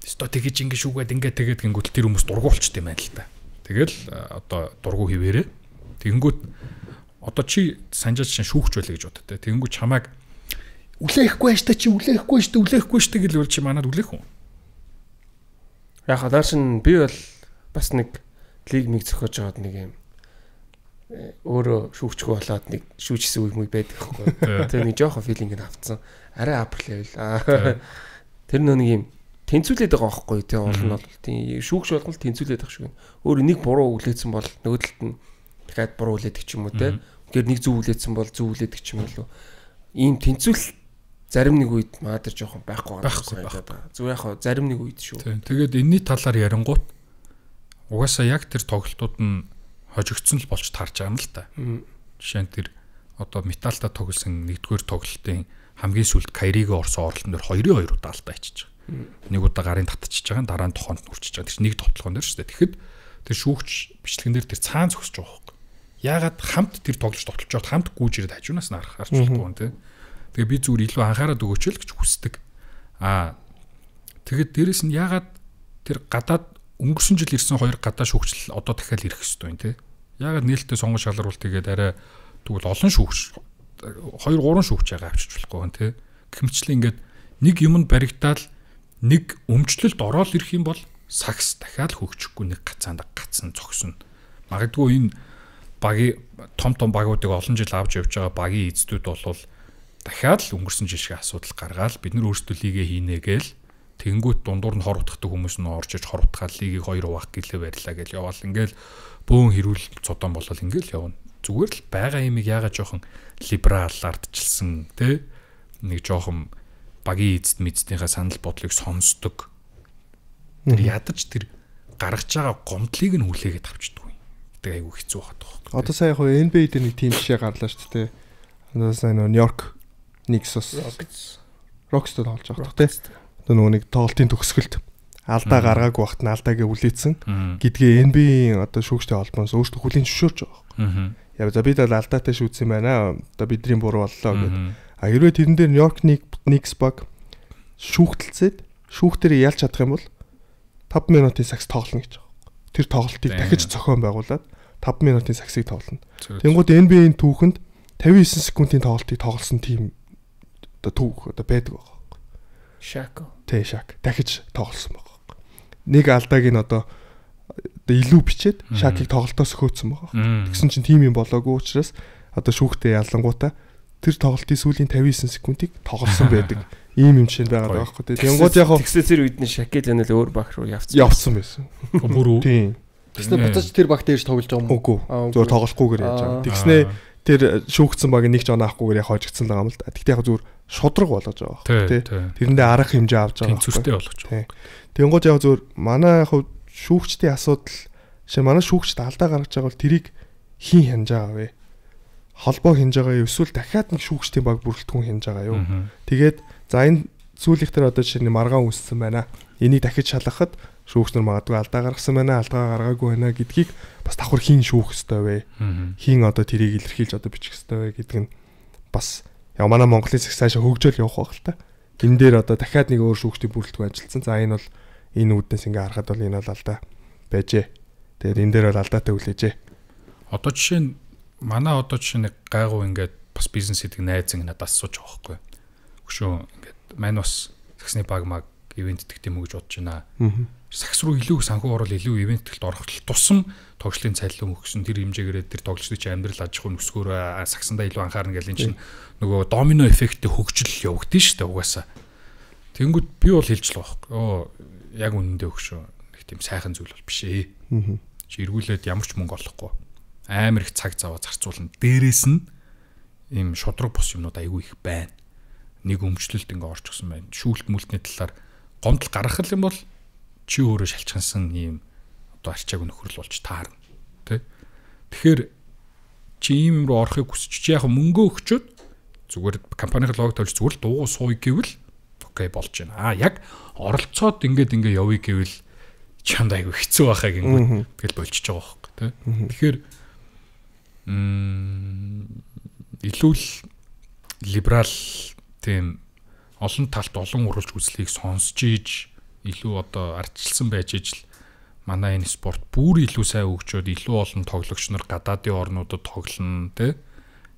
өстой тэгэж ингэ шүүгээд ингэ тэгээд гингүүт тэр хүмүүс дургуулчт юм аа л та. Тэгэл одоо дургу хിവэрээ. Тэгэнгүүт одоо чи санжаач шин шүүгч байлаа гэж боддог. Тэгэнгүүт чамайг үлээхгүй штэ чи үлээхгүй штэ гэл бол чи манад үлээх үү? Яг хадаашин би бол бас нэг лиг миг зөхөж байгаад нэг юм өөрөө шүүгчгүй болоод нэг шүүжсэн үе байдаг байхгүй. Тэгээ нэг жоохон филинг нь авцсан. Арай апр левел. Тэр нэг юм тэнцүүлээд байгаа байхгүй тий олон бол тий шүүгч болгол тэнцүүлээд байгаа шүү. Өөр нэг буруу үлээсэн бол нөгөө талд нь дахиад буруу үлээдэг ч юм уу тий. Тэгэхээр нэг зөв үлээсэн бол зөв үлээдэг ч юм уу. Ийм тэнцүүл зарим нэг үед маадэр жоохон байхгүй байгаа. Зөв яг зарим нэг үед шүү. Тэгээд энэний талаар ярингуут угаасаа яг тэр тоглолтууд нь хожигдсон л болж таарч байгаа юм л та. Жишээ нь тэр одоо металта тоглосон нэгдүгээр тоглолтын хамгийн сүүлд Кайригийн орсон оролтон дээр 2-2 удаа алдаа ичиж байгаа. Нэг удаа гарын татчихж байгаа, дараа нь тохоонд нүрчиж байгаа. Тэр нэг тоглоом дээр шүү дээ. Тэгэхэд тэр шүүгч бичлэгэн дээр тэр цаан зогсож байгаа байхгүй. Яагаад хамт тэр тоглож тоглож хамт гүйж ирээд хажуунаас нь харж болохгүй юм те. Тэгээ би зүгээр илүү анхаарал өгөөч л гэж хүсдэг. Тэгэд дээрэс нь яагаад тэр гадаад өнгөрсөн жил ирсэн хоёр гадаа шүүгчл одоо дахиад ирэх ёстой юм те. Яагаад нээлттэй сонгон шалгаруулт тэгээд арай тэгвэл олон шүүгч 2-3 шүүгч яага авчиж болохгүй юм те. Гэмчлээ ингээд нэг юмд баригдаад нэг өмчлөлд ороод ирэх юм бол сакс дахиад хөгжихгүй нэг гацаанд гацсан зогсно. Магадгүй энэ багийн том багуудыг олон жил авч явж байгаа багийн эзэдүүд бол дахиад л өнгөрсөн жил шиг асуудал гаргаад бид нар өөрсдөө лигээ хийнэ гээл тэнгүүт дундуур нь хор утгадаг хүмүүс нь орж иж хор утгаад лигийг 2 хуваах гэлээ барьлаа гэж яваал ингээл бөөн хэрүүл цодон болол ингээл явна. Зүгээр л байгаа юмыг яагаад жоохон либерал ардчилсан те нэг жоохон багийн эзэд мэдснийхаа санал бодлыг сонсдог. Тэр ядаж тэр гаргаж байгаа гомдлыг нь хүлээгээд авчдаг. Тэг айгүй хэцүү хаад байгаа. Одоо сая яг NBA дээр нэг тим жишээ гарлаа шүү дээ. Одоо сая Нью-Йорк Никсос Рокстой тоглож байгаа тий. Одоо нөгөө нэг тоглолтын төгсгөлд алдаа гаргаагүй багт нь алдаагээ үлээсэн гэдгээ NBA-ийн одоо шүүгчтэй холбоос өөртөө хүлээн зөвшөөрч байгаа. Яа за бид алдаатай шүүцсэн байна. Одоо бидний буруу боллоо гэдэг. Хэрвээ тэрэн дээр Нью-Йорк Никс баг шүүхтэлцээд шүүхтэрийг ялж чадах юм бол 5 минутын сакс тоглоно гэж байгаа. Тэр тоглолтыг дахиж зохион байгуулад 5 минутын саксыг тоглоно. Тэнгууд NBA-ийн түүхэнд 59 секундын тоглолтыг тоглосон тим одоо түүх одоо байдаг байгаа. Шако. Шак дахиж тоглосон байгаа. Нэг алдааг нь одоо илүү бичээд шакийг тоглолтоос хөөцсөн байгаа. Тэгсэн чинь тим юм болоогүй учраас одоо шүүхтээ ялангуудаа тэр тоглолтын сүүлийн 59 секундыг тоглосон байдаг. Ийм юм чинь байгаа байхгүй. Тэнгууд яг тэгсээ тэр үед нь шакел анал өөр баг руу явцсан байсан. Бүр үү? Тийм. Тэгснэ буцаж тэр баг дээрж тоглож байгаа юм уу? Үгүй. Зүгээр тоглохгүйгээр яаж байгаа. Тэгснэ тэр шүүгцсэн баг нэг ч оноо авахгүйгээр яг хожигдсан байгаа юм л да. Тэгтээ яг зүгээр шудраг болгож байгаа байхгүй тий. Тэрэндээ арга хэмжээ авч байгаа. Тэнцвэртэй болгож байгаа. Тэнгууд яг зүгээр манай яг шүүгчдийн асуудал шээ манай шүүгчд алдаа гаргаж байгаа бол тэрийг хийн хянаж байгаа вэ? Холбоо хянаж байгаа юу? Эсвэл дахиад нэг шүүгчдийн баг бүрэлдэхүүн хянаж байгаа юу? Тэгээд за энэ сүүлийнхтэр одоо жишээ нь маргаан үүссэн байна. Энийг дахиж шалгахад шүүгч нар магадгүй алдаа гаргасан байна, алдаа гаргаагүй байна гэдгийг бас давхар хийн шүүх ёстой вэ? Хийн одоо тэрийг илэрхийлж одоо бичих ёстой вэ гэдэг нь бас яг манай Монголын засаг цаашаа хөгжөөл явах байх л та. энэ дээр одоо дахиад нэг өөр шүүгчдийн бүрэлдэхүүн ажилласан. За энэ бол энэ үүднээс ингээ харахад бол энэ бол алдаа байжээ. Тэгээд энэ дээр бол алдаатай хүлээжээ. Одоо жишээ нь манай одоо жишээ нэг гайгүй ингээд бас бизнес хийдэг найз надад асууж байгаа байхгүй. Хөшөө ингээд мань бас саксны баг маг ивент гэдэг юм уу гэж бодож байна. Сакс руу илүү санхүү орол илүү ивентэлд орох тусам тоглолтын цалин өгсөн тэр хэмжээгээр тэр тоглолтын чинь амьдрал аж ахуйн өсгөөр саксандаа илүү анхаарна гэл энэ чинь нөгөө домино эффекттэй хөгжил явагдсан шүү дээ угаасаа. Тэнгүүд би бол хэлж л байхгүй. Яг үнэндээ өгшөө. Нэг тийм сайхан зүйл бол биш ээ. Чи эргүүлээд ямар ч мөнгө олохгүй. Амар их цаг зав зарцуулна. Дээрээс нь ийм шудраг бос юмнууд айгүй их байна. Нэг өмчлөлт ингээ орч гсэн байна. Шүүлт мүлтний талаар гомдол гаргах юм бол чи өөрөө шалчгансан ийм одоо арчааг нөхрөл болж таарна. Тэ? Тэгэхээр чи ийм руу орохыг хүсч чи яг мөнгө өгчөөд зүгээр компанийн лого тавьж зүгээр дуугу сууя гэвэл окей болж байна. Яг оролцоод ингээ явъя гэвэл чамд айгүй хэцүү байхаа гингүү. Тэгэл болчихж байгаа байхгүй тэ. Тэгэхээр илүү либерал тийм олон талт олон уралж үзлийг сонсч ийж илүү одоо ардчилсан байж ижил манай энэ спорт бүр илүү сайн хөгжөөд илүү олон тоглогч нар гадаадын орнуудад тоглоно тэ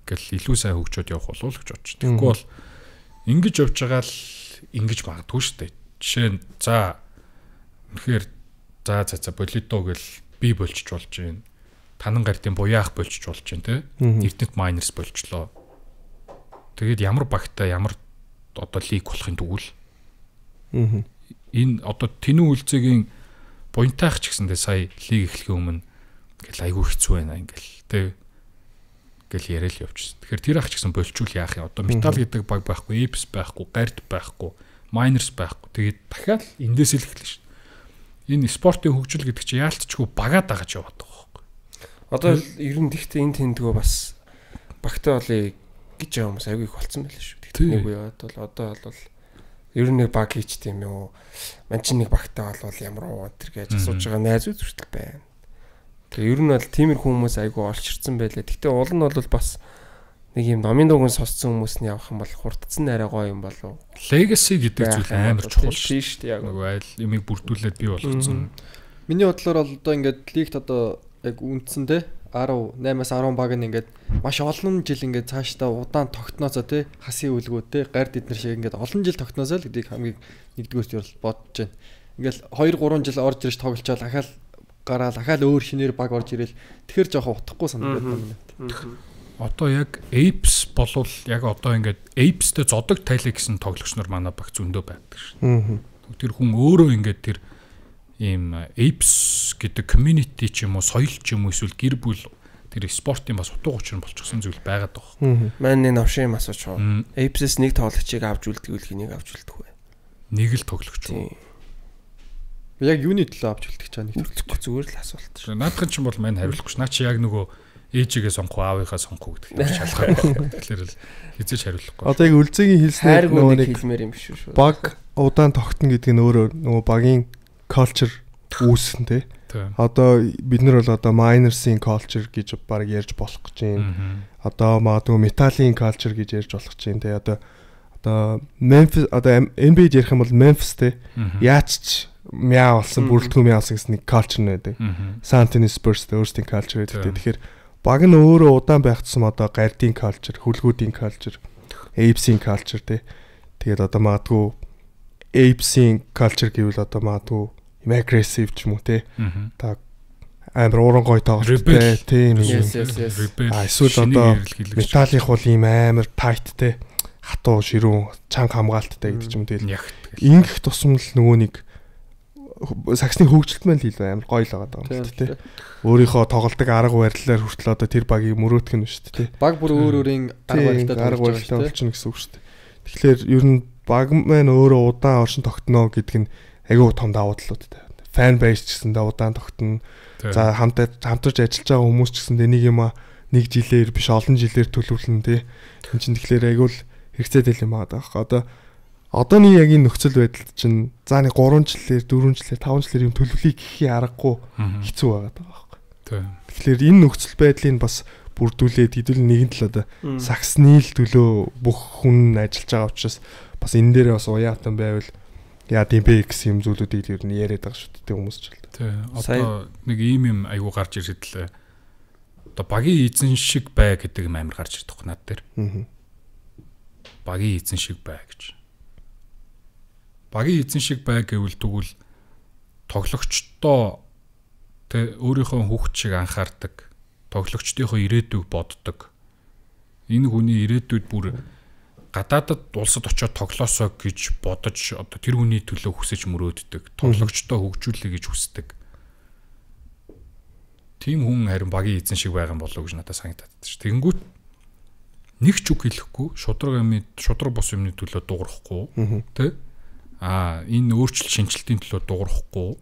гэл илүү сайн хөгжөөд явах болов л гэж бодчих. Тэгэхгүй бол ингэж явж байгаа л ингэж магадгүй шүү дээ. Жишээ нь за үнэхээр за болидо гэл би болчих болж байна. Танан гардын буяах болчих болж байна тэ. Эрдэнэт майнерс болчлоо. Тэгээд ямар багтаа ямар одоо лиг болохын тэгвэл энэ одоо тэнүү үлцэгийн буянтайх ч гэсэндээ сая лиг эхлэхийн өмнө ингээл айгүй хэцүү байна ингээл тэ гэл яриа л явчихсан. Тэгэхээр тэр ах ч гэсэн болчул яах юм одоо метал гэдэг баг байхгүй, эпс байхгүй, гард байхгүй, майнерс байхгүй. Тэгээд дахиад эндээс л эхэлнэ шүү. Энэ спортын хөгжил гэдэг чинь яалтчгүй багаад байгаа ч яваад байгаа байхгүй. Одоо ер нь тэгтээ энэ тэндгөө бас багтаа болъё гэж байгаа хүмүүс айгүй их болцсон байлаа шүү. Нэг үеэд бол одоо бол ер нь нэг баг хийч тийм үү. Ман чинь нэг багтаа бол ямар уу тэр гэж асууж байгаа найзууд хүртэл байна. Тэгээ ер нь бол тиймэрхүү хүмүүс айгүй олчирсан байлаа. Гэтэ уул нь бол бас нэг юм номын дууган сонссон хүмүүс нь явах юм бол хурдцсан арай гоё юм болов. Legacy гэдэг зүйл амар чухал шүү дээ. Яг нөгөө айл имийг бүрдүүлээд бий болгоцсон. Миний бодлоор бол одоо ингээд лигт одоо яг үндсэн те 18-аас 10 баг нь ингээд маш олон жил ингээд цаашдаа удаан тогтноосоо те хасын үлгүүд те гард эднэр шиг ингээд олон жил тогтноосоо л гэдгийг хамгийн нэгдүгээрт юу бодож байна. Ингээл 2-3 жил орж ирж тоглолцоод дахиад гараал дахиад өөр шинээр баг орж ирэл тэгэхэр жоохон утахгүй санагдаад байна. Одоо яг Apes болвол яг одоо ингээд Apes-тэй зодог тайлаа гэсэн тоглогч нар манай баг зөндөө байдаг шин. Тэр хүн өөрөө ингээд тэр ийм Apes гэдэг community ч юм уу соёл ч юм уу эсвэл гэр бүл тэр спортын бас утга учир нь болчихсон зүйл байгаад байгаа. Маань энэ авшин юм асууж байгаа. Apes-с нэг тоглогчийг авч үлдгэвэл хэнийг авч үлдэх вэ? Нэг л тоглогч уу? Яг юуны төлөө авч үлдэх чаа нэг төлөхгүй зүгээр л асуулт шүү. Наадхан ч юм бол мань хариулахгүй ш. Наа чи яг нөгөө ээжигээ сонгох аавынхаа сонгох гэдэг нь шалгаа байна. Тэгэхээр л хизээч хариулахгүй. Одоо яг үлзээгийн хэлснээр нөгөө нэг хэлмээр юм шүү шүү. Баг удаан тогтно гэдэг нь өөрөө нөгөө багийн culture үүсгэн тий. Одоо бид нар бол одоо miners-ийн culture гэж баг ярьж болох гэж байна. Одоо магадгүй metal-ийн culture гэж ярьж болох гэж байна тий. Одоо Memphis одоо NBA ярих юм бол Memphis тий. Яач ч мяа болсон бүрэлдэхүүн мяа болсон гэсэн нэг culture нэдэг. San Antonio Spurs өөрсдийн culture гэдэг. Тэгэхээр баг нь өөрөө удаан байх тусам одоо гардийн culture, хөлгүүдийн culture, Apes-ийн culture тий. Тэгээд одоо магадгүй Apes-ийн culture гэвэл одоо магадгүй aggressive ч юм уу те. Та амар ууран гой тоглолттой тийм юм. Эсвэл одоо металлын хул ийм амар tight те. Хатуу ширүүн чанга хамгаалттай гэдэг ч юм тэгэл. Ингэх тусам л нөгөө нэг саксны хөгжилт маань л илүү амар гоё л байгаа юм шүү дээ. Өөрийнхөө тоглолтог арга барилаар хүртэл одоо тэр багийг мөрөөдөх нь шүү дээ. Баг бүр өөрийн арга барилтай болчихно гэсэн үг шүү дээ. Тэгэхээр ер нь баг маань өөрөө удаан оршин тогтно гэдэг нь айгүй том давуу талуудтай. Fan base ч гэсэн удаан тогтно. За хамтарч ажиллаж байгаа хүмүүс ч гэсэн нэг юм нэг жилээр биш олон жилээр төлөвлөн тий. Энд чинь тэгэхээр айгүй л хэрэгцээ тэл юм аа. Одоо нэг яг энэ нөхцөл байдалд чинь за нэг 3 жилээр 4 жилээр 5 жилээр юм төлөвлөе гэхий аргагүй хэцүү байгаад байгаа байхгүй. Тэгэхээр энэ нөхцөл байдлыг бас бүрдүүлээд хэдүүл нэгэн тал одоо саксны л төлөө бүх хүн ажиллаж байгаа учраас бас энэ дээр бас уяатан байвал яа тийм бэ гэсэн юм зүйлүүдийг ер нь яриад байгаа шүү дээ хүмүүс ч л. Тий. Одоо нэг ийм аягүй гарч ирээд л одоо багийн эзэн шиг бай гэдэг юм амар гарч ирдэг над дээр. Багийн эзэн шиг бай гэж. Багийн эзэн шиг бай гэвэл тэгвэл тоглогчдоо тэ өөрийнхөө хүүхд шиг анхаардаг. Тоглогчдынхоо ирээдүйг боддог. Энэ хүний ирээдүйд бүр гадаадад улсад очиод тоглоосоо гэж бодож одоо тэр хүний төлөө хүсэж мөрөөддөг. Тоглогчдоо хөгжүүлэе гэж хүсдэг. Тийм хүн харин багийн эзэн шиг байгаа юм болов уу гэж надад санагдаад байна. Тэгэнгүүт нэг ч үг хэлэхгүй, шудраг бос юмны төлөө дуурахгүй, тэ? Энэ өөрчлөлт шинжилтийн төлөө дуурахгүй,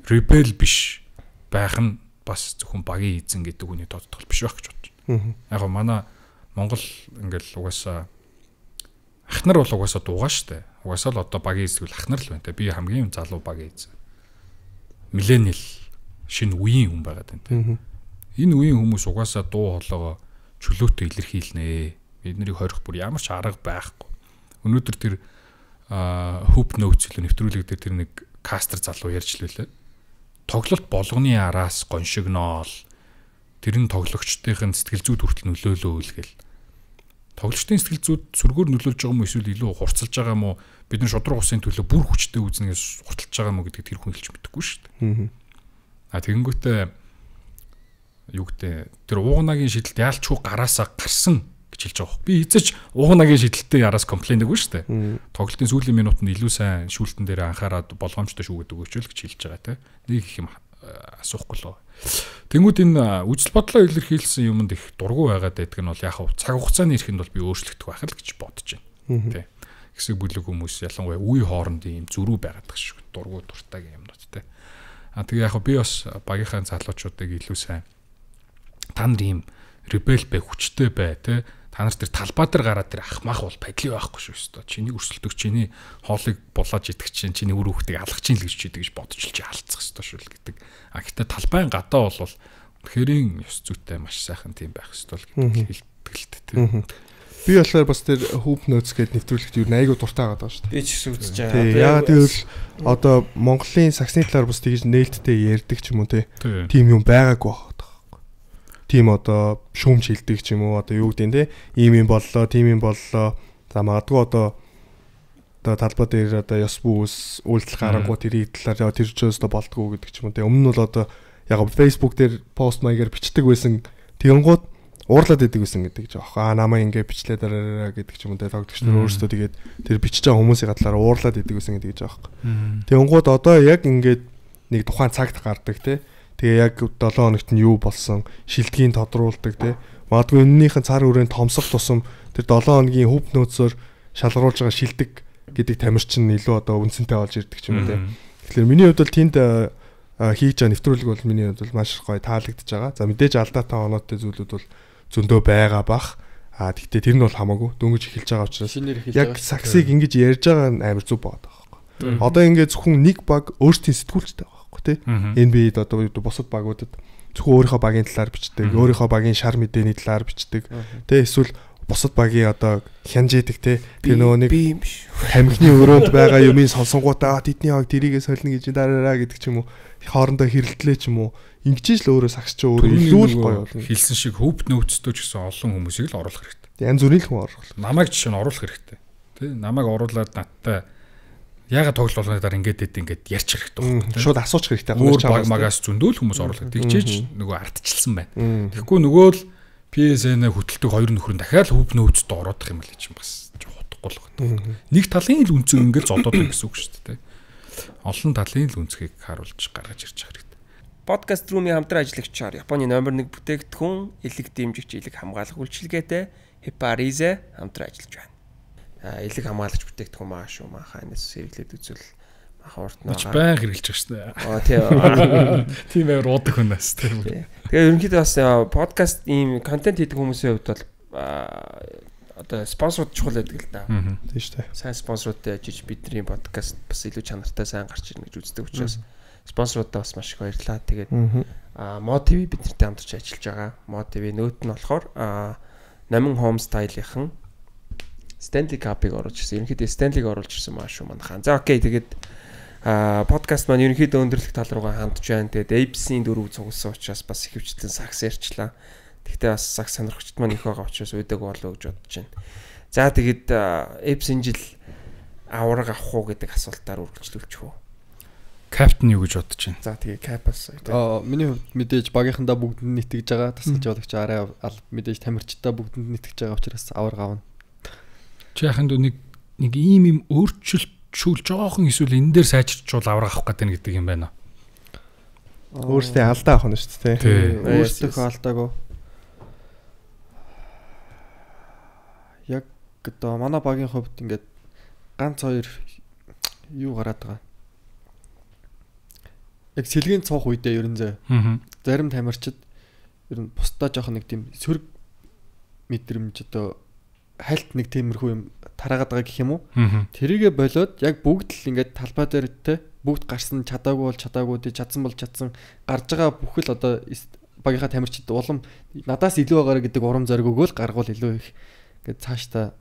ребел биш байх нь бас зөвхөн багийн эзэн гэдэг хүний тодтол биш байх гэж бодож байна. Яг нь манай Монгол ингээл угаасаа ахнар бол угаасаа дуугаа штэ. Угаасаа л одоо багийн эзэн ахнар л байна те. Би хамгийн залуу багийн эзэн. Миллениал шинэ үеийн хүн байгаад байна те. Энэ үеийн хүмүүс угаасаа дуу хоолойгоо чөлөөтэй илэрхийлнэ. Биднийг хорих бүр ямар ч арга байхгүй. Өнөөдөр тэр Hoop Notes хэлээ нэвтрүүлэг дээр тэр нэг кастер залуу ярьж лээ. Тоглолт болгоны араас гоншигноол тэр нь тоглогчдын сэтгэл зүйд хүртэл нөлөөлөө үлгээл. Тоглогчдын сэтгэл зүйд сүргээр нөлөөлж байгаа юм эсвэл илүү хурцлж байгаа юм уу? Бид нар шудраг усын төлөө бүр хүчтэй үзнээс хурцлж байгаа юм уу гэдгийг тэр хүн хэлж мэдэхгүй шүү дээ. Тэгэнгүүтээ юу гэдэг тэр уугнагийн шидэлт яалчгүй гараасаа гарсан гэж хэлж байгаа. Би эцэж уугнагийн шидэлтээ яраас комплейнэгүй шүү дээ. Тоглолтын сүүлийн минутанд илүү сайн шүүлтэн дээр анхаарад болгоомжтой шүүгээд өгөөч л гэж хэлж байгаа те. Нэг их юм асуухгүй л. Тэнгүүд энэ үжил бодлоо илэрхийлсэн юмд их дургу байгаад байдаг нь бол яг цаг хугацааны эрхэнд бол би өөрчлөгдөх байх л гэж бодож байна. Тэ. Хэсэг бүлэг хүмүүс ялангуяа үе хоорондын юм зөрүү байгаад байгаа шүү. Дургу дуртай юмнууд тэ. Тэгээ яг би бас багийнхаа залуучуудыг илүү сайн та нар ийм ребел бай, хүчтэй бай тэ. Та нар тэр талбай дээр гараад тэр ахмах бол падли байхгүй шүү дээ. Чиний өрсөлдөх, чиний хоолыг булааж идэх чинь, чиний үр хүүхдийг алгах чинь л гэж чийдэг гэж бодож л чи алдцах ёстой шүү л гэдэг. Гэхдээ талбайн гадаа бол хэрийн ёс зүйтэй маш сайхан тийм байх ёстой л гэдэг хэлдэг тийм. Би болохоор бас тэр Hoop Notes гэдэг нэвтрүүлэгт юу айгуу дуртай байгаа шүү дээ. Би ч гэсэн үзэж байгаа. Яагаад гэвэл одоо Монголын саксны талаар бас тэгж нээлттэй ярьдаг ч юм уу тийм юм байгаагүй байна. Тийм одоо шүүмж хилдэг ч юм уу одоо юу гэдэг нь те ийм юм боллоо тийм юм боллоо за магадгүй одоо талбай дээр одоо ёс бүс үйлдэл гарангуй тэрийг талаар тэр ч өстө болдгоо гэдэг ч юм уу те өмнө нь бол одоо яг Facebook дээр пост маягаар бичдэг байсан тэгэнгუთ уурлаад идэг байсан гэдэг ч аах намаа ингэ бичлээ дараараа гэдэг ч юм уу те тогтогч нар өөрсдөө тэгээд тэр бичиж байгаа хүмүүсийн талаар уурлаад идэг байсан гэдэг ч аах. Тэгэнгуთ одоо яг ингээд нэг тухайн цагт гардаг те тэгээ яг 7 хоногт нь юу болсон шилдгийг тодруулдаг тий. Магадгүй энэнийхэн цар хүрээнд томсох тусам тэр 7 хоногийн Hoop Notes-оор шалгаруулж байгаа шилдэг гэдэг тамирчин илүү одоо үнцэнтэй болж ирдэг ч юм уу тий. Тэгэхээр миний хувьд бол тэнд хийж байгаа нэвтрүүлэг бол миний хувьд бол маш гоё таалагдж байгаа. За мэдээж алдаатай оноотой зүйлүүд бол зөндөө байгаа бах. Гэхдээ тэр нь бол хамаагүй дөнгөж эхэлж байгаа учраас яг саксыг ингэж ярьж байгаа нь амар зүг байгаа байхгүй. Одоо ингээд зөвхөн нэг баг өөртөө сэтгүүлчтэй байгаа. Тэ NBA-д одоо бусад багуудад зөвхөн өөрийнхөө багийн талаар бичдэг, өөрийнхөө багийн шар мэдээний талаар бичдэг. Тэ эсвэл бусад багийн одоо хянжээдэг тэ тэр нөгөө нэг тамхины өрөөнд байгаа юмыг сонсонгуудаа тэдний хог тэрийгээ солино гэж дараараа гэдэг ч юм уу хоорондоо хэрэлтлээ ч юм уу ингэж л өөрөө сагсч өөрөө илүү л гоё болно. Хэлсэн шиг Hoop Notes-тэй ч гэсэн олон хүмүүсийг л оруулах хэрэгтэй. Янз бүрийн хүн оруулах. Намайг жишээ нь оруулах хэрэгтэй. Тэ намайг оруулаад надтай ягаад тоглолтоор ингээд ярьчих хэрэгтэй байна. Шууд асуучих хэрэгтэй. Өөр баг магаас зөндөл хүмүүс оруулах. Тэгчээж нөгөө ардчилсан байна. Тэгэхгүй нөгөө л PSN хөтэлдэг хоёр нөхөр нь дахиад Hoop Notes-д ороодох юм л чинь бас утгагүй л байна. Нэг талын л үнцэг ингээд зодоод байна гэсэн үг шүү дээ. Олон талын л үнцгийг харуулж гаргаж ирж байгаа хэрэгтэй. Podcast Room-ийн хамтран ажиллагчаар Японы номер 1 бүтээгдэхүүн, элэг дэмжигч, элэг хамгаалах үйлчилгээтэй Heparize хамтран ажиллаж байна. Элэг хамгаалагч бүтээгдэхүүн маа шүү маханаас сэргэлээд үзвэл махуурт наа. Баян хэрэглэж байгаа шүү дээ. Тийм. Тийм байр уудаг хүнээс тийм. Тэгээ ерөнхийдөө бас подкаст ийм контент хийдэг хүмүүсийн хувьд бол одоо спонсорууд чухал байдаг л да. Тийм шүү дээ. Сайн спонсоруудтай ажиж бидний подкаст бас илүү чанартай сайн гарч ирнэ гэж үздэг учраас спонсорудаа бас маш их баярлалаа. Тэгээд Mod TV биднэртэй хамтарч ажиллаж байгаа. Mod TV нөөт нь болохоор Намин Home Style-ийнхэн Stanley Cup-ыг оруулж ирсэн. Ерөнхийдөө Stanley-г оруулж ирсэн маа шүү манайхан. За окей, тэгээд подкаст маань ерөнхийдөө өндөрлөх тал руугаа хандж байна. Тэгээд Apes-ийн дөрөв цугласан учраас бас их хвчлэн сакс ярьчлаа. Тэгтээ бас сакс сонирхогчд маань их байгаа учраас уйдаг болоо гэж бодож байна. За тэгээд Apes энэ жил авраг авах уу гэдэг асуултаар үргэлжлүүлчих үү. Каптн юу гэж бодож байна? За тэгээ Capas. Миний хувьд мэдээж багийнхандаа бүгдэнд нэтгэж байгаа. Тасалж жологч арай мэдээж тамирчдаа бүгдэнд нэтгэж байгаа учраас авраг авна. Чи яханд нэг ийм өөрчлөлтшүүл жоохон эсвэл энэ дээр сайжирчул авраг авах гэдэг гэдэг юм байна. Өөрсдөө алдаа авах нь шүү дээ. Өөрсдөө алдаагүй. Яг одоо манай багийн хувьд ингээд ганц хоёр юу гараад байгаа. Яг сэлгийн цуух үедээ ерөн зөө. Зарим тамирчид ер нь бусдаа жоох нэг тийм сөрөг мэдрэмж одоо хальт нэг тиймэрхүү юм тараагаад байгаа гэх юм уу? Тэрийгэ болоод яг бүгд л ингээд талбай дээр те бүгд гарсан чадаагүй бол чадаагүй тий чадсан бол чадсан гарж байгаа бүхэл одоо багийнхаа тамирчид улам надаас илүү байгаарэ гэдэг урам зориг өгөөл гаргуул илүү их ингээд цаашдаа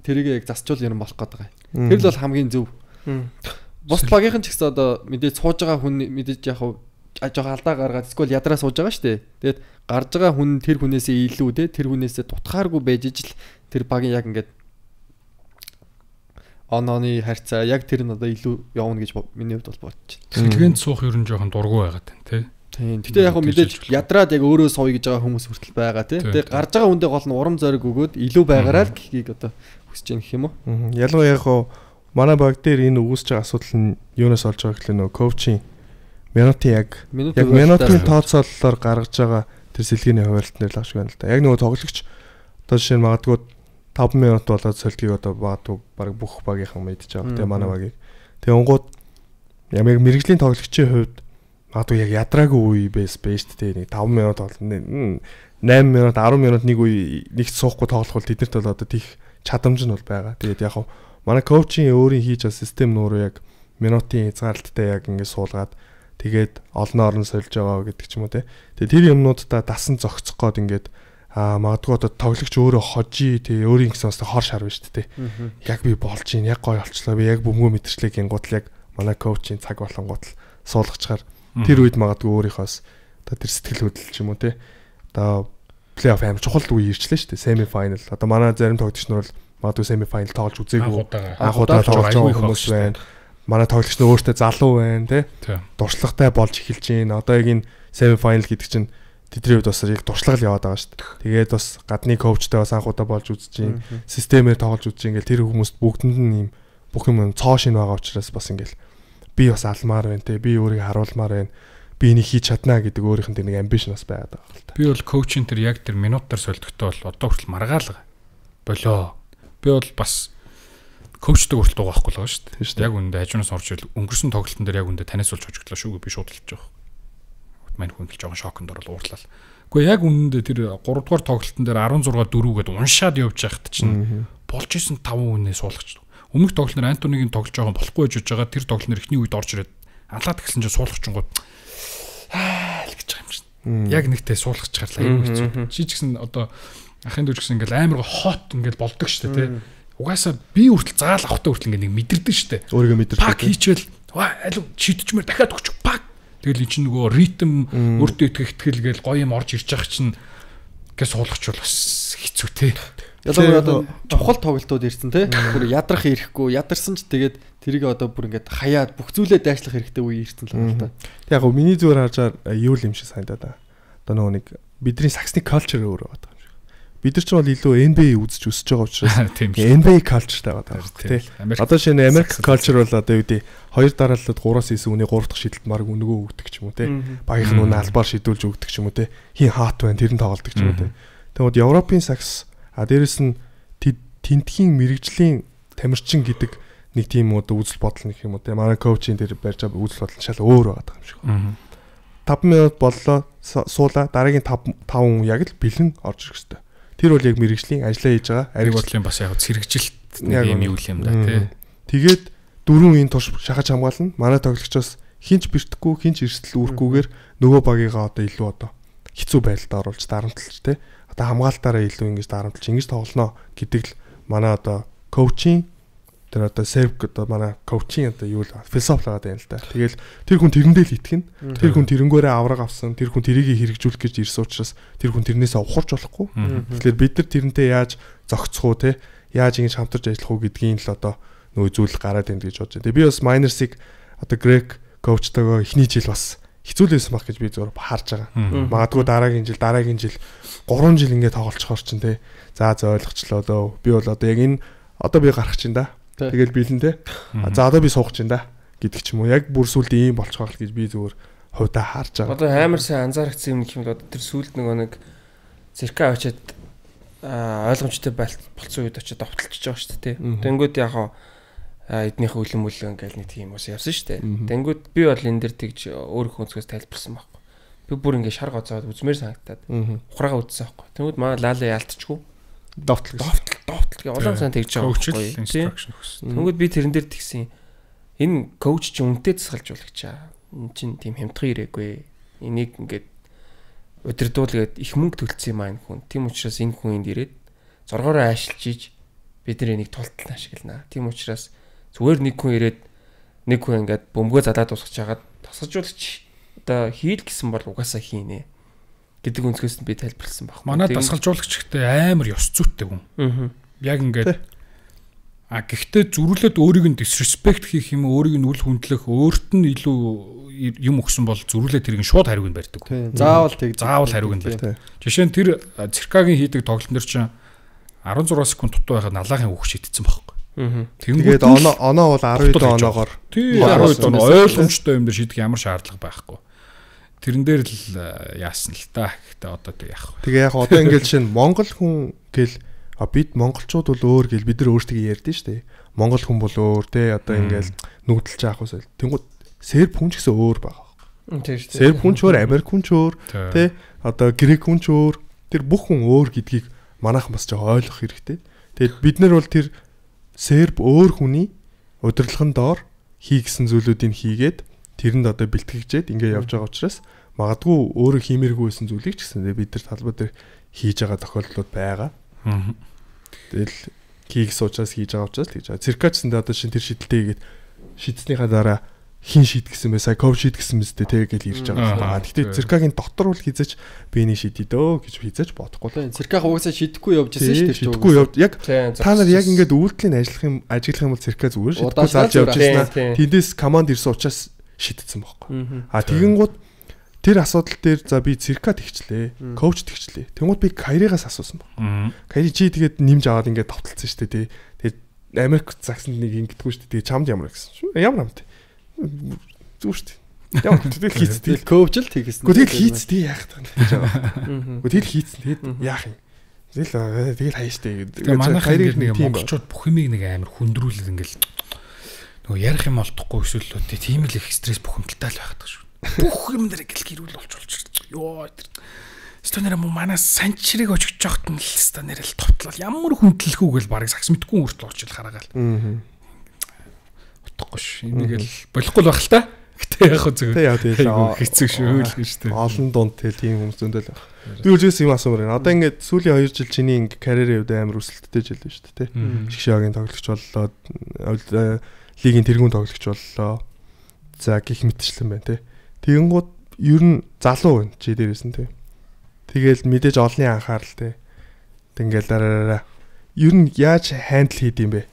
тэрийгэ яг засчул юм болох гээд байгаа. Тэр л бол хамгийн зөв. Бус багийнхан ч гэсэн одоо мэдээж сууж байгаа хүн мэдээж яг жоох алдаа гаргаад эсвэл ядраа сууж байгаа шүү дээ. Тэгээд гарж байгаа хүн тэр хүнээсээ илүү те тэр хүнээсээ дутхааргүй байж ижил тэр багийн яг ингээд онооны харьцаа яг тэр нь одоо илүү явна гэж миний хувьд бол бодож байна. Сэлгэнд суух ер нь жоохон дургу байгаад байна те. Тийм. Гэтэ яг мэдээж ядраад яг өөрөө сууя гэж байгаа хүмүүс хүртэл байгаа те. Тэгээд гарж байгаа хүндээ гол нь урам зориг өгөөд илүү байгаараа л гэхийг одоо хүсэж байна гэх юм уу? Ялангуяа яг манай баг дээр энэ үүсэж байгаа асуудал нь юунаас олж байгаа гэхлээр нөгөө коучийн минутын яг минутын тооцооллоор гаргаж байгаа тэр сэлгээний хуваалтнаар л авч байна л да. Яг нөгөө тоглогч одоо жишээ нь магадгүй 5 минут болоод сэлгийг одоо баатуу баг бүх багийнхан мэдж байгаа. Тэгээ манай багийг. Тэгээ онгууд яг мэрэгжлийн тоглогчийн хувьд магадгүй яг ядраагүй үе байж шүү дээ. Нэг 5 минут бол 8 минут 10 минут нэг үе нэгт суухгүй тоглох бол тэднэрт бол одоо тийх чадамж нь бол байгаа. Тэгээд яг манай коучийн өөрийн хийж байгаа систем нууруу яг минутын хязгаарлалттай яг ингэ суулгаад тэгээд олноор нь сольж байгаа гэдэг ч юм уу те. Тэгээд тэр юмнуудаа дасан зогцох гээд ингээд магадгүй одоо тоглогч өөрөө хожи тий өөрийн гэсэн бас хор шарв шүү дээ. Яг би болж ийн яг гоё олчлоо. Би яг бөмбөг мэтэрчлэг гингуудл яг манай коучийн цаг болонгууд л суулгачаар тэр үед магадгүй өөрийнхоос одоо тэр сэтгэл хөдлөл ч юм уу те. Одоо плей-офф амар чухал үе ирчлээ шүү дээ. Семи файнал. Одоо манай зарим тоглогч нар бол магадгүй семи файнал тоглож үзээгүй. Анхудаа тоглож байгаа хүмүүс байна. Манай тоглогч нь өөртөө залуу байна те. Дуршлагатай болж эхэлж байна. Одоо яг энэ семи файнал гэдэг чинь тэдний хувьд бас яг дуршлаг яваад байгаа шүү дээ. Тэгээд бас гадны коучтай бас анхудаа болж үзэж байна. Системээр тоглож үзэж ингээл тэр хүмүүст бүгдэнд нь юм бүх юм цоо шин байгаа учраас бас ингээл би бас алмаар байна те. Би өөрийгөө харуулмаар байна. Би энийг хийж чадна гэдэг өөрийнх нь нэг амбишн бас байгаад байгаа л та. Би бол коучийн тэр яг тэр минутаар солигдохтой бол одоо хүртэл маргаалга болоо. Би бол бас коучтой хүртэл дуугаахгүй л байгаа шүү дээ. Яг үндэ хажуунаас орж ил өнгөрсөн тоглолтын дээр яг үндэ танаас болж хожигдлоо шүү. Би шууд хэлж байгаа. Мань хүн л жоохон шоконд орол уурлал. Гэхдээ яг үндэ тэр 3 дугаар тоглолтын дээр 16-4 гээд уншаад явж байхад чинь болж исэн 5 хүнээ суулгач. Өмнөх тоглолтын Антонигийн тоглож байгаа болохгүй байж байгаа тэр тоглолтын эхний үед орж ирээд алаад гисэн чинь суулгачингууд л гэж байгаа юм чинь. Яг нэгтэй суулгачгаарлаа юм хэцүү. Чи ч гэсэн одоо ахын дүүч гэсэн ингээл амар хот ингээл болдог штэ тий. Угаасаа би хүртэл заал авахтай хүртэл ингээ нэг мэдэрдэг штэ. Өөрийгөө мэдэрдэг. Пак хийчихвэл аль шидчихмээр дахиад өгч пак. Тэгэл эн чинь нөгөө ритм өөртөө итгэл гээл гоё юм орж ирж байгаа чинь гээс суулгачвал бас хэцүү тий. Ялангуяа одоо чухал тоглолтууд ирсэн тий. Бүр ядрах ирэхгүй ядарсан ч тэгээд тэрийг одоо бүр ингээд хаяад бүх зүйлээ дайшлах хэрэгтэй үе ирсэн л байна л та. Яг гоо миний зүгээр харжаар юу юм шиг санагдаад байна. Одоо нөгөө нэг бидний саксны culture өөр байгаа юм шиг. Бид нар ч бол илүү NBA үзэж өсөж байгаа учраас NBA culture-тай байгаа тий. Одоо шинэ Америк culture бол одоо юу гэдэг 2 дарааллаад 3-9 үний 3 дахь шидэлт марг өнгөө өгдөг ч юм уу тий. Багийнх нь албаар шидүүлж өгдөг ч юм уу тий. Хин хаат байна тэр нь тоглолдог ч юм уу тий. Тэгвэл Европын сакс дээрэс нь тентхийн мэрэгжлийн тамирчин гэдэг нэг тийм одоо үзэл бодол нэг юм уу тий. Манай коучийн дээр барьж байгаа үзэл бодол шал өөр байгаа юм шиг. 5 минут боллоо суулаа дараагийн 5 хүн яг л бэлэн орж ирэх хэрэгтэй. Тэр бол яг мэрэгжлийн ажиллаа хийж байгаа. Ариг бодлын бас яг зэрэгжилт нэг юм юу юм да тий. Тэгээд 4 энэ турш шахаж хамгаална. Манай тоглогчоос хинч бэртэхгүй, хинч эрсдэл үүрхгүйгээр нөгөө багийгаа одоо илүү одоо хэцүү байдалд оруулж дарамтлж те. Одоо хамгаалтаараа илүү ингэж дарамтлж ингэж тоглоно гэдэг л манай одоо коучинг тэр одоо серв одоо манай коучинг одоо юу л философи л байгаа юм л да. Тэгэл тэр хүн тэрэндээ л итгэнэ. Тэр хүн тэрэнгээрээ авраг авсан, тэр хүн тэрийг хэрэгжүүлэх гэж ирсэн учраас тэр хүн тэрнээс ухарч болохгүй. Тэгэхээр бид нар тэрнтэй яаж зохицох уу те, яаж ингэж хамтарч ажиллах уу гэдгийг л одоо нөгөө зүйл гараад байна гэж бодож байна. Тэгээ би бас Miners-ыг одоо Greg коучтойгоо эхний жил бас хэцүүлсэн баг гэж би зөвөр харж байгаа. Магадгүй дараагийн жил 3 жил ингээд тоглолцохоор чинь те. За ойлгочлоо дөө. Би бол одоо яг энэ одоо би гарах чинь да. Тэгэл биелэн те. За одоо би суух чинь да гэдэг ч юм уу. Яг бүр сүлд ийм болчих واخ гэж би зөвөр хувьдаа харж байгаа. Одоо амар сайн анзаарчихсан юм юм л одоо тэр сүлд нэг цирка очиад ойлгомжтой болцсон үед очиад давталчихж байгаа шүү дээ. Тэнгүүд яг эднийхээ үлэн ингээл нэг тийм ус явсан шүү дээ. Тэнгүүд би бол энэ дэр тэгж өөрийнхөө өнцгөөс тайлбарсан байхгүй. Би бүр ингээ шар гоцоод үзмээр санагтаад ухраага үзсэн байхгүй. Тэнгүүд маа лаалаа яалтчихгүй. Довтол улаан сан тэгж байгаа байхгүй. Тэнгүүд би тэрэн дээр тэгсэн. Энэ коуч чи үнтэй засгалж болгочаа. Энд чин тийм хямдхан ирээгүй. Энийг ингээд удирдуулгээд их мөнгө төлсөн юм аа энэ хүн. Тийм учраас энэ хүн энд ирээд зоргоороо аашилж ийж бид нар энийг тултал ашиглана. Тийм учраас зүгээр нэг хүн ирээд нэг хүн ингээд бөмбөгөө залаад усгаж хагаад тасалжуулагч одоо хийл гэсэн бол угаасаа хийнэ гэдэг өнцгөөс нь би тайлбарласан баг. Манай дасгалжуулагч ихтэй амар ёс зүйтэй хүн. Яг ингээд гэхдээ зүрүүлээд өөрийг нь disrespect хийх юм өөрийг нь үл хүндлэх өөрт нь илүү юм өгсөн бол зүрүүлээд тэрийг шууд хариуг нь барьдаг. Заавал хариуг нь барьдаг. Жишээ нь тэр циркагийн хийдэг тоглолтнор чинь 16 секунд дутуу байхад налахын үг шийдсэн байхгүй. Тэгээд оноо бол 12 оноогоор 12 оноо ойлгомжтой юм дээр шийдэх ямар шаардлага байхгүй. Тэрэн дээр л яасан л та. Гэхдээ одоо тэг яах вэ? Тэгээ яг одоо ингээд чинь Монгол хүн гэл бид монголчууд бол өөр гэл бид нар өөрсдөө ярьдэн штэ. Монгол хүн бол өөр те одоо ингээд нүгдэлж авах усэл. Тэнгууд серб хүн ч гэсэн өөр байгаа. Тийм штэ. Серб хүн ч өөр, Америк хүн ч өөр те одоо грек хүн ч өөр. Тэр бүх хүн өөр гэдгийг манайхан бас жоо ойлгох хэрэгтэй. Тэгээд бид нар бол тэр серб өөр хүний удирдлагын доор хийгсэн зүйлүүдийг хийгээд тэрэнд одоо бэлтгэгчээд ингэ явж байгаа учраас магадгүй өөрөө хиймээргүй байсан зүйлийг ч гэсэн бид нар талбай дээр хийж байгаа тохиолдлууд байгаа. Тэгэл хийх учраас хийж байгаа учраас тэгж байгаа. Циркачсанд одоо шин тэр шидэлтэй хийгээд шидснийхаа дараа хин шид гэсэн бай, сая ков шид гэсэн мэт тэгээд ирж байгаа. Гэхдээ циркагийн дотор бол хизэж биений шидий дөө гэж хизэж бодохгүй. Цирках угаасаа шидэхгүй явж байсан шүү дээ. Шидэхгүй явж яг та нар яг ингээд үйлдэлийн ажиллах юм бол цирка зүгээр шидэхгүй зааж явж байсан. Тэндээс команд ирсэн учраас шидсэн байхгүй. Тэгэнгүүт тэр асуудал дээр за би цирка тэгчлээ, коуч тэгчлээ. Тэнгууд би Кайригаас асуусан баг. Кайри чи тэгээд нэмж аваад ингээд давталцсан шүү дээ. Тэгээд Америк загсанд нэг ингэдэггүй шүү дээ. Тэгээд чамд ямар гэсэн. Ямар амт. Зүг шүү дээ. Ямар тэгэл хийцтэй. Коуч л тэгсэн. Гэхдээ тэгэл хийцтэй яах вэ гэж байгаа. Тэгэл хийцэн тэгээд яах юм. Тэгэл хаяа штэ гэдэг. Манай Кайриг нэг монголчууд бүх юмыг нэг амар хүндрүүлээд ингээл нөгөө ярих юм олдохгүй эсвэл тийм л их стресс бухимдалтай л байгаад шүү. Бүх юм дээр гэл гэрүүл болж ёо тэр станера манаас санчрыг очиж жоохт нь л станера л товтлол ямар хүндлэхүүг л барыг сакс мэдгүй хүртэл очил хараагаал. Утгагүй ш. Энийг л болохгүй л байх л та. Гэтэ яг хөө зөв. Хэцүү шүү л гэж тээ. Олон дунд тийм хүмүүс зөндөл байх. Би үлжээс юм асуумаар байна. Одоо ингээд сүүлийн 2 жил чиний ингээд карьерийн хувьд амар өсөлттэй жил байна шүү дээ. Шгшагийн тоглогч боллоо. Лигийн тэргүүн тоглогч боллоо. За гих мэтчлэн байна те. Тэгэнгუთ ер нь залуу байна чи дээрээс нь те. Тэгэл мэдээж олонний анхаарал те. Тэгэл дараараа ер нь яаж хандл хийд юм бэ?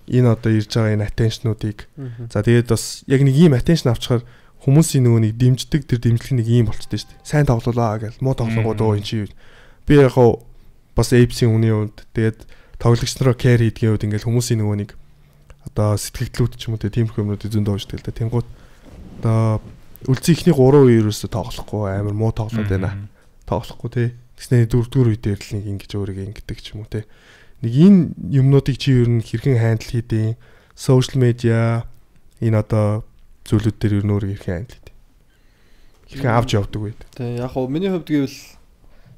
Энэ одоо ирж байгаа энэ attention-уудыг. За тэгээд бас яг нэг ийм attention авчихаар хүмүүсийн нөгөө нэг дэмждэг тэр дэмжлэг нэг ийм болчтой шүү дээ. Сайн тоглолоо гэл муу тоглонгууд өө эн чи. Би яг бас Apes-ийн хүний үед тэгээд тоглогч нараа care хийдгийн үед ингээл хүмүүсийн нөгөө нэг одоо сэтгэлдлүүд ч юм уу тийм хүмүүсүүд зөндөө уушдаг л да. Тэнгууд одоо үлцэн ихний 3 үе ерөөсө тоглохгүй амар муу тоглоод байна. Тоглохгүй те. Тэснэ 4-р үе дээр л нэг ингэж өөрийгөө ингэдэг ч юм уу те. Нэг энэ юмнуудыг чи ер нь хэрхэн хандл хийдэг? Social media энэ одоо зүйлүүд дээр ер нь өөрийгөө хэрхэн хандл хийдэг? Хэрхэн авч явдаг вэ? Тэг яг хөө миний хувьд гэвэл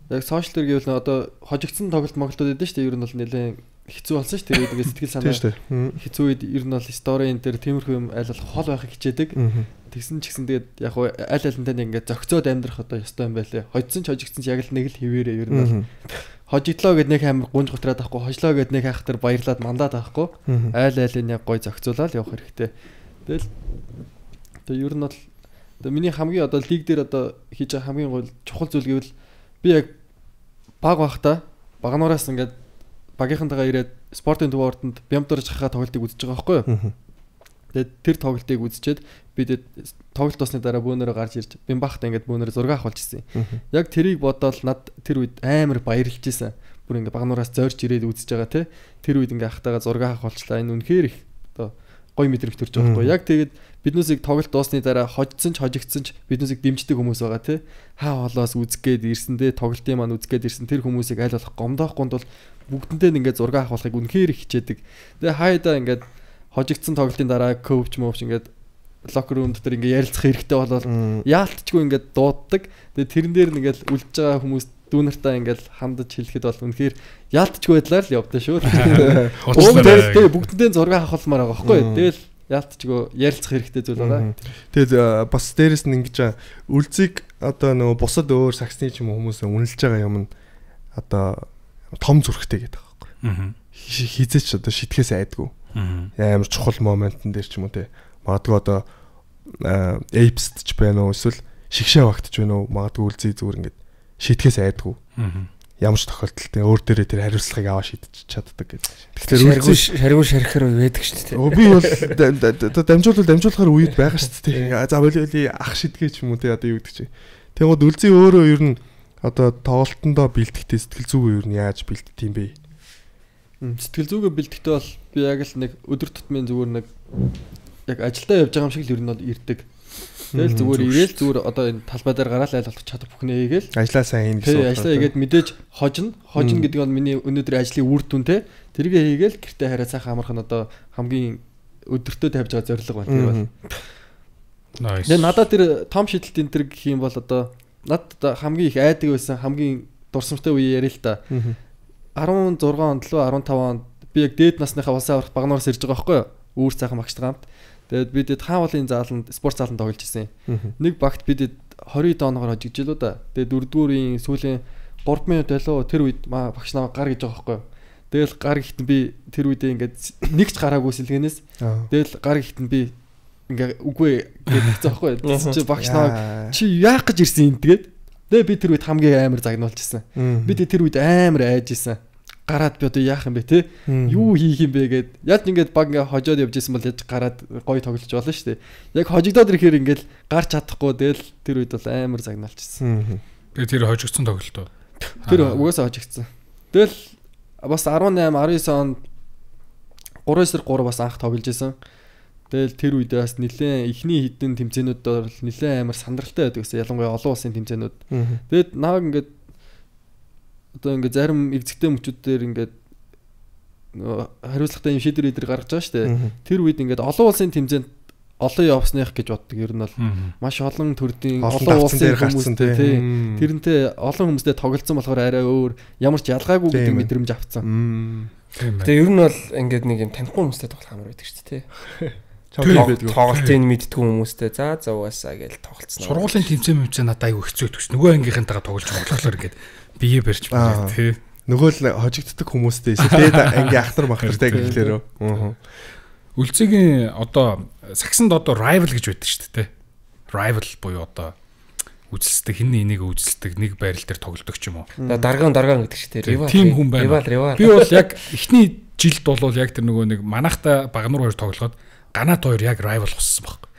яг сошиал дээр гэвэл одоо хожигдсан тоглолт моглолтууд байдаг шүү дээ. Ер нь бол нэлээд хэцүү болсон шүү дээ. Тэгээд сэтгэл санаа хэцүү үед ер нь бол сторийн дээр тиймэрхүү юм аль болох хол байхыг хичээдэг. Тэгсэн ч гэсэн тэгээд яг аль алинтай ингээд зөгцөөд амьдрах одоо ёстой юм байлээ. Хожсон ч хожигдсан ч яг л нэг л хിവэрээ ер нь бол хожигдлоо гэд нэг амар гунж готраад авахгүй, хожлоо гэд нэг хайхтар баярлаад мандаад авахгүй. Айл айлын яг гой зөгцөөлаад явах хэрэгтэй. Тэгэл ер нь бол одоо миний хамгийн одоо лиг дээр одоо хийж байгаа хамгийн гол чухал зүйл гэвэл би яг баг байхдаа багнуураас ингээд багийнхантайгаа ирээд спортын төв ордонд бямдурж хахаа тоглолтыг үзэж байгаа байхгүй юу? Тэгээд тэр тоглолтыг үзчихэд би тоглолт усны дараа бөөнөрөө гарч ирж бямбахтай ингээд бөөнөрөө зураг авах болсон юм. Яг тэрийг бодоод над тэр үед амар баярлж ийсэн. Бүр ингээд багнуураас зорж ирээд үзэж байгаа те. Тэр үед ингээд ахтайгаа зураг авах болчлаа. Энэ үнэхээр их одоо гоё мэдрэмж төрж байгаа байхгүй юу? Яг тэгээд биднүүсийг тоглолт дуусны дараа хожсон ч хожигдсан ч биднүүсийг дэмждэг хүмүүс байгаа те. Хаа холоос үзгээд ирсэндээ тоглолтын маань үзгээд ирсэн тэр хүмүүсийг аль болох гомдоохгүй бол бүгдэнтэй ингээд зураг авахыг үнэхээр их хичээдэг. Тэгээ хайдаа ингээд хожигдсан тоглолтын дараа коуч мовч ингээд локер рум дотор ингээд ярилцах хэрэгтэй болол яалтчгүй ингээд дууддаг. Тэгээ тэрэн дээр ингээд үлдэж байгаа хүмүүс дүүнартаа ингээд хандаж хэлэхэд бол үнэхээр яалтчгүй байдлаар л явдаа шүү. Тэгээ бүгдэнтэй зураг авахмаар байгаа байхгүй. Тэгэл яалтчгүй ярилцах хэрэгтэй зүйл байгаа. Тэгээд бас дээрэс нь ингэж үлзийг одоо нөгөө бусад өөр саксны ч юм уу хүмүүс үнэлж байгаа юм нь одоо том зүрхтэй гэдэг байгаа байхгүй. Хизээч одоо шитгэхээс айдгүй. Амар чухал моментн дээр ч юм уу те. Магадгүй одоо эйпст ч байна уу эсвэл шигшээ багтж байна уу магадгүй үлзий зүгээр ингээд шитгэхээс айдгүй. Ямар ч тохиолдолд өөр дээрээ тэр хариуцлагыг аваа шийдэж чаддаг гэдэг. Тэгэхээр шаргуу шархахаар байдаг шүү дээ. Би бол дамжуулахаар үед байгаа шүү дээ. За боли ах шидгээ ч юм уу те одоо юу гэдэг чи. Тэгмээд үлзий өөрөө ер нь одоо тоглолтондоо бэлтгэхдээ сэтгэл зүгөө ер нь яаж бэлддэг юм бэ? Сэтгэл зүгөө бэлтгэхдээ бол би яг л нэг өдөр тутмын зүгээр нэг яг ажилдаа явж байгаа юм шиг л ер нь бол ирдэг. Тэгэл зүгээр ирээл зүгээр одоо энэ талбай дээр гараал айл болох чадах бүхнээ хийгээл. Ажлаа сайн хийн гэсэн. Ажлаа хийгээд мэдээж хожно гэдэг нь миний өнөөдөр ажлын үр дүн те. Тэргээ хийгээл гэртээ хараа сайхан амарх нь одоо хамгийн өдөртөө тавьж байгаа зорилго байна тэр бол. Nice. Надад тэр том шидэлт энэ төр гэх юм бол одоо надад хамгийн их айдаг байсан хамгийн дурсамжтай үе яриа л та. 16 онд лөө 15 онд би яг дээд насныхаа улсын аврах багнуураас ирж байгаа байхгүй юу? Үүр цаахан багчтай хамт. Тэгээд бид хаавлын зааланд спорт зааланд тоглож ирсэн. Нэг багт бид 20 дооноор хожигдж илүү да. Тэгээд 4-р сүүлийн 3 минут байлоо тэр үед багш намайг гар гэж байгаа байхгүй юу? Тэгэл гар ихтэн би тэр үедээ ингээд нэг ч гараагүй сэлгэнээс. Тэгэл гар ихтэн би ингээ үгүй гэдэг захгүй. Чи багш намайг чи яах гэж ирсэн юм тэгээд. Тэгээ би тэр үед хамгийн амар загнуулчихсан. Би тэр үед амар айж исэн. Гараад би одоо яах юм бэ те? Юу хийх юм бэ гэд. Яг ингээд баг ингээ хожоод явж исэн бол яж гараад гоё тоглож болно шүү дээ. Яг хожигдоод ирэхээр ингээл гарч чадахгүй тэгэл тэр үед бол амар загнуулчихсан. Тэгээ тэр хожигдсон тоглолтоо. Тэр угаасаа хожигдсан. Тэгэл бас 18 19 онд 3-3 бас анх тоглож исэн. Тэгэл тэр үед бас нэлээд ихний хідэн тэмцээнүүд бол нэлээд амар сандралтай байдаг гэсэн. Ялангуяа олон улсын тэмцээнүүд. Тэгэд наваг ингээд одоо ингээд зарим эвзэгтэй мөчүүд дээр ингээд хариуцлагатай юм шийдвэр идэр гаргаж байгаа шүү дээ. Тэр үед ингээд олон улсын тэмцээнд олон явсных гэж боддог. Ер нь бол маш олон төрлийн олон улсын хүмүүстэй тэрнтэй олон хүмүүстэй тоглолцсон болохоор арай өөр ямар ч ялгаагүй гэдэг мэдрэмж авцсан. Тэгээ ер нь бол ингээд нэг юм танихгүй хүмүүстэй тоглох амар байдаг шүү дээ. Тоглолтын мэдтгүү хүмүүстэй за угаасаа гэж тоглолцсон. Сургуулийн тэмцээн надад айгүй хэцүү өгч. Нөгөө ангийнхантайгаа тоглож болохоор ингээд бие барьж байна тий. Нөгөө л хожигддаг хүмүүстэй дээд ангийн ахтар махтартай гэхлээрөө. Үлцгийн одоо саксанд одоо rival гэж байдаг шүү дээ. Rival буюу одоо үзэлцдэг хин энийг үзэлцдэг нэг байрал дээр тоглодог ч юм уу. Даргаан гэдэг шүү дээ. Тим хүн байна. Би бол яг эхний жилд бол яг тэр нөгөө нэг манахта багнуур хоёр тоглоход ганаад хоёр яг rival болсон баг.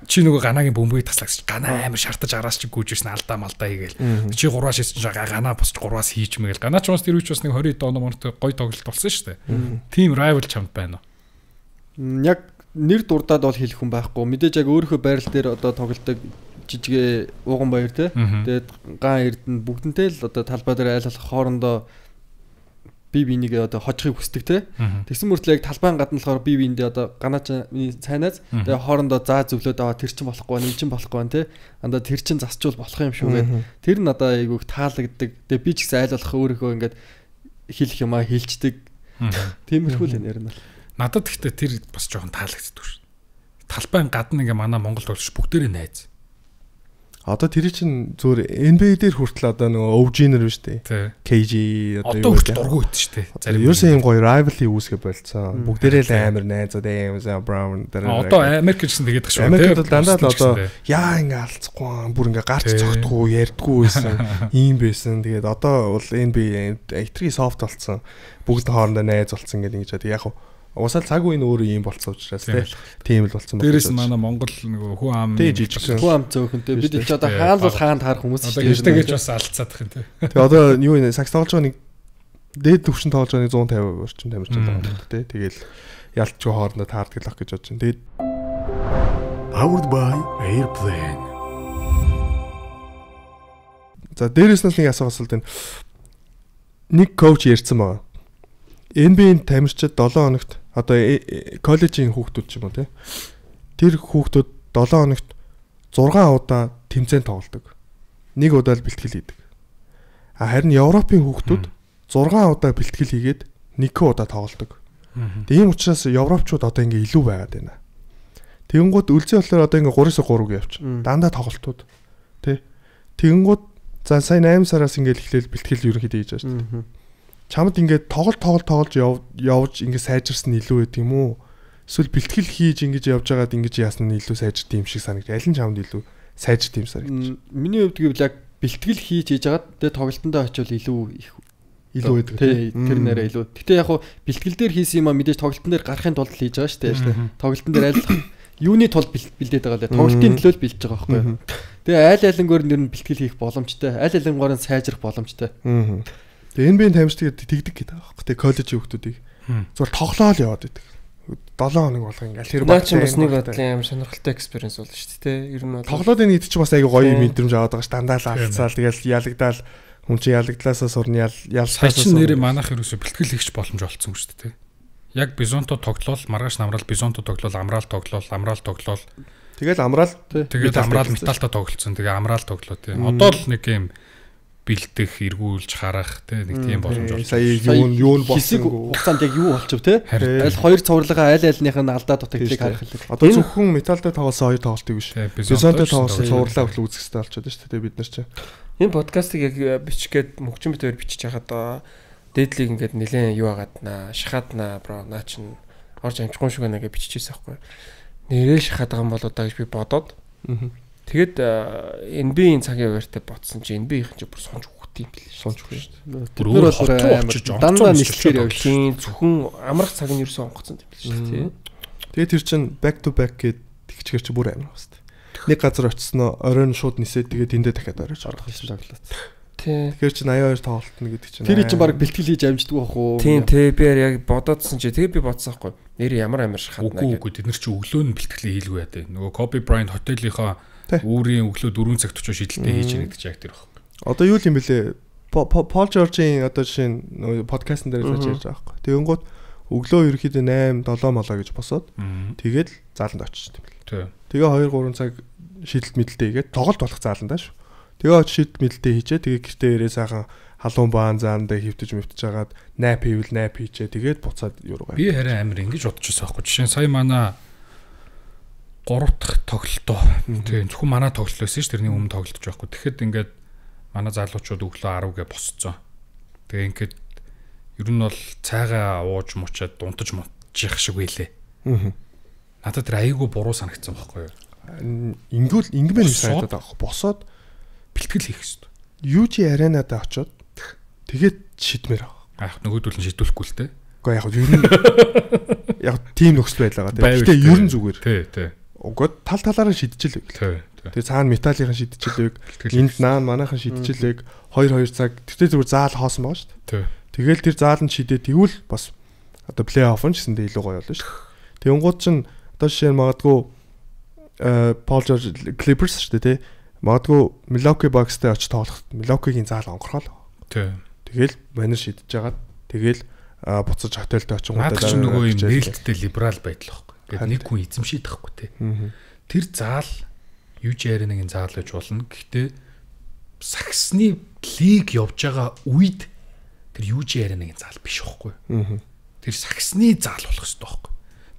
Чи нөгөө ганагийн бөмбөгийг таслагч ганаа амар шартаж араас чи гүйжсэн алдаа малдаа хийгээл. Чи 3-аас шийдсэн чинь ганаа босч 3-аас хийж мэгээл. Ганаа ч бас тэр үуч бас нэг 20 доо номортой гоё тоглолт болсон шүү дээ. Тим rival чамд байна уу? Яг нэр дурдаад бол хэлэх хүн байхгүй. Мэдээж яг өөрийнхөө байрал дээр одоо тоглолтог жижигэ ууган баяр те. Тэгээд ган эрдэнэ бүгдэнтэй л одоо талбай дээр айлах хоорондоо бие биенийг одоо хожихыг хүсдэг те. Тэгсэн мөртлөө яг талбайн гадна болохоор бие биендээ одоо ганаачны цайнаас тэгээ хоорондоо заа зөвлөөд аваа тэр чин болохгүй нэг чин болохгүй те. Андаа тэр чин засчул болох юм шүү гэдэг. Тэр нь одоо айгүйх таалагддаг. Тэгээ би ч гэсэн айл болох өөрийнхөө ингээд хэлэх юмаа хэлцдэг. Тиймэрхүү л нэр нь. Надад гэхдээ тэр бас жоохон таалагддаг шүү. Талбайн гадна ингээ манай Монгол тоглогч бүгдээрээ найз. Одоо тэр чинь зүгээр NBA дээр хүртэл одоо нөгөө OG-нэр биш үү? KG одоо хүртэл дургүй байт шүү дээ. Зарим ерөөсөө юм гоё rivalry үүсгэ болцсон. Бүгдээрээ л амар найзууд Brown дээр. Одоо Америк гэсэн тэгээд шүү. Америкт бол дандаа л одоо яа ингээ алцахгүй бүр ингээ гарч цогтгүй ярьдгүй байсан. Ийм байсан. Тэгээд одоо бол NBA этрий софт болцсон. Бүгд хоорондоо найз болцсон гэдэг ингэж яг уусаал цаг үеийн өөрөө ийм болцсон учраас тийм л болцсон байна. Дээрээс манай Монгол нөгөө хүн ам зөөхөнтэй бид ч одоо хаалбал хаанд харах хүмүүс шүү дээ. Одоо гэж бас алцаад их юм тий. Тэгээ одоо юу вэ? Сакс тоглож байгаа нэг дээд төвшин тоглож байгаа 150 орчим тамирч байгаа тий. Тэгэл ялцгүй хоорондоо таардаг л ах гэж бодож байна. Тэгээд Powered by Airplane. За дээрээс нь нэг асуулт байна. Нэг коуч ярьсан байгаа. NBA-ийн тамирчид 7 хоногт одоо коллежийн хүүхдүүд ч юм уу тий. Тэр хүүхдүүд 7 хоногт 6 удаа тэмцээн тоглодог. Нэг удаа л бэлтгэл хийдэг. Харин Европын хүүхдүүд 6 удаа бэлтгэл хийгээд 1 удаа тоглодог. Тийм учраас европчууд одоо ингээ илүү байгаад байна. Тэгэнгუთ үлзий болохоор одоо ингээ 3-3 явчих. Дандаа тоглолтууд тий. Тэгэнгуთ за сайн 8 сараас ингээ эхлээл бэлтгэл ерөнхийдөө хийж байгаа шүү дээ. Чамд ингээд тоглож явж ингээд сайжирсан илүү байд юм уу? Эсвэл бэлтгэл хийж ингэж явж байгаад ингэж яасан нь илүү сайжирт юм шиг санагд. Аль нь чамд илүү сайжирт юм санагд? Миний хувьд гэвэл яг бэлтгэл хийж яагаад тэгээ тоглолтондоо очивол илүү байдаг. Тэр нэрээ илүү. Гэтэ яг хуу бэлтгэл дээр хийсэн юм а мэдээж тоглолтын дээр гарахын тулд хийж байгаа шүү дээ. Тоглолтын дээр аль юуны тулд бэлдээд байгаа лээ. Тоглолтын төлөө л бэлдэж байгаа байхгүй юу? Тэгээ айл айлангоор нэр нь бэлтгэл хийх боломжтой. Айл айлангоор нь сайжрах боломжтой. Тэгээ NBA-ийн тамирчид тэгдэг гэдэг байгаа байхгүй. Тэгээ коллежийн хүүхдүүдийг зүгээр тоглоол яваад байдаг. 7 хоног болго ингээл тэр баг чинь бас нэг бодлын амар сонирхолтой экспириенс болно шүү дээ. Ер нь тоглоодын нийт чинь бас айгүй гоё мэдрэмж аваад байгаа ш. Дандаа л алцаал тэгэл ялагдаал хүн чинь ялагдлаасаа сурна ялсаа чинь нэрээ манайх ерөөсө бэлтгэл хийх боломж олцсон шүү дээ. Яг бизонто тоглол, маргааш намраал бизонто тоглол, амраал тоглол. Тэгэл амраал металта тоглолцсон. Тэгээ амраал тоглоо тийм. Одоо л нэг юм бэлдэх, эргүүлж харах тий нэг тийм боломж олж. Сая юу хэсэг хугацаанд яг юу болчих тий. Аль хоёр цувралгаа аль альных нь алдаа дутагдлыг харах хэлээ. Одоо зөвхөн металтай тоглосон хоёр тоглолтыг биш. Бизонтой тоглосон цувралаа хүртэл үзэх хэрэгтэй болчиход шүү дээ бид нар чинь. Энэ подкастыг яг бичгээд мөгчин битээр бичиж хахад дээдлийг ингээд нэлээд юу агааднаа, шахааднаа бро наа чин орж амжихгүй шүү гэнэ гэж бичижсэн байхгүй. Нэрээ шахаад байгаа юм болоо да гэж би бодоод. Тэгэд NBA-ийн цагийн хуваартай ботсон чи NBA-ийн чи бүр сонж өгөх юм бэл. Сонж өгөх шүү дээ. Бүр өөр амар дандаа нэлхээр явчихын зөвхөн амрах цаг нь ерөөсөө онгоцсон юм бэл шүү дээ. Тэгээ тэр чин back to back гэд тэгчгэр чи бүр амар басна. Нэг газар очисноо оройн шууд нисээд тэгээ тэндээ дахиад орж орох гэсэн тоглолт. Тий. Тэгэхээр чи 82 тоглолтно гэдэг чинь. Тэр чинь баг бэлтгэл хийж амждаг байх уу? Тийм би яг бодоодсэн чи тэгээ би бодсон байхгүй. Нэр ямар амар шахадна гэдэг. Үгүй тэд нар чи өглөө нь бэлтгэлээ хийлгүй яа. Нөгөө Kobe Bryant хотелийнхоо өөрийн өглөө 4 цагт очиж шийдэлтэй хийж яах гэж яг тэр баг. Одоо юу юм бэлээ? Paul George-ийн одоо жишээ нь подкастн дээр л ярьж байгаа байхгүй. Тэгэнгუთ өглөө ерөөхдөө 8 7 молоо гэж босоод тэгээд зааланд очиж тийм бэл. Тэгээ 2 3 цаг шийдэлт мэдлэлтэй хийгээд тоглолт болох зааландаа шүү. Тэгээ очиж шийдэлт мэдлэлтэй хийчээ. Тэгээ гэртээ ирээ сайхан халуун баан заандаа хөвтөж мөвтөж хагаад найп хийчээ. Тэгээд буцаад юу руу. Би харин амар ингэж бодчихсон байхгүй. Жишээ нь сая манай 3 дахь тоглолтоо. Тийм зөвхөн манай тоглолт байсан ш. Тэрний өмнө тоглолтож байхгүй. Тэгэхэд ингээд манай залуучууд өглөө 10 гэ босцсон. Тэгээ ингээд ер нь бол цайгаа ууж муучаад дунтаж мутчих шиг байлээ. Надад тэр айгүй буруу санагдсан байхгүй юу? Ингэмээр санагдаад байгаа. Босоод бэлтгэл хийх хэрэгтэй. Юу чи аренадаа очоод тэгээд шидмээр байгаа. Нөгөөдөл нь шийдвэхгүй л те. Уу яг ер нь яг тийм нөхцөл байлаа гэх. Гэтэ ер нь зүгээр. Тий. Угод талаараа шидчихлээ. Тэгээ цаана металлийнхан шидчихлээ. Энд наан манайхан шидчихлээ. 2 цаг. Тэгтээ зүгээр заал хоосон байгаа шүү дээ. Тэгэл тэр заал нь шидээ тэгвэл бас одоо плей офф нь гэсэндээ илүү гоё болно шүү. Тэнгууд чинь одоо жишээ нь магадгүй Paul George Clippers шүү дээ тий. Магадгүй Milwaukee Bucks-тэй очиж тоглоход Milwaukee-гийн заал онгорхол. Тий. Тэгэл манер шидэж жагаад Тэгэл буцаж хотелд очингуудаа наад чинь нөгөө юм нээлттэй либерал байдал байхгүй. Ингээд нэг хүн эзэмшээд тахгүй те. Тэр заал UJ-ийн заал гэж болно. Гэхдээ Саксны лиг явж байгаа үед тэр UJ-ийн заал биш байхгүй. Тэр Саксны заал болох хэрэгтэй байхгүй.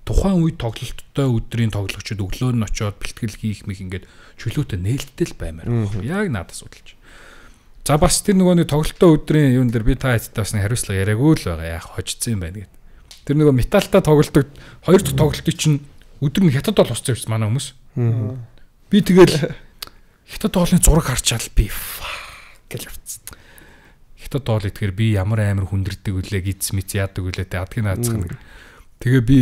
Тухайн үед тоглолттой өдрийн тоглогчид өглөө нь очиод бэлтгэл хийх мэх ингээд чөлөөтэй нээлттэй л баймаар байна. Яг надад судалж. За бас тэр нөгөө нэг тоглолттой өдрийн юун дээр би та хэдтэй бас нэг хариуцлага яриаггүй л байгаа. Яг хожицсан юм байна гэд. Тэр нөгөө металтай тоглолтод хоёр дахь тоглолтыг чинь өдөр нь хятад бол усцсан юм манай хүмүүс. Би тэгэл хятад тоолны зураг харчаал би гэж явцсан. Хятад тоол итгэр би ямар амар хүндэрдэг үлээ гиз мэц яадаг үлээ тэ адгийн наацх нэг. Тэгээ би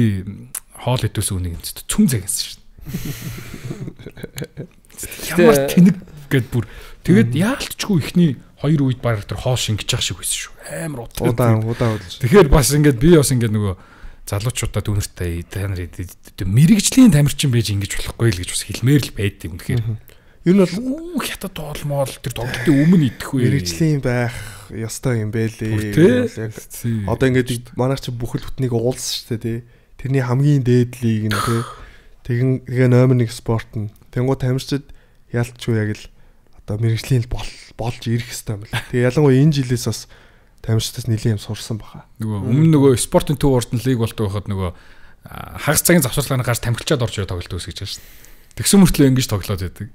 хоол идэвс үнийг энэ цүн загнасан шин. Ямар тэнэг гэд бүр тэгээд яалтчгүй ихний хоёр үед баг тэр хоол шингэж явах шиг байсан шүү. Амар удаан удаж. Тэгэхээр бас ингээд би бас ингээд нөгөө залуучуудаа дүнэртэй та нар мэрэгжлийн тамирчин байж ингэж болохгүй л гэж бас хэлмээр л байд юм. Тэгэхээр ер нь бол хятад тоолмол тэр тоглолтын өмнө идэх вэ. Мэргэжлийн байх ёстой юм бэлээ. Яг одоо ингээд манайх чи бүхэл бүтнийг уулсан шүү дээ тий. Тэрний хамгийн дээдлийг нь тий. Тэгээ номер 1 спорт нь. Тэнгуут тамирчид ялцгүй яг л одоо мэргэжлийн болж ирэх хэрэгтэй юм байна. Тэгээ ялангуяа энэ жилээс бас тамирчдаас нэлийн юм сурсан баха. Нөгөө өмнө нөгөө спортын төв урд нь лиг болдог байхад нөгөө хагас цагийн завсарлагын гарч тамирчаад орж ирээ тоглолт үүсгэж байна шүү дээ. Тэгсэн мөртлөө ингэж тоглоод байдаг.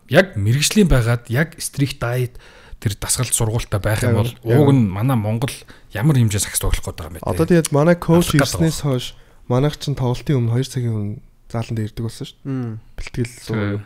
Яг мэргэжлийн байгаад яг стрикт дайет тэр дасгалт сургуультай байх юм бол ууг нь манай Монгол ямар хэмжээ сакс тоглох гээд байгаа юм бэ? Одоо тэгээд манай коуч ирснээс хойш манайх чинь тоглолтын өмнө 2 цагийн өмнө заалан дээр ирдэг болсон шүү дээ. Бэлтгэл суу.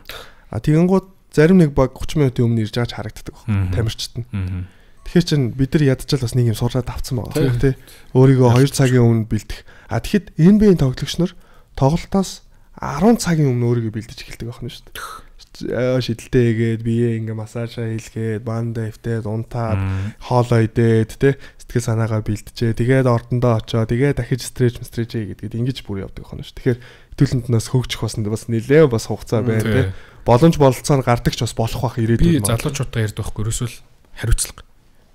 Тэгэнгუთ зарим нэг баг 30 минутын өмнө ирж байгаа харагддаг байна. Тамирчид нь. Тэгэхээр чин бид нар ядчил бас нэг юм сураад авцсан байгаа тий. Өөрийгөө 2 цагийн өмнө бэлдэх. Тэгэхэд NBA-ийн тоглогч нар тоглолтоос 10 цагийн өмнө өөрийгөө бэлдэж эхэлдэг байна шүү дээ. Шидэлтэй хийгээд бие ингээ массажаа хийлгээд банда эвтээд унтаад хоолоо идээд тий сэтгэл санаагаа бэлдэжээ. Тэгээд ордондоо очоо тэгээд дахиж стретч хийгээд ингэж бүр явдаг байна шүү. Тэгэхээр хэдүүлэнд нас хөгжих бас нэлээд бас хугацаа байна тий. Боломж бололцоо гардаг ч бас болох бах ирээдүйд. Би залуучуудаа ярьдаг байхгүй ерөөсөл хариуцлага.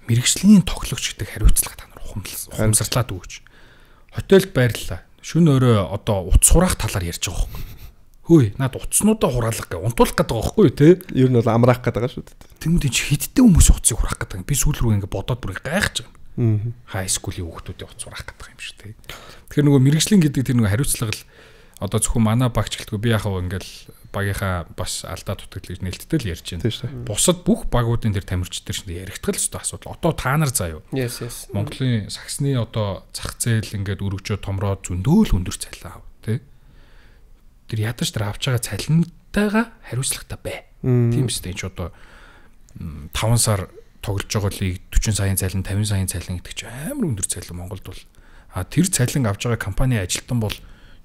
Мэргэжлийн тоглогч гэдэг хариуцлага та нар ухамсарлаад өгөөч. Хотелд байрлалаа. Шүн өрөө одоо утас хураах талаар ярьж байгаа байхгүй. Хөөе, наад утаснуудаа хураалах гэ унтуулах гэдэг байгаа байхгүй тий. Ер нь бол амраах гэдэг байгаа шүү дээ. Тэмүүдэд чи хиддээ хүмүүс утсыг хураах гэдэг. Би сүүл рүү ингээ бодоод бүр гайхаж байгаа. Хай скулийн хүүхдүүдийн утас хураах гэдэг юм шүү тий. Тэгэхээр нөгөө мэргэжлийн гэдэг тэр нөгөө хариуцлага л одоо зөвхөн манай багч гэлтгүй би яхав ингээл багийнхаа бас алдаа дутагдлыг нээлттэй л ярьж байна. Бусад бүх багуудын тэр тамирчдэр шинэ яригдтал өстой асуудал. Одоо та нар заа юу. Монголын саксны одоо зах зээл ингээд өргөжөө томроод зөндөөл өндөр цалин аав тий. Тэр ядаж тэр авч байгаа цалинтайгаа хариуцлагатай бай. Тийм үстэй ч одоо 5 сар тоглож байгаа лиг 40 саяын цалин 50 саяын цалин гэдэг чинь амар өндөр цалин Монголд бол. Тэр цалин авч байгаа компани ажилтан бол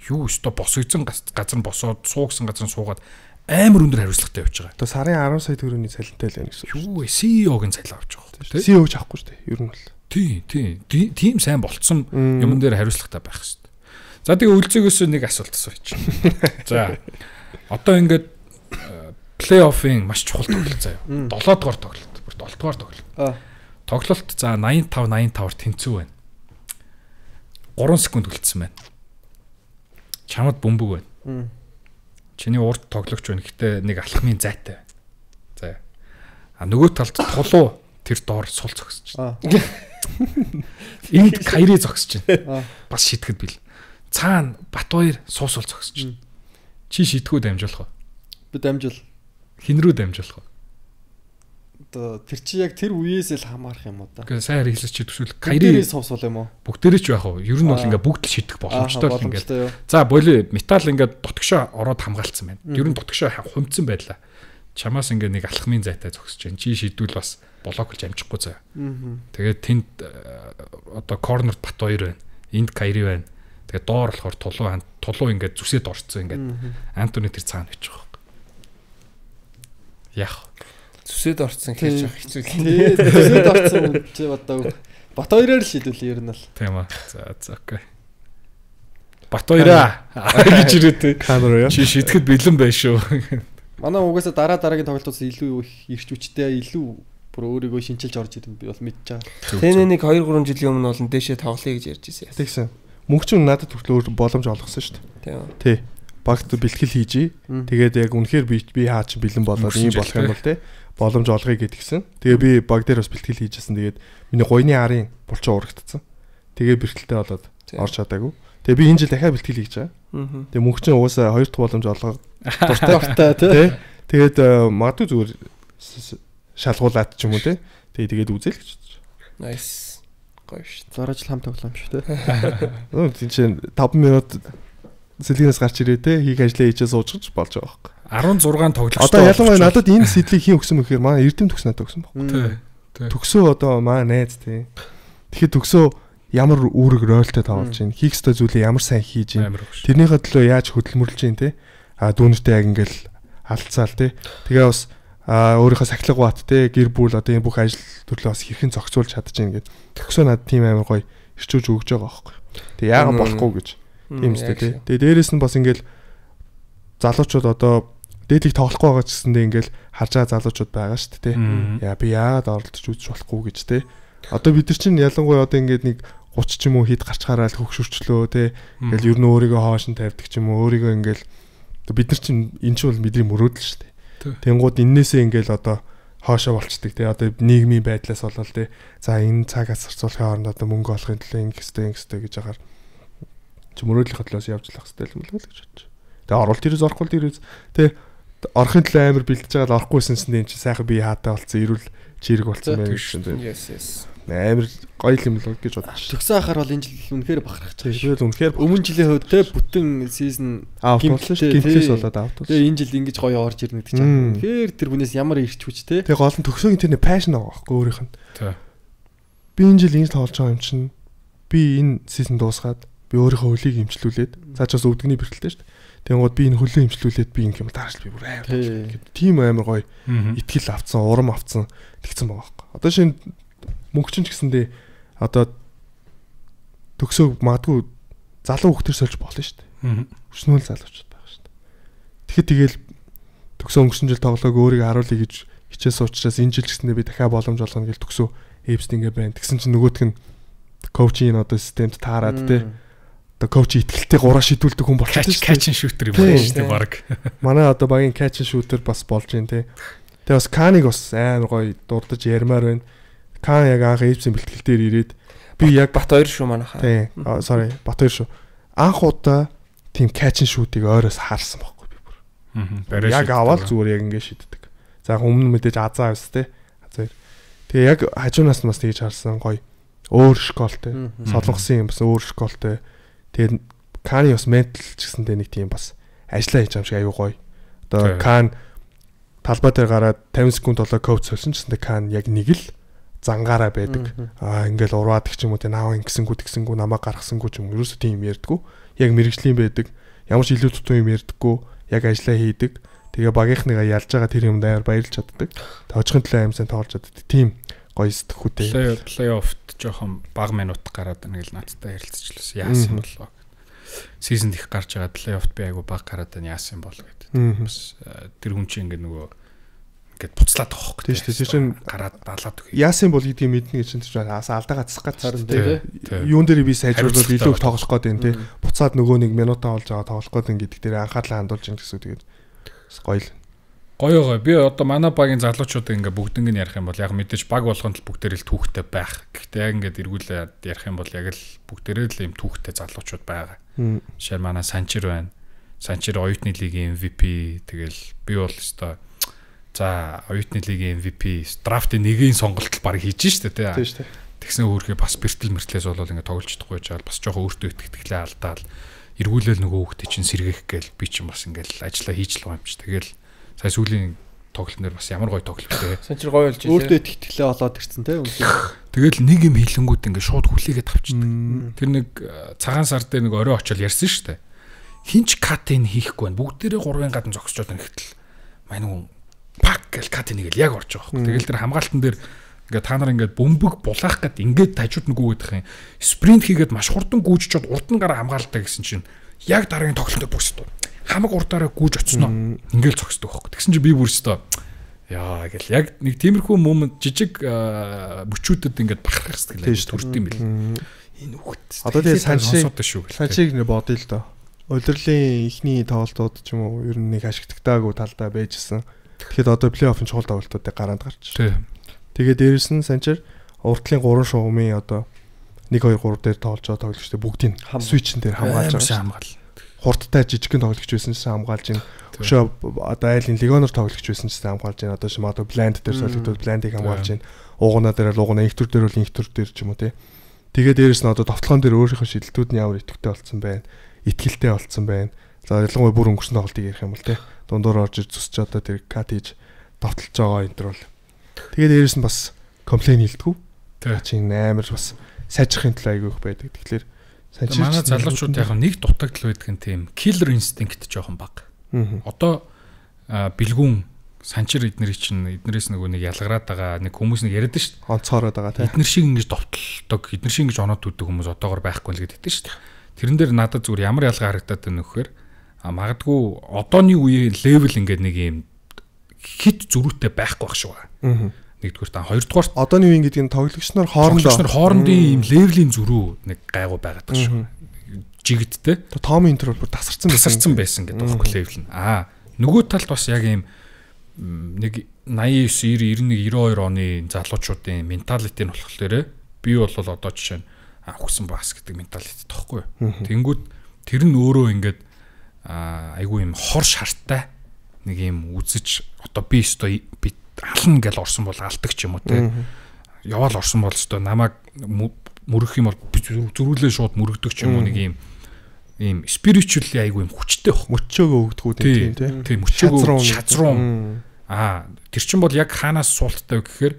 юу өстой босгоцсон газар нь босоод суугсан газар нь суугаад амар өндөр хариуцлагатай явж байгаа. Одоо сарын 10 сая төгрөгийн цалинтай л байна гэсэн. Юу вэ? CEO-гийн цалин авч байгаа тийм. CEO-ч авахгүй шүү дээ. Ер нь бол. Тийм сайн болцсон юмн дээр хариуцлагатай байх хэрэгтэй. За тэгээ үлцэгөөс нэг асуулт асууж. За. Одоо ингээд плей-оффын маш чухал тоглолт заяа. 7 дугаар тоглолт. Бүр 7 дугаар тоглолт. Тоглолт за 85-85-аар тэнцүү байна. 3 секунд үлдсэн байна. Чамд бөмбөг байна. Чиний урд тоглогч байна. Гэтэ нэг алхмын зайтай байна. За. Нөгөө талд тулуу тэр доор сул зогсож байна. Энд Кайри зогсож байна. Бас шитгэд бил. Цаана Батбаяр суусуул зогсож байна. Чи шитгэхүү дамжуулах уу? Би дамжуул. Хин рүү дамжуулах уу? Одоо тэр чи яг тэр үеэс л хамаарах юм уу да. Гэхдээ сайн хэлж чи төсвөл Кайри суусуул юм уу? Бүгдээрээ ч яах вэ? Ер нь бол ингээ бүгд л шитгэх боломжтой л ингээ. За боли металл ингээ дотгошоо ороод хамгаалцсан байна. Ер нь дотгошоо хумцсан байлаа. Чамаас ингээ нэг алхмын зайтай зогсож байна. Чи шийдвэл бас блок болж амжихгүй заа. Тэгээд тэнд одоо корнерт Батбаяр байна. Энд Кайри байна. Тэгээд доор болохоор тулуу ингээд зүсээд орцсон ингээд Антони тэр цаана байж байгаа. Яах. Зүсээд орцсон гэж явах хэцүү. Тий, зүсээд орцсон чи одоо Батбаяраар л шийдвэл ер нь л. Тийм аа. За окей. Батбаяраа гэж ирээтэй. Камера яа. Чи шийдэхэд бэлэн байна шүү. Манай угаасаа дараагийн тоглолтоос илүү их ирч хүчтэй илүү бүр өөрийгөө шинчилж орж идэв би бол мэдчихэе. Тэнэ нэг 2-3 жилийн өмнө бол дэшээ тоглоё гэж ярьж ирсэн. Тэгсэн. Мөнгө чинь надад хүртэл боломж олгосон шүү дээ. Тий. Багт бэлтгэл хийжээ. Тэгээд яг үнэхээр би хаа чи бэлэн болоод ийм болох юм бол те боломж олгоё гэдгийгсэн. Тэгээ би баг дээр бас бэлтгэл хийжсэн. Тэгээд миний гойны арын булчин урагдсан. Тэгээ бэрхтэлтэй болоод орж чадаагүй. Тэгээ би энэ жил дахиад бэлтгэл хийж байгаа. Тэгээ мөнгө чинь угаасаа 2 дахь боломж олгоо дуртай тий. Тэгээд магадгүй зүгээр шалгуулаад ч юм уу тий. Тэгээд үзэл гэж бодож. Nice. Гоё шүү. Зараж л хам тоглоом шүү те. Тийм чинь 5 минут сэлгээс гарч ирээ те хийх ажлаа хийчээ суужж болж байгаа байхгүй. 16 тоглогчтой. Одоо ялангуяа надад энэ сэдлийг хийн өгсөн мөхээр манай Эрдэм төгс надад өгсөн байхгүй. Төгсөө одоо маа найз те. Тэгэхэд төгсөө ямар үүрэг ролтой тоглож байна. Хийх ёстой зүйлээ ямар сайн хийж байна. Тэрнийхээ төлөө яаж хөдөлмөрлж байна те. Дүүнэртэй яг ингээл алдцаал те. Тэгээ бас өөрийнхөө сахилга бат те гэр бүл одоо энэ бүх ажил төрлөө бас хэрхэн зохицуулж чадчихээн гэд. Төгсөө надад тийм амар гоё ирчүүж өгж байгаа байхгүй. Тэгээ яагаад болохгүй гэж. Тийм үстэй тий. Тэгээ дээрэс нь бас ингээл залуучууд одоо дээдлийг тоглохгүй байгаа ч гэсэндээ ингээл харж байгаа залуучууд байгаа шүү дээ тий. Яа би яагаад оролдож үзэж болохгүй гэж тий. Одоо бид нар чинь ялангуяа одоо ингээд нэг 30 ч юм уу хэд гарчхаараа л хөгшөрчлөө тий. Ингээл ер нь өөрийгөө хоошин тавьдаг ч юм уу өөрийгөө ингээл бид нар чинь энэ чинь бол бидний мөрөөдөл шүү дээ. Тэнгууд эннээсээ ингээл одоо хоошоо болчдөг тий. Одоо нийгмийн байдлаас болол тий. За энэ цагаас зарцуулахын оронд одоо мөнгө олохын төлөө ингэстэй гэж агаар чи мөрөөдлийн хөтлөөс явж лах хэвээр юм л гэж бодож. Тэгээ оролт ирээс орохгүй дээрээс тэгээ орохын төлөө амар бэлдэж байгаа л орохгүйсэн чинь энэ чи сайхан би хаатай болцсон ирүүл чирэг болцсон байх гэсэн тийм. Yes. Амар гоё юм л гэж бодож. Төгсөн ахаар бол энэ жил үнэхээр бахархаж байгаа. Тэгэл үнэхээр өмнө жилийн хувьд те бүтэн сизон гимплээс болоод аут. Тэгээ энэ жил ингэж гоё орж ирнэ гэдэг чинь. Тэгэхээр тэр хүнээс ямар ирч хүч те. Тэгээ гол нь төгсөөгийн тэр пашн байгаа байхгүй өөрийнх нь. Би энэ жил ингэж тоглож байгаа юм чинь би энэ сизон дуусгаад би өөрийнхөө хөлийг имжлүүлээд цаашаас өвдөгний бэрхтэлтэй шүү дээ. Тэнгууд би энэ хөлөө имжлүүлээд би ингэ юм тааш би бүр амар гэдэг. Тим амар гоё итгэл авцсан, урам авцсан тэгсэн байгаа байхгүй. Одоо шинэ мөнгөчин ч гэсэндээ одоо төгсөө магадгүй залуу хөлтөр сольж болно шүү дээ. Өчнөөл залуучууд байгаа шүү дээ. Тэгэхэд тэгэл төгсөө өнгөрсөн жил тоглоог өөрийгөө харуулъя гэж хичээс уучраас энэ жил гэсэндээ би дахиад боломж олгоно гэж төгсөө эвст ингэ байна. Тэгсэн чинь нөгөөх нь коучинг одоо системд таарад те. Одоо коуч итгэлтэй гураа шидүүлдэг хүн болчихсон шүү дээ. Catch and shooter юм байна шүү дээ баг. Манай одоо багийн catch and shooter бас болж байна те. Тэгээ бас Каныг бас амар гоё дурдж ярмаар байна. Кан яг анх эвсийн бэлтгэл дээр ирээд би яг Бат 2 шүү манайхаа. Тийм. Sorry, Бат 2 шүү. Анх удаа тийм catch and shoot-ыг ойроос харсан байхгүй би бүр. Яг аваад зүгээр яг ингэ шиддэг. За өмнө мэдээж азаа авс те. Азаа. Тэгээ яг хажуунаас нь бас тэгж харсан гоё өөр школтой. Солонгосын юм бас өөр школтой. Тэгээд Каны бас ментал ч гэсэндээ нэг тийм бас ажиллаа хийж байгаа юм шиг аюу гоё. Одоо Кан талбай дээр гараад 50 секунд болоо коуч солисон ч гэсэндээ Кан яг нэг л зангаараа байдаг. Ингээл ураад их ч юм уу те наав ингэсэнгүү намаа гаргасангүй ч юм ерөөсөө тийм ярьдгүү. Яг мэрэгжлийн байдаг. Ямар ч илүү тутун юм ярьдаггүй. Яг ажиллаа хийдэг. Тэгээ багийнхныгаа ялж байгаа тэр юмд аяар баярлж чаддаг. Тожихын төлөө аим сайн тоглож чаддаг. Тийм гоё сэтгэхүйтэй. Плей-оффт жоохон бага минут гараад нэг л наадтай ярилцчихлээ. Яасан болоо. Сизонд их гарч байгаа плей-оффт би айгу бага гараад байна яасан бол гэдэг. Бас тэр хүн чинь ингээ нөгөө ингээд буцлаад байгаа хөөхгүй. Тийм шүү. Тэр чинь гараад далаад өгье. Яасан бол гэдгийг мэднэ гэж чинь алдаа гацсах гэж тийм. Юун дээр би сайжруулаад илүү их тоглох гээд байна тийм. Буцаад нөгөө нэг минутаа олж байгаа тоглох гээд байна гэдэг дээр анхаарлаа хандуулж ин гэсэн тэгээд гоё л. Гоё. Би одоо манай багийн залуучуудыг ингээ бүгднийг нь ярих юм бол яг мэдээж баг болгонд л бүгдээр л түүхтэй байх. Гэхдээ яг ингээд эргүүлээд ярих юм бол яг л бүгдээрээ л юм түүхтэй залуучууд байгаа. Жишээ нь манай Санчир байна. Санчир оюутны лигийн MVP тэгэл би бол өстой за оюутны лигийн MVP драфтын нэгийн сонголтол баг хийж штэ тий. Тийм штэ. Тэгсэн өөрхөө бас бэртэл мэртлээс бол ингээ тоглож чадахгүй жаал бас жоохон өөртөө итгэлээ алдаал эргүүлэл нөгөө хүүхдээ чинь сэргээх гээл би чинь бас ингээл ажиллаа хийж л байгаа юм чи. Тэгэл сая сүүлийн тоглолт нэр бас ямар гоё тоглолт вэ? Санчир гоё болж байна. Өөртөө итгэлээ олоод ирсэн те. Тэгэл нэг юм хилэнгүүд ингээ шууд хүлээгээд авчихдаг. Тэр нэг цагаан сар дээр нэг орой очил ярьсан шүү дээ. Хинч катын хийхгүй байна. Бүгдээрээ гурван гадна зогсчод нэгтэл мань хүн пак гэл катын нэг л яг орж байгаа хөөх. Тэгэл тэр хамгаалтан дээр ингээ та нар ингээ бөмбөг булаах гээд ингээд тажууд нүгүйгээд их юм. Спринт хийгээд маш хурдан гүйжчихэд урд нь гараа хамгаалалтаа гэсэн чинь яг дараагийн тоглолтод бүсд хамаг урдаараа гүйж оцсноо. Ингээл зогсдог байхгүй. Тэгсэн чи би бүр өстөө Яа гэл яг нэг тиймэрхүү момент жижиг бүчүүдэд ингээд бахархах сэтгэл төрд юм бэл. Энэ хүүхэд. Одоо тэгээ саншиг нэ бодъё л доо. Улирлын ихний тоглолтууд ч юм уу ер нь нэг ашигтагтаагүй талдаа байжсэн. Тэгэхэд одоо плей-оффын чухал тоглолтуудыг гараад гарч. Тэгээд дээрээс нь санчаар уртлын 3 шугамын одоо 1 2 3 дээр тоглож байгаа тоглогчдод бүгдийг свичэн дээр хамгаалж байгаа. Хурдтай жижигхэн тоглогч байсан ч хамгаалж ин өшөө одоо айлын легионор тоглогч байсан ч хамгаалж ин одоо шим одоо бланд дээр солигдоод бландыг хамгаалж ин уугана дээр л уугана инхтүр дээр бол инхтүр дээр ч юм уу тий. Тэгээд дээрэс нь одоо товтлогон дээр өөрийнхөө шидэлтүүд нь ямар идэвхтэй болцсон байна. Итгэлтэй болцсон байна. За ялангуяа бүр өнгөрсөн тоглолтыг ярих юм бол тий. Дундуур орж ир зүсч одоо тэр кат хийж товтлж байгаа энэ төр бол. Тэгээд дээрэс нь бас комплейн хийлдэггүй. Тэр чинь амар бас сайжрахын төлөө айгүй их байдаг. Тэгэхээр манай залуучууд яг нэг дутагдал байдаг нь тийм killer instinct жоохон бага. Одоо бэлгүүн санчир эднэрээс нөгөө нэг ялгараад байгаа нэг хүмүүс нэг яриад шүү дээ. Онцоороод байгаа тийм. Эднэр шиг ингэж довтлдог, эднэр шиг ингэж оноод үддэг хүмүүс одоогор байхгүй л гэдэг шүү дээ. Тэрэн дээр надад зүгээр ямар ялгаа харагдаад байна нөхөр магадгүй одооний үеийн левел ингээд нэг юм хит зөрүүтэй байхгүй байх шүү. Нэгдүгээр та хоёрдугаар одооний үеийн гэдэг нь тоглогч нар хоорондын ийм левелийн зөрүү нэг гайгүй байгаад байгаа шүү. Жигдтэй. Том интер бол бүр тасарсан байсан гэдэг байхгүй левел нь. Нөгөө талд бас яг ийм нэг 89 90 91 92 оны залуучуудын менталити нь болохоор би бол одоо жишээ нь хүсэн бас гэдэг менталити тоххой. Тэнгүүд тэр нь өөрөө ингээд айгүй юм хор шарттай нэг юм үзэж одоо би өстой би ална гэж орсон бол алдаг ч юм уу те. Яваал орсон бол өстой намайг мөрөх юм бол зөрүүлээ шууд мөрөгдөг ч юм уу нэг ийм spiritually айгүй юм хүчтэй баг. Мөчөөгөө өгдөггүй тийм тийм мөчөөгөө шазруу. Тэр чин бол яг хаанаас суулттай гэхээр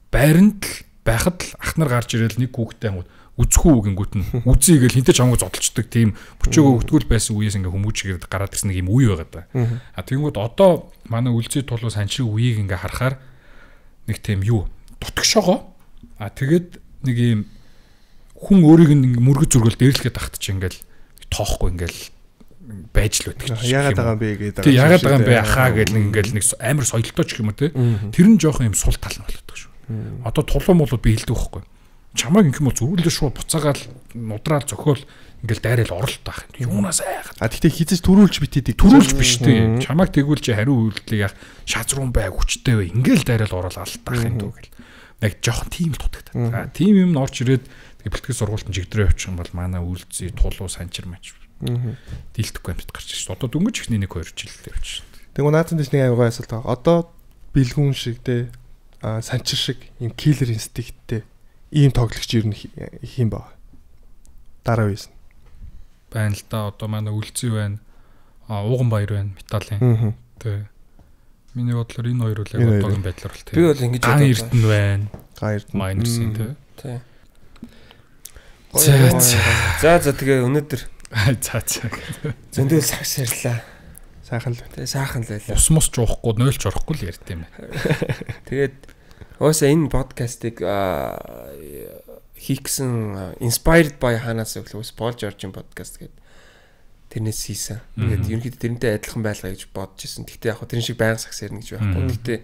байранд л байхад л ах нар гарч ирэл нэг хүүхдээ ангууд үзэхүү гингүүт нь үзье гэл хинтээ чамгүй зодолчдөг тийм мөчөөгөө өгдөггүй байсан үеэс ингээ хүмүүжгээд гараад ирсэн нэг юм үе байгаа да. Тэгэнгүүт одоо манай үлзий тулуу санчрын үеийг ингээ харахаар нэг тийм юу дутгшоогоо тэгээд нэг юм хүн өөрийг нь мөргөж зөргөл дээрлэхэд тахт чи ингээл тоохгүй ингээл байж л байдаг. Яагаад байгаа юм бэ гэдэг. Тэг яагаад байгаа юм бэ ахаа гэл нэг ингээл нэг амар соёлтой ч юм уу те. Тэр нь жоохон юм сул тал нь болдог шүү. Одоо тулуун болоод би хэлдэг байхгүй. Чамайг ингэм бол зүрүүлээ шууд буцаагаал нудраал зөхөөл ингээл дайрал оролт таах юм. Юунаас айхад. Тэгтээ хизэж төрүүлж битээдэг. Төрүүлж биш те. Чамайг тэгвэл чи хариу үйлдэлийг яг шазруун бай хүчтэй бай. Ингээл дайрал орол алдаах юм дөө гэл. Яг жоохон тийм л дутагдаад. Тийм юм орж ирээд бэлтгэл сургуульд нь жигдрээ явчих юм бол манай үлзий тулуу санчир мач дийлдэхгүй амьд гарч ирсэн. Одоо дөнгөж ихний 1-2 жил явчих. Тэгвэл наацсан дэс нэг аюугаа асуулт байгаа. Одоо бэлгүүн шиг те санчир шиг юм killer instinct-тэй ийм тоглогч ер нь хийм баа. Дараа үеэс нь байна л да. Одоо манай үлзий байна. Ууган баяр байна. Металлын. Тэ. Миний бодлоор энэ хоёр үл яг одоогийн байдлаар бол тийм. Би бол ингэж боддог. Эрдэнэ байна. Эрдэнэ. Майнерсын тий. За тэгээ өнөөдөр зөндөө сагс ярьлаа. Сайхан л. Тэгээ сайхан л байлаа. Ус мус жуухгүй, нойлч орохгүй л ярьд юм байна. Тэгээд өөсөө энэ подкастыг хийх гэсэн inspired by ханаас өглөөс Paul George-ийн подкаст гэдэг тэрнээс хийсэн. Тэгээд ерөнхийдөө тэрнтэй адилхан байлгаа гэж бодож ирсэн. Гэхдээ яг тэрэн шиг байнга сагс ярина гэж байхгүй. Гэхдээ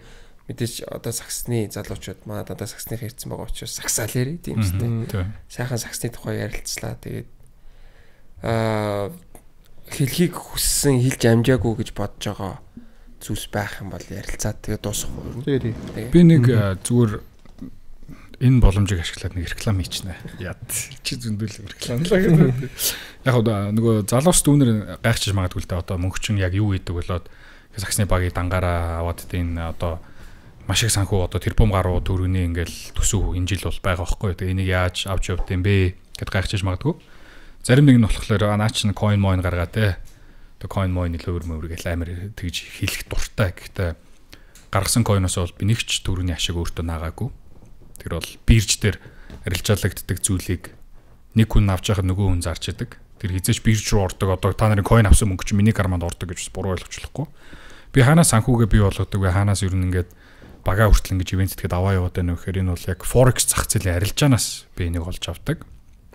мэдээж одоо сагсны залуучууд манай дандаа сагсны хэрцэн байгаа учраас сагсаал ярий тийм үстэй. Сайхан сагсны тухай ярилцлаа. Тэгээд хэлхийг хүссэн хэлж амжаагүй гэж бодож байгаа зүйлс байх юм бол ярилцаад тэгээд дуусах уу. Би нэг зүгээр энэ боломжийг ашиглаад нэг реклам хийчихнэ. Яд чи зөндөл рекламлаа гэдэг. Яг нөгөө залуус дүүнэр гайхчих магадгүй л дээ. Одоо мөнгөчин яг юу хийдэг болоод сагсны багийг дангаараа аваад энэ одоо маш их санхүү одоо тэрбум гаруй төгрөгийн ингээл төсөв энэ жил бол байгаа байхгүй. Тэгээ энийг яаж авч явд юм бэ гэд гайхчих магадгүй. Зарим нэг нь болохоор наач нь coin moin гаргаа те. Тэгээ coin moin илүү өөр гэл амар тэгж хэлэх дуртай. Гэхдээ гаргасан coin-оос бол би нэг ч төгрөгийн ашиг өөртөө наагаагүй. Тэр бол бирж дээр арилжаалагддаг зүйлийг нэг хүн авч яхад нөгөө хүн зарч идэг. Тэр хизээч бирж руу ордог. Одоо та нарын coin авсан мөнгө чи миний карманд ордог гэж буруу ойлгочлохгүй. Би хаанаас санхүүгээ бий болгодог вэ? Хаанаас ер нь ингээд бага хүртэл ингэж ивент тэгэхэд аваа яваад байна вэ гэхээр энэ бол яг forex зах зээлийн арилжаанаас би энийг олж авдаг.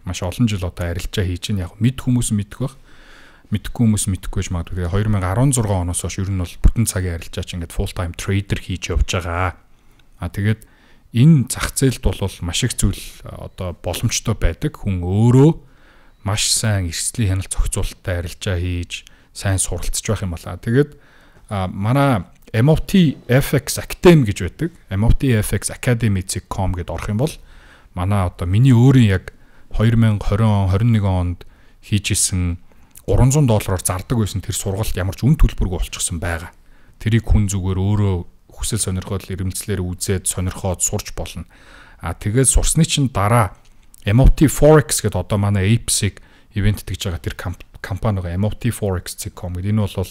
Маш олон жил одоо арилжаа хийж ин яг мэд хүмүүс мэдэх бах. мэдхгүй хүмүүс мэдхгүй гэж магадгүй. 2016 оноос хойш ер нь бол бүтэн цагийн арилжаач ингээд full time trader хийж явж байгаа. Тэгээд энэ зах зээлд бол маш их зүйл одоо боломжтой байдаг. Хүн өөрөө маш сайн эрсдлийн хяналт зохицуулалттай арилжаа хийж сайн суралцж байх юм байна. Тэгээд манай MOT FX Academy гэж байдаг. MOT FX Academy.com гэдээ орох юм бол манай одоо миний өөрийн яг 2020 21 онд хийжсэн $300 зардаг байсан тэр сургалт ямар ч үн төлбөргүй болчихсон байгаа. Тэрийг хүн зүгээр өөрөө хүсэл сонирхол эрмэлзлээр үзээд сонирхоод сурч болно. Тэгээд сурсны чинь дараа MOT Forex гэдэг одоо манай APEX ивент тэгж байгаа тэр компани байгаа MOT Forex.com гэдэг энэ бол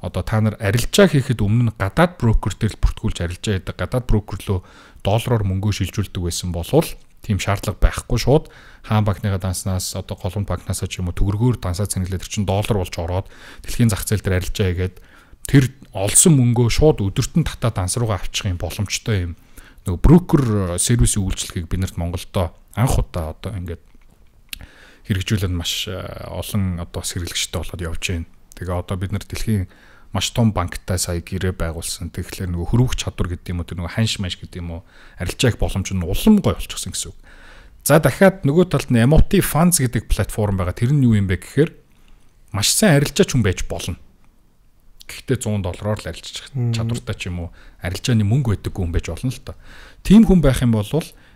одоо та нар арилжаа хийхэд өмнө нь гадаад брокер дээр бүртгүүлж арилжаа хийдэг гадаад брокер руу доллараар мөнгө шилжүүлдэг байсан болвол тийм шаардлага байхгүй шууд хаан банкныга данснаас одоо голомт банкнаас ч юм уу төгрөгөөр дансаа цэнгэлээд тэр чин доллар болж ороод дэлхийн зах зээл дээр арилжаа хийгээд тэр олсон мөнгөө шууд өдөртөн татаа данс руугаа авчих юм боломжтой юм нөгөө брокер сервисийн үйлчлэгийг бид нарт Монголдо анх удаа одоо ингээд хэрэгжүүлээд маш олон одоо сэргэлэгчтэй болоод явж байна. Тэгээ одоо бид нар дэлхийн маш том банктай сая гэрээ байгуулсан. Тэгэхээр нөгөө хөрвөх чадвар гэдэг юм уу тэр нөгөө ханш маш гэдэг юм уу арилжаах боломж нь улам гой болчихсон гэсэн үг. За дахиад нөгөө талд нь MOT Funds гэдэг платформ байгаа. Тэр нь юу юм бэ гэхээр маш сайн арилжаач хүн байж болно. Гэхдээ $100 л арилжчих чадвартай ч юм уу арилжааны мөнгө байдаггүй хүн байж болно л доо. Тийм хүн байх юм бол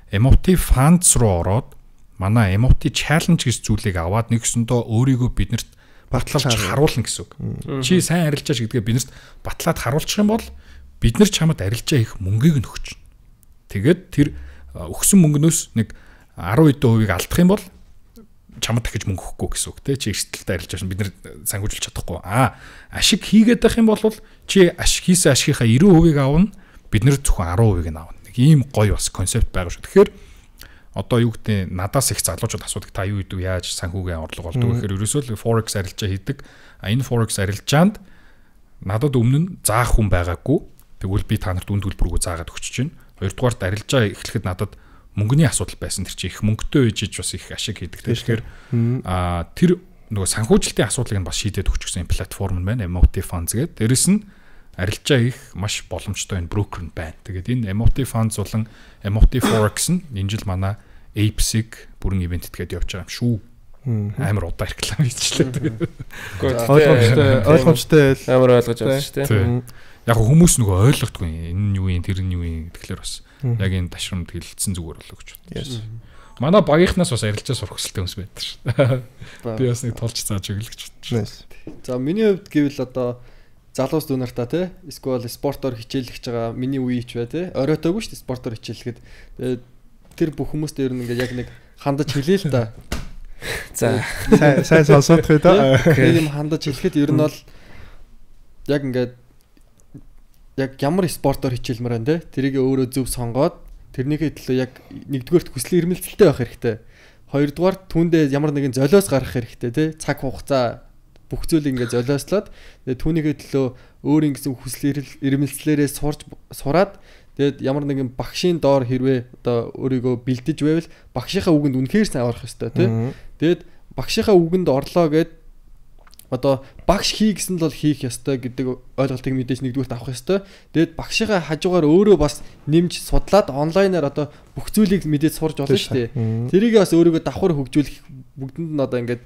MOT Funds руу ороод манай MOT Challenge гэж зүйлийг аваад нэгсэндөө өөрийгөө биднэрт батлуулж харуулна гэсэн үг. Чи сайн арилжаач гэдгээ биднэрт батлаад харуулчих юм бол бид нар чамд арилжаа хийх мөнгийг нь өгч. Тэгээд тэр өгсөн мөнгнөөс нэг 10% алдах юм бол чамд дахиж мөнгө өгөхгүй гэсэн үг те. Чи эрсдэлтэй арилжааш бид нар санхүүжүүлж чадахгүй. Ашиг хийгээд байх юм бол чи хийсэн ашигынхаа 90% авна. Бид нар зөвхөн 10% нь авна. Нэг ийм гоё бас концепт байгаа шүү. Тэгэхээр одоо юу гэдэг надаас их залуучууд асуудаг та юу гэдэг яаж санхүүгийн орлого болдог гэхээр ерөөсөө л forex арилжаа хийдэг. Энэ forex арилжаанд надад өмнө нь заах хүн байгаагүй. Тэгвэл би та нарт үн төлбөргүй заагаад өгч чинь. Хоёрдугаарт арилжаа эхлэхэд надад мөнгөний асуудал байсан. Тэр чинь их мөнгөтэй ээжиж бас их ашиг хийдэг. Тэгэхээр тэр нөгөө санхүүжилтийн асуудлыг нь бас шийдээд өгчихсэн платформ байна. MOT Funds гэдэг. Дээрэс нь арилжаа их маш боломжтой энэ брокер нь байна. Тэгээд энэ MOT Funds болон MOT Forex нь энэ жил манай APEX бүрэн ивент итгээд явж байгаа юм шүү. Амар удаа реклам хийчихлээ. Ойлгомжтой амар ойлгож авсан шүү дээ. Яг хүмүүс нөгөө ойлгохдгүй энэ нь юу юм тэр нь юу юм тэгэхээр бас яг энэ ташрамд хэлэлцсэн зүгээр болоо гэж байна. Манай багийнхнаас бас арилжаа сурах хүсэлтэй хүмүүс байдаг шүү. Би бас нэг толж зааж өгөл гэж бодчих. За миний хувьд гэвэл одоо залуус дүүнартаа те эсвэл спортоор хичээлж байгаа миний үе ч бай те оройтойгүй шүү дээ спортоор хичээлэхэд тэр бүх хүмүүст ер нь ингээд яг нэг хандаж хэлээ л да. За сайн сонсох үү та. Тийм хандаж хэлэхэд ер нь бол яг ингээд яг ямар спортоор хичээлмээр байна те тэрийг өөрөө зөв сонгоод тэрнийхээ төлөө яг нэгдүгээрт хүслийн эрмэлзэлтэй байх хэрэгтэй. Хоёрдугаар түүндээ ямар нэгэн золиос гаргах хэрэгтэй те цаг хугацаа бүх зүйлийг ингээд золиослоод тэгээ түүнийхээ төлөө өөрийн гэсэн хүслийн эрмэлзлээрээ сураад тэгээд ямар нэгэн багшийн доор хэрвээ одоо өөрийгөө бэлдэж байвал багшийнхаа үгэнд үнэхээр сайн орох хэрэгтэй тий. Тэгээд багшийнхаа үгэнд орлоо гэд одоо багш хий гэсэн л бол хийх ёстой гэдэг ойлголтыг мэдээж нэгдүгürt авах ёстой. Тэгээд багшийнхаа хажуугаар өөрөө бас нэмж судлаад онлайнаар одоо бүх зүйлийг мэдээж сурж болно шүү дээ. Тэрийг бас өөрийгөө давхар хөгжүүлэх бүгдэнд нь одоо ингээд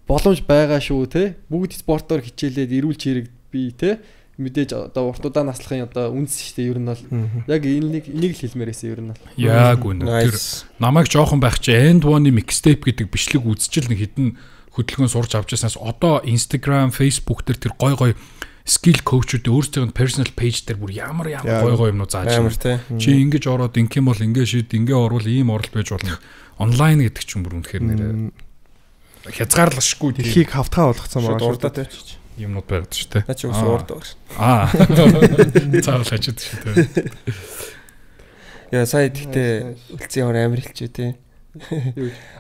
боломж байгаа шүү те. Бүгд спортоор хичээлээд эрүүл чирэг бий те. Мэдээж одоо уртудаа наслахын одоо үнс шүү дээ ер нь бол яг энийг л хэлмээрээсээ ер нь бол яг үнэ тэр намайг жоохон байх чи end one mixtape гэдэг бичлэг үзчихэл нэг хідэн хөдөлгөөн сурч авч яснаас одоо Instagram, Facebook дээр тэр гой гой skill coach-үүд өөрсдийн personal page дээр бүр ямар гой гой юмнуу зааж байна. Чи ингэж ороод ингэх юм бол ингэ шийд ингэ орвол ийм оролт байж болно. Онлайн гэдэг ч юм бүр үнэхээр нэр хязгаарлашгүй дэлхийг хавтгаа болгоцсон байгаа шүү дээ. Юмнууд байгаад шүү дээ. Наа чи уурд байгаа шүү. Цаавал хажууд шүү дээ. Яа сая тэгтээ үлцгийн хор амир хэлчихэ тий.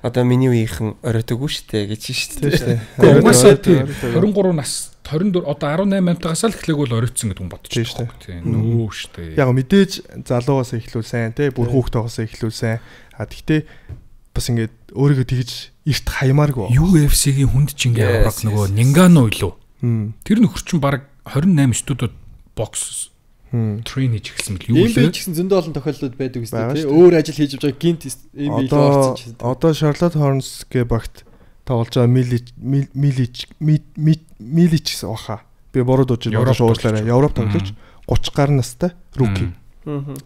Одоо миний үеийнхэн оройтойгүй шүү дээ гэж шүү дээ. Угаасаа тий 23 нас 24 одоо 18 амтагаас л эхлэх бол оройтсон гэдэг хүн бодчих шүү дээ. Нөө шүү дээ. Яг мэдээж залуугаас эхлүүл сайн тий бүр хүүхдтэйгээс эхлүүл сайн. Гэхдээ бас ингээд өөрийгөө тэгж эрт хаймааргүй. UFC-гийн хүнд чингээ авраг нөгөө Нингано илүү. Тэр нөхөр чинь баг 28 студиуд бокс трейн хийж эхэлсэн мэл юу лээ. Ийм ч гэсэн зөндөө олон тохиолдлууд байдаг үстэй тий. Өөр ажил хийж байгаа гинт ийм бий орсон ч. Одоо Charlotte Hornets гэ багт тоглож байгаа Milic гэсэн баха. Би буруу дууж байгаа шуурлаарай. Европ тоглож 30 гаруй настай рүүки.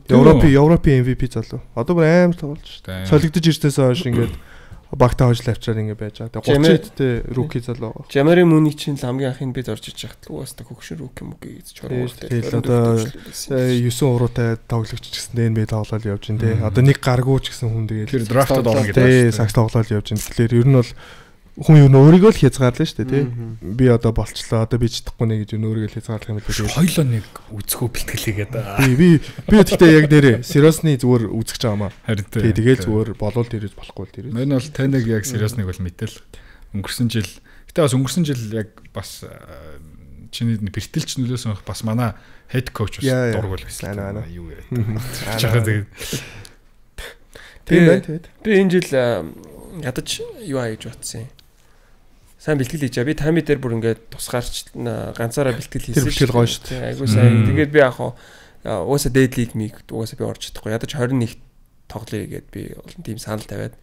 Европын MVP залуу. Одоо бүр амар тоглож шүү. Солигдож ирснээс хойш ингээд багтаа хожил авчраад ингэ байж байгаа. Тэгээ 30-д рүүки залуу байгаа. Жамари Муни чинь хамгийн анхны бид орж иж хахад угаасаа хөгшин рүүки мөг гэж чоргуултай. Тэгээ одоо 9 уруутай тоглогч гэсэн NBA тоглоод явж байна те. Одоо нэг гаргуу ч гэсэн хүн тэгээ тэр драфтад орно гэдэг. Тий, сакс тоглоод явж байна. Тэгэхээр ер нь бол хүн юу өөрийгөө л хязгаарлаа шүү дээ тий. Би одоо болчлоо. Одоо би чадахгүй нэ гэж өөрийгөө л хязгаарлах юм л дээ. Хоёлоо нэг үзэхөө бэлтгэлээгээд. Би гэхдээ яг нэрээ сериосны зүгээр үзэж байгаа юм аа. Харин тий. Тэгээд зүгээр болол дээрээс болохгүй л дээрээс. Мань бол таныг яг сериосныг бол мэдээл. Өнгөрсөн жил. Гэтэ бас өнгөрсөн жил яг бас чиний бэртэлч нөлөөсөн бас манай head coach бас дургуул байсан. Юу яриад. Чагаа тэгээд. Тэгээд би энэ жил ядаж юу аа гэж бодсон юм. Сайн бэлтгэл хийж би тайми дээр бүр ингээд тусгаарч ганцаараа бэлтгэл хийсэн. Тэр бэлтгэл гоё шүү дээ. Айгуу сайн. Тэгээд би яг угаасаа дээд лиг миг угаасаа би орж чадахгүй. Ядаж 21 тоглоё гэгээд би олон тийм санал тавиад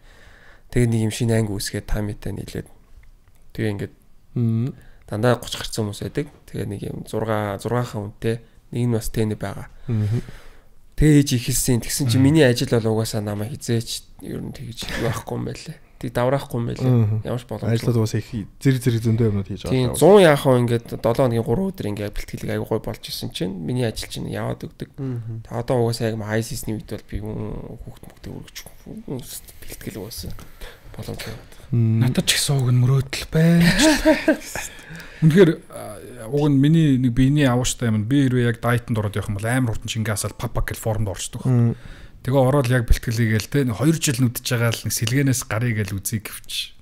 тэгээд нэг юм шинэ анги үүсгээд таймитай нийлээд тэгээ ингээд дандаа 30 гарцсан хүмүүс байдаг. Тэгээ нэг юм 6 хаан үнэтэй нэг нь бас тэнэ байгаа. Тэгээ хийж ихэлсэн. Тэгсэн чинь миний ажил бол угаасаа намайг хизээч ер нь тэгж байхгүй юм байлээ. Тэг давраахгүй юм байлээ. Ямар ч боломжгүй. Ажлууд угаасаа их зэрэг зөндөө юмнууд хийж байгаа. Тийм 100 яах вэ ингээд 7 хоногийн 3 өдөр ингээд бэлтгэлийг аягүй гой болж исэн чинь миний ажил чинь яваад өгдөг. Тэг одоо угаасаа яг high season-ийн үед бол би хүүхд мөхтэй өргөж бэлтгэл угаасаа боломжтой. Надад ч гэсэн уг нь мөрөөдөл байж. Үнэхээр уг нь миний нэг биений авууштай юм. Би хэрвээ яг дайтанд ороод явах юм бол амар хурдан чингаасаад папак гэл формд орчдөг. Тэгээ ороод яг бэлтгэлийгээл те 2 жил нүдэж байгаа л сэлгэнээс гарыг л үзье гэвч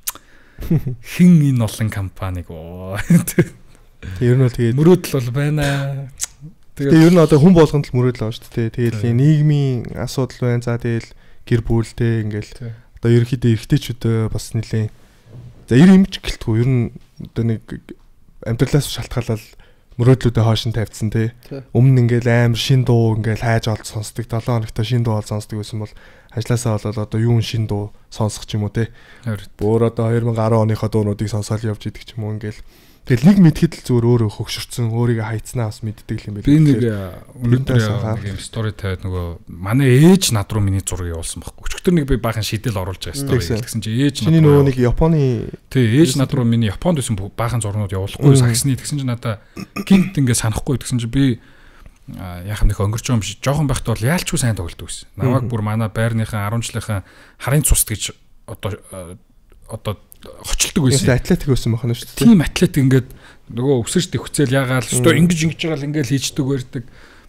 хин энэ олон компаниг ер нь бол тэгээд мөрөөдөл бол байна. Тэгээ ер нь одоо хүн болгонд л мөрөөдөл байгаа шүү дээ. Тэгээл нийгмийн асуудал байна. За тэгээл гэр бүлтэй ингээл одоо ерөнхийдөө эрэгтэйчүүд бас нэлээ за 90 имж гэлтгүй ер нь одоо нэг амьдралаас шалтгаалал мөрөөдлүүдээ хойш нь тавьдсан тий. Өмнө ингээл амар шин дуу ингээл хайж олж сонсдог 7 хоногт шин дуу олж сонсдог байсан бол ажилласаа болоод одоо юун шин дуу сонсох ч юм уу тий. Бүр одоо 2010 оныхоо дуунуудыг сонсоод явж идэг ч юм уу ингээл тэгэл нэг мэдхэд л зүгээр өөрөө хөгшөрцөн өөрийгөө хайцнаа бас мэддэг юм байна. Би нэг өнөөдөр юм стори тавиад нөгөө манай ээж над руу миний зургийг явуулсан байхгүй. Өчигдөр нэг би баахан шидэл оруулж байгаа стори гэсэн чи ээж над руу нэг Японы тий ээж над руу миний Японд байсан баахан зурнууд явуулахгүй саксны тэгсэн чи надаа гинт ингээ санахгүй тэгсэн чи би яах нэг өнгөрч байгаа юм шиг жоохон байхад бол яалчгүй сайн тоглолдог байсан. Намайг бүр манай байрныхан 10 жилийнхэн харын цус гэж одоо хочилдог байсан. Атлетик байсан байна шүү дээ. Тийм атлетик ингээд нөгөө өсөрч төвхцэл ягаал өстөө ингэж байгаа л ингээд хийждэг байдаг.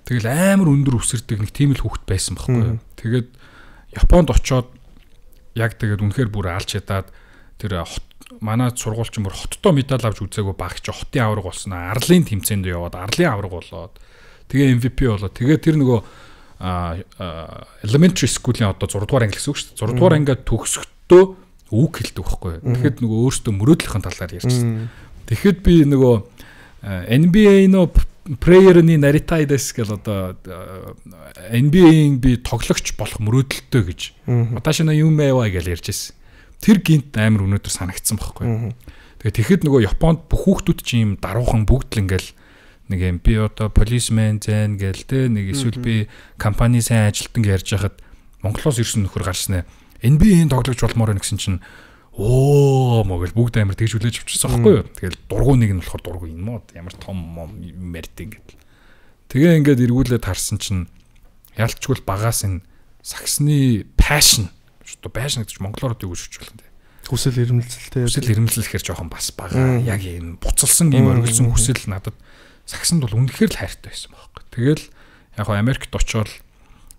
Тэгэл амар өндөр өсөрдөг нэг тийм л хүүхэд байсан байхгүй юу. Тэгээд Японд очоод яг тэгээд үнэхээр бүр алж ядаад тэр манай сургуульч мөр хоттой медаль авч үзээгүй баг чи хотын авраг болсон аа. Арлын тэмцээнд яваад арлын авраг болоод тэгээ MVP болоод тэгээ тэр нөгөө elementary school-ийн одоо 6 дугаар анги гэсэн үг шүү дээ. 6 дугаар ангиад төгсөхдөө үг хэлдэг байхгүй. Тэгэхэд нөгөө өөртөө мөрөөдлөхийн талаар ярьсан. Тэгэхэд би нөгөө NBA нөө player-ны наритайдас гэл одоо NBA-ийн би тоглогч болох мөрөөдөлтөө гэж. Оташина юм байваа гэж ярьж байсан. Тэр гинт амар өнөөдөр санагдсан байхгүй. Тэгээ тэгэхэд нөгөө Японд бүх хүүхдүүд чинь юм даруухан бүгд л ингээл нэг юм би одоо policeman зэн гээл те нэг эсвэл би компани сайн ажилтан гэж ярьж хахад Монголоос ирсэн нөхөр гарснаа NBA-ийн тоглогч болмоор байна гэсэн чинь могэл бүгд амар тэгж хүлээж авчихсан байхгүй юу. Тэгэл дургуй нэг нь болохоор дургуй юм уу ямар том мэрд ингээд. Тэгээ ингээд эргүүлээд харсан чинь ялчгүй багаас энэ саксны passion шүү дээ. Passion гэж монголоор юу гэж хэлж байна. Хүсэл эрмэлзэлтэй. Хүсэл эрмэлзэл гэхэр жоохон бас бага. Яг юм буцалсан юм оргилсан хүсэл надад саксанд бол үнэхээр л хайртай байсан байхгүй. Тэгэл яг хоо Америкт очиод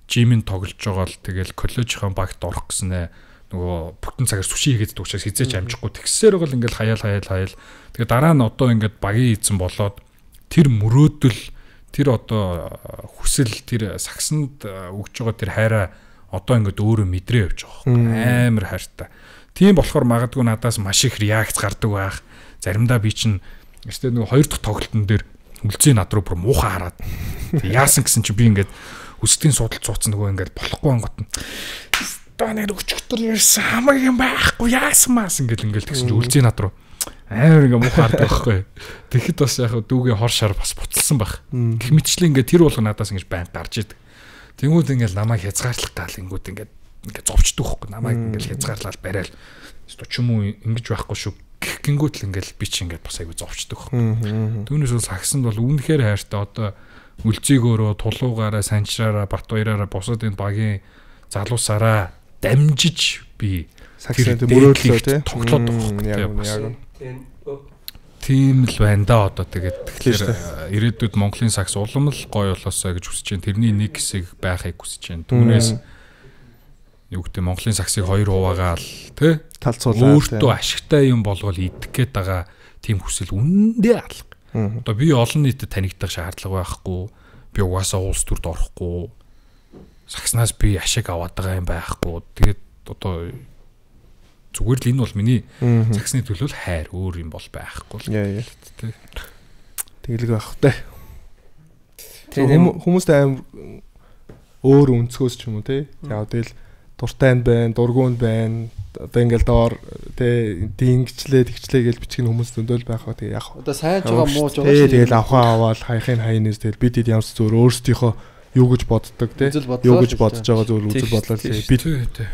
жимийн тоглож байгаа л тэгэл коллежийн багт орох гэснээр нөгөө бүтэн цагаар сүши хийгээд дуучаас хизээч амжихгүй тэгсээр бол ингээл хаяал. Тэгээ дараа нь одоо ингээд багийн эзэн болоод тэр мөрөөдөл тэр одоо хүсэл тэр саксанд өгж байгаа тэр хайраа одоо ингээд өөрөө мэдрээ явж байгаа. Амар хайртай. Тийм болохоор магадгүй надаас маш их реакц гардаг байх. Заримдаа би чинь эртээ нөгөө 2 дахь тоглолтын дээр үлзий над руу бүр муухай хараад яасан гэсэн чи би ингээд өсдгийн судалт цууцсан нөгөө ингээд болохгүй ангот нь станаар өчгтөр ярьсан хамаг юм байхгүй яасан маас ингээд тэгсэн чи үлзий над руу амар ингээд муухай хардаг байхгүй. Тэгэхэд бас яг дүүгийн хор шар бас буцалсан байх. Гэх мэтчлээ ингээд тэр болго надаас ингээд байн гарч идэг. Тэнгүүд ингээд намайг хязгаарлах тал ингээд зовчдөг байхгүй. Намайг ингээд хязгаарлал барайл. Өстө ч юм уу ингэж байхгүй шүү. Гингүүт л ингээл би чи ингээд бас айгүй зовчдөг байхгүй. Түүнээс бол сагсанд бол үнэхээр хайртай одоо үлзийгөөрөө тулуугаараа санчраараа бат баяраараа бусад энэ багийн залуусаараа дамжиж би сагсанд мөрөөдлөө тий тоглоод байгаа. Тийм л байна да одоо тэгээд тэгэхээр ирээдүйд Монголын сагс улам л гоё болоосоо гэж хүсэж байна. Тэрний нэг хэсэг байхыг хүсэж байна. Түүнээс юу гэдэг Монголын сагсыг 2 хуваагаал тий талцуулаад өөртөө ашигтай юм болгол идэх гээд байгаа тийм хүсэл үнэндээ алга. Одоо би олон нийтэд танигдах шаардлага байхгүй. Би угаасаа улс төрд орохгүй. Сагснаас би ашиг аваад байгаа юм байхгүй. Тэгээд одоо зүгээр л энэ бол миний сагсны төлөө хайр өөр юм бол байхгүй. Яа. Тэгэлэг байх та. Хүмүүст аим өөр өнцгөөс ч юм уу тий. Яг тэгэл дуртай байна, дургуунд байна. Одоо ингээл доор тий дингчлээ тэгчлээ гэж бичгийн хүмүүс зөндөл байх ба тий яг. Одоо сайн ч байгаа муу ч байгаа шүү. Тэгэл авахаа аваад хайхын хайнаас тэгэл бид ямар ч зөвөр өөрсдийнхөө юу гэж боддог тий. Юу гэж бодож байгаа зөвөр үзэл бодлоо тий.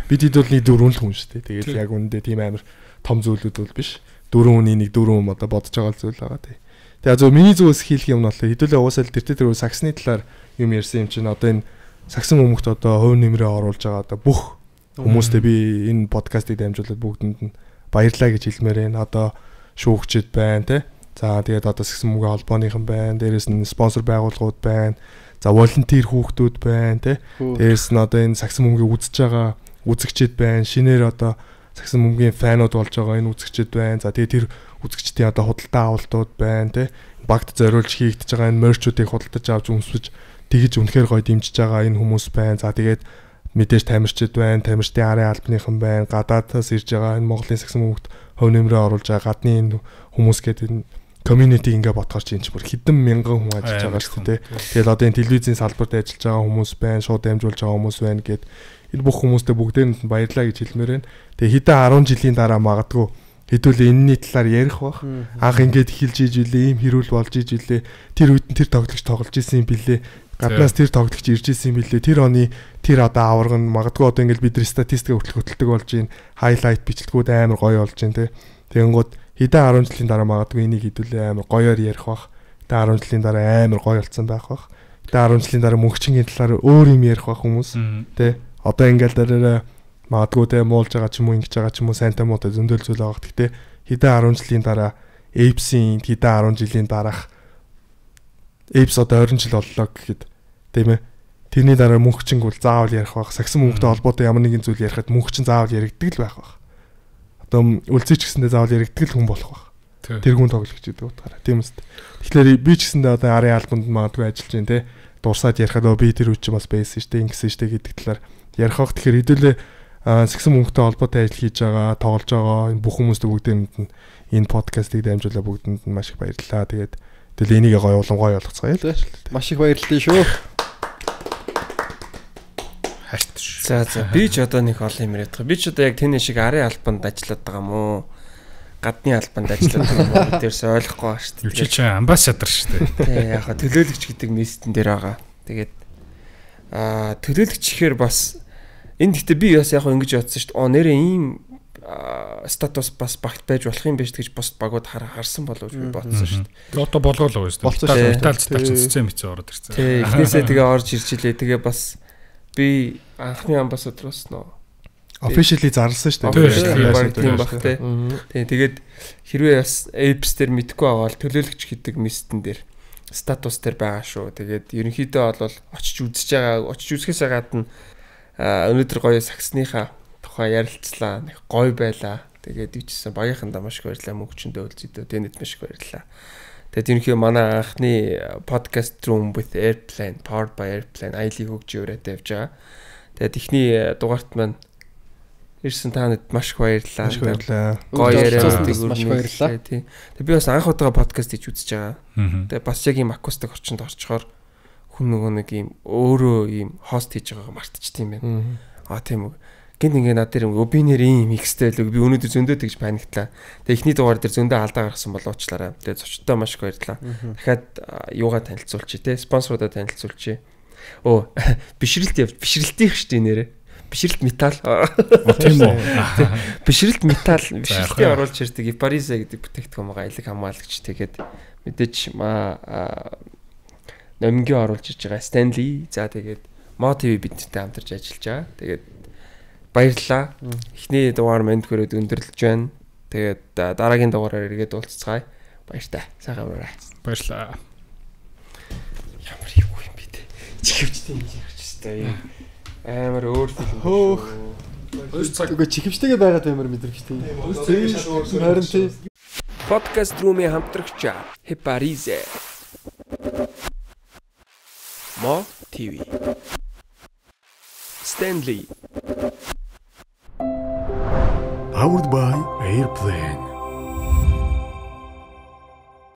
Бид бол нэг дөрвөн хүн шүү дээ. Тэгэл яг үүндээ тийм амар том зүйлүүд бол биш. Дөрвөн хүний нэг дөрвөн одоо бодож байгаа зүйл байгаа тий. Тэгээ зөв миний зүгээс хийх юм нь бол хэдүүлээ уусаал тэр сагсны талаар юм ярьсан юм чинь одоо энэ сагсан хүмүүст одоо хувь нэмрээ оруулж байгаа одоо бүх хүмүүстээ би энэ подкастыг дамжуулаад бүгдэнд нь баярлалаа гэж хэлмээр байна. Одоо шүүгчд байна тий. За тэгээд одоо сагсан мөнгө холбооныхан байна. Дээрээс нь спонсор байгууллагууд байна. За волонтер хүүхдүүд байна тий. Дээрээс нь одоо энэ сагсан мөнгөийг үзэж байгаа үзэгчд байна. Шинээр одоо сагсан мөнгөний фанууд болж байгаа энэ үзэгчд байна. За тэгээд тэр үзэгчдийн одоо худалдаа авалтууд байна тий. Багт зориулж хийгдэж байгаа энэ мерчүүдийг худалдаж авч өмсөж тэгж үнэхээр гоё дэмжиж байгаа энэ хүмүүс байна. За тэгээд мэдээж тамирчид байна, тамирчдын арын албаныхан байна, гадаадаас ирж байгаа энэ Монголын сагсан мөнгөд хувь нэмрээ оруулж байгаа гадны энэ хүмүүс гэдэг энэ community ингээ ботгоор чинь бүр хэдэн мянган хүн ажиллаж байгаа шүү дээ. Тэгэл одоо энэ телевизийн салбарт ажиллаж байгаа хүмүүс байна, шууд дамжуулж байгаа хүмүүс байна гэд энэ бүх хүмүүстээ бүгдээнд нь баярлалаа гэж хэлмээр байна. Тэгээ хэдэн 10 жилийн дараа магадгүй хэдүүлээ энэний талаар ярих бах. Анх ингээд эхэлж иж үлээ, ийм хэрүүл болж иж үлээ. Тэр үед нь тэр тоглогч тоглож исэн юм билээ. Гаднаас тэр тоглогч ирж исэн юм билээ. Тэр оны тэр одоо аварга нь магадгүй одоо ингээд бид нар статистик хөтөлдөг болж байна. Хайлайт бичлэгүүд амар гоё болж байна те. Тэгэнгүүт хэдэн 10 жилийн дараа магадгүй энийг хэдүүлээ амар гоёор ярих бах. Хэдэн 10 жилийн дараа амар гоё болсон байх бах. Хэдэн 10 жилийн дараа мөнгөчингийн талаар өөр юм ярих бах хүмүүс те. Одоо ингээд дараа магадгүй те муулж байгаа ч юм уу ингэж байгаа ч юм уу сайнтай муутай зөндөл зүйл байгаа. Гэхдээ хэдэн 10 жилийн дараа Apes-ийн хэдэн 10 жилийн дараах Apes одоо 20 жил боллоо гэхэд тийм ээ. Тэрний дараа мөнгөчинг бол заавал ярих байх. Сагсан мөнгөтэй холбоотой ямар нэгэн зүйл ярихад мөнгөчин заавал яригддаг л байх байх. Одоо үлзийч гэсэндээ заавал яригддаг л хүн болох байх. Тэр хүн тоглогч гэдэг утгаараа. Тийм үст. Тэгэхээр би ч гэсэндээ одоо арын албанд магадгүй ажиллаж байна те. Дурсаад ярихад би тэр үуч бас байсан шүү дээ. Ингэсэн шүү дээ гэдэг талаар ярих байх. Тэгэхээр хэдүүлээ сагсан мөнгөтэй холбоотой ажил хийж байгаа, тоглож байгаа энэ бүх хүмүүст бүгдээнд нь энэ подкастыг дамжуулаад бүгдэнд нь маш их баярлалаа. Тэгээд тэгэл энийг гоё болгоцгоё л. Маш их баярлалаа шүү. За би ч одоо нэг олон юм яриад байгаа. Би ч одоо яг тэний шиг арын албанд ажиллаад байгаа юм уу? Гадны албанд ажиллаад байгаа юм уу? Тэрс ойлгохгүй байна шүү дээ. Юу чи амбассадор шүү дээ. Тий, яг хаа төлөөлөгч гэдэг местэн дээр байгаа. Тэгээд төлөөлөгч ихээр бас энэ гэхдээ би бас яг ингэж бодсон шүү дээ. Нэрээ ийм статус бас багт байж болох юм биш гэж пост багууд харсан болов уу би бодсон шүү дээ. Одоо болгоолоо шүү дээ. Италид тач цэцэн мэт ороод ирсэн. Тий, эхнээсээ тэгээ орж ирж илээ. Тэгээ бас би анхны амбассадроос нөө officially зарласан шүү дээ. Тийм баг тий. Тэгээд хэрвээ бас apps дээр мэдгүй байгаа бол төлөөлөгч гэдэг местэн дээр статус дээр байгаа шүү. Тэгээд ерөнхийдөө бол очиж үзэхээс гадна өнөөдөр гоё сагсныхаа тухай ярилцлаа. Нэг гоё байлаа. Тэгээд ичсэн багийнхандаа маш их баярлалаа. Мөнгөчөндөө үлзэдөө тэнэт маш их баярлалаа. Тэгээд ерөнхийдөө манай анхны podcast room with airplane powered by airplane аялыг хөгжиж өрөөд явж байгаа. Тэгээд ихний дугаарт маань ирсэн та нарт маш их баярлалаа. Маш баярлалаа. Гоё яриа маш баярлалаа. Тийм. Тэгээд би бас анх удаа подкаст хийж үзэж байгаа. Аа. Тэгээд бас яг ийм акустик орчинд орчхоор хүн нөгөө нэг ийм өөрөө ийм хост хийж байгаагаа мартчихсан юм байна. Тийм үү. Гэнт ингээ над дээр би нэр ийм микстэй л би өнөөдөр зөндөө тэгж паниклаа. Тэгээд эхний дугаар дээр зөндөө алдаа гаргасан болоочлаараа. Тэгээд зочдтой маш их баярлалаа. Дахиад юугаа танилцуулчих те спонсорудаа танилцуулчих. Бишрэлтийн шүү дээ нэрэ. Бишрэлт металл. Тийм үү. Бишрэлт металл бишрэлтийн оруулж ирдэг Iparize гэдэг бүтээгдэхүүн байгаа аялаг хамгаалагч. Тэгээд мэдээж номингийн оруулж ирж байгаа Stanley. За тэгээд Mo TV бидэнтэй хамтарч ажиллаж байгаа. Тэгээд баярлалаа. Эхний дугаар мэнд хүрээд өндөрлөж байна. Тэгээд дараагийн дугаараар эргээд уулзцгаая. Баяртай. Сайхан амраарай. Баярлалаа. Ямар юу юм бэ те. Чихвчтэй юм ярьчихстай. Амар өөр фильм. Хөөх. 2 цаг Үгүй чихвчтэйгээ байгаад баймар мэдрэгчтэй. Харин тийм. Podcast room-ийн хамтрагч Iparize. Mo TV. Stanley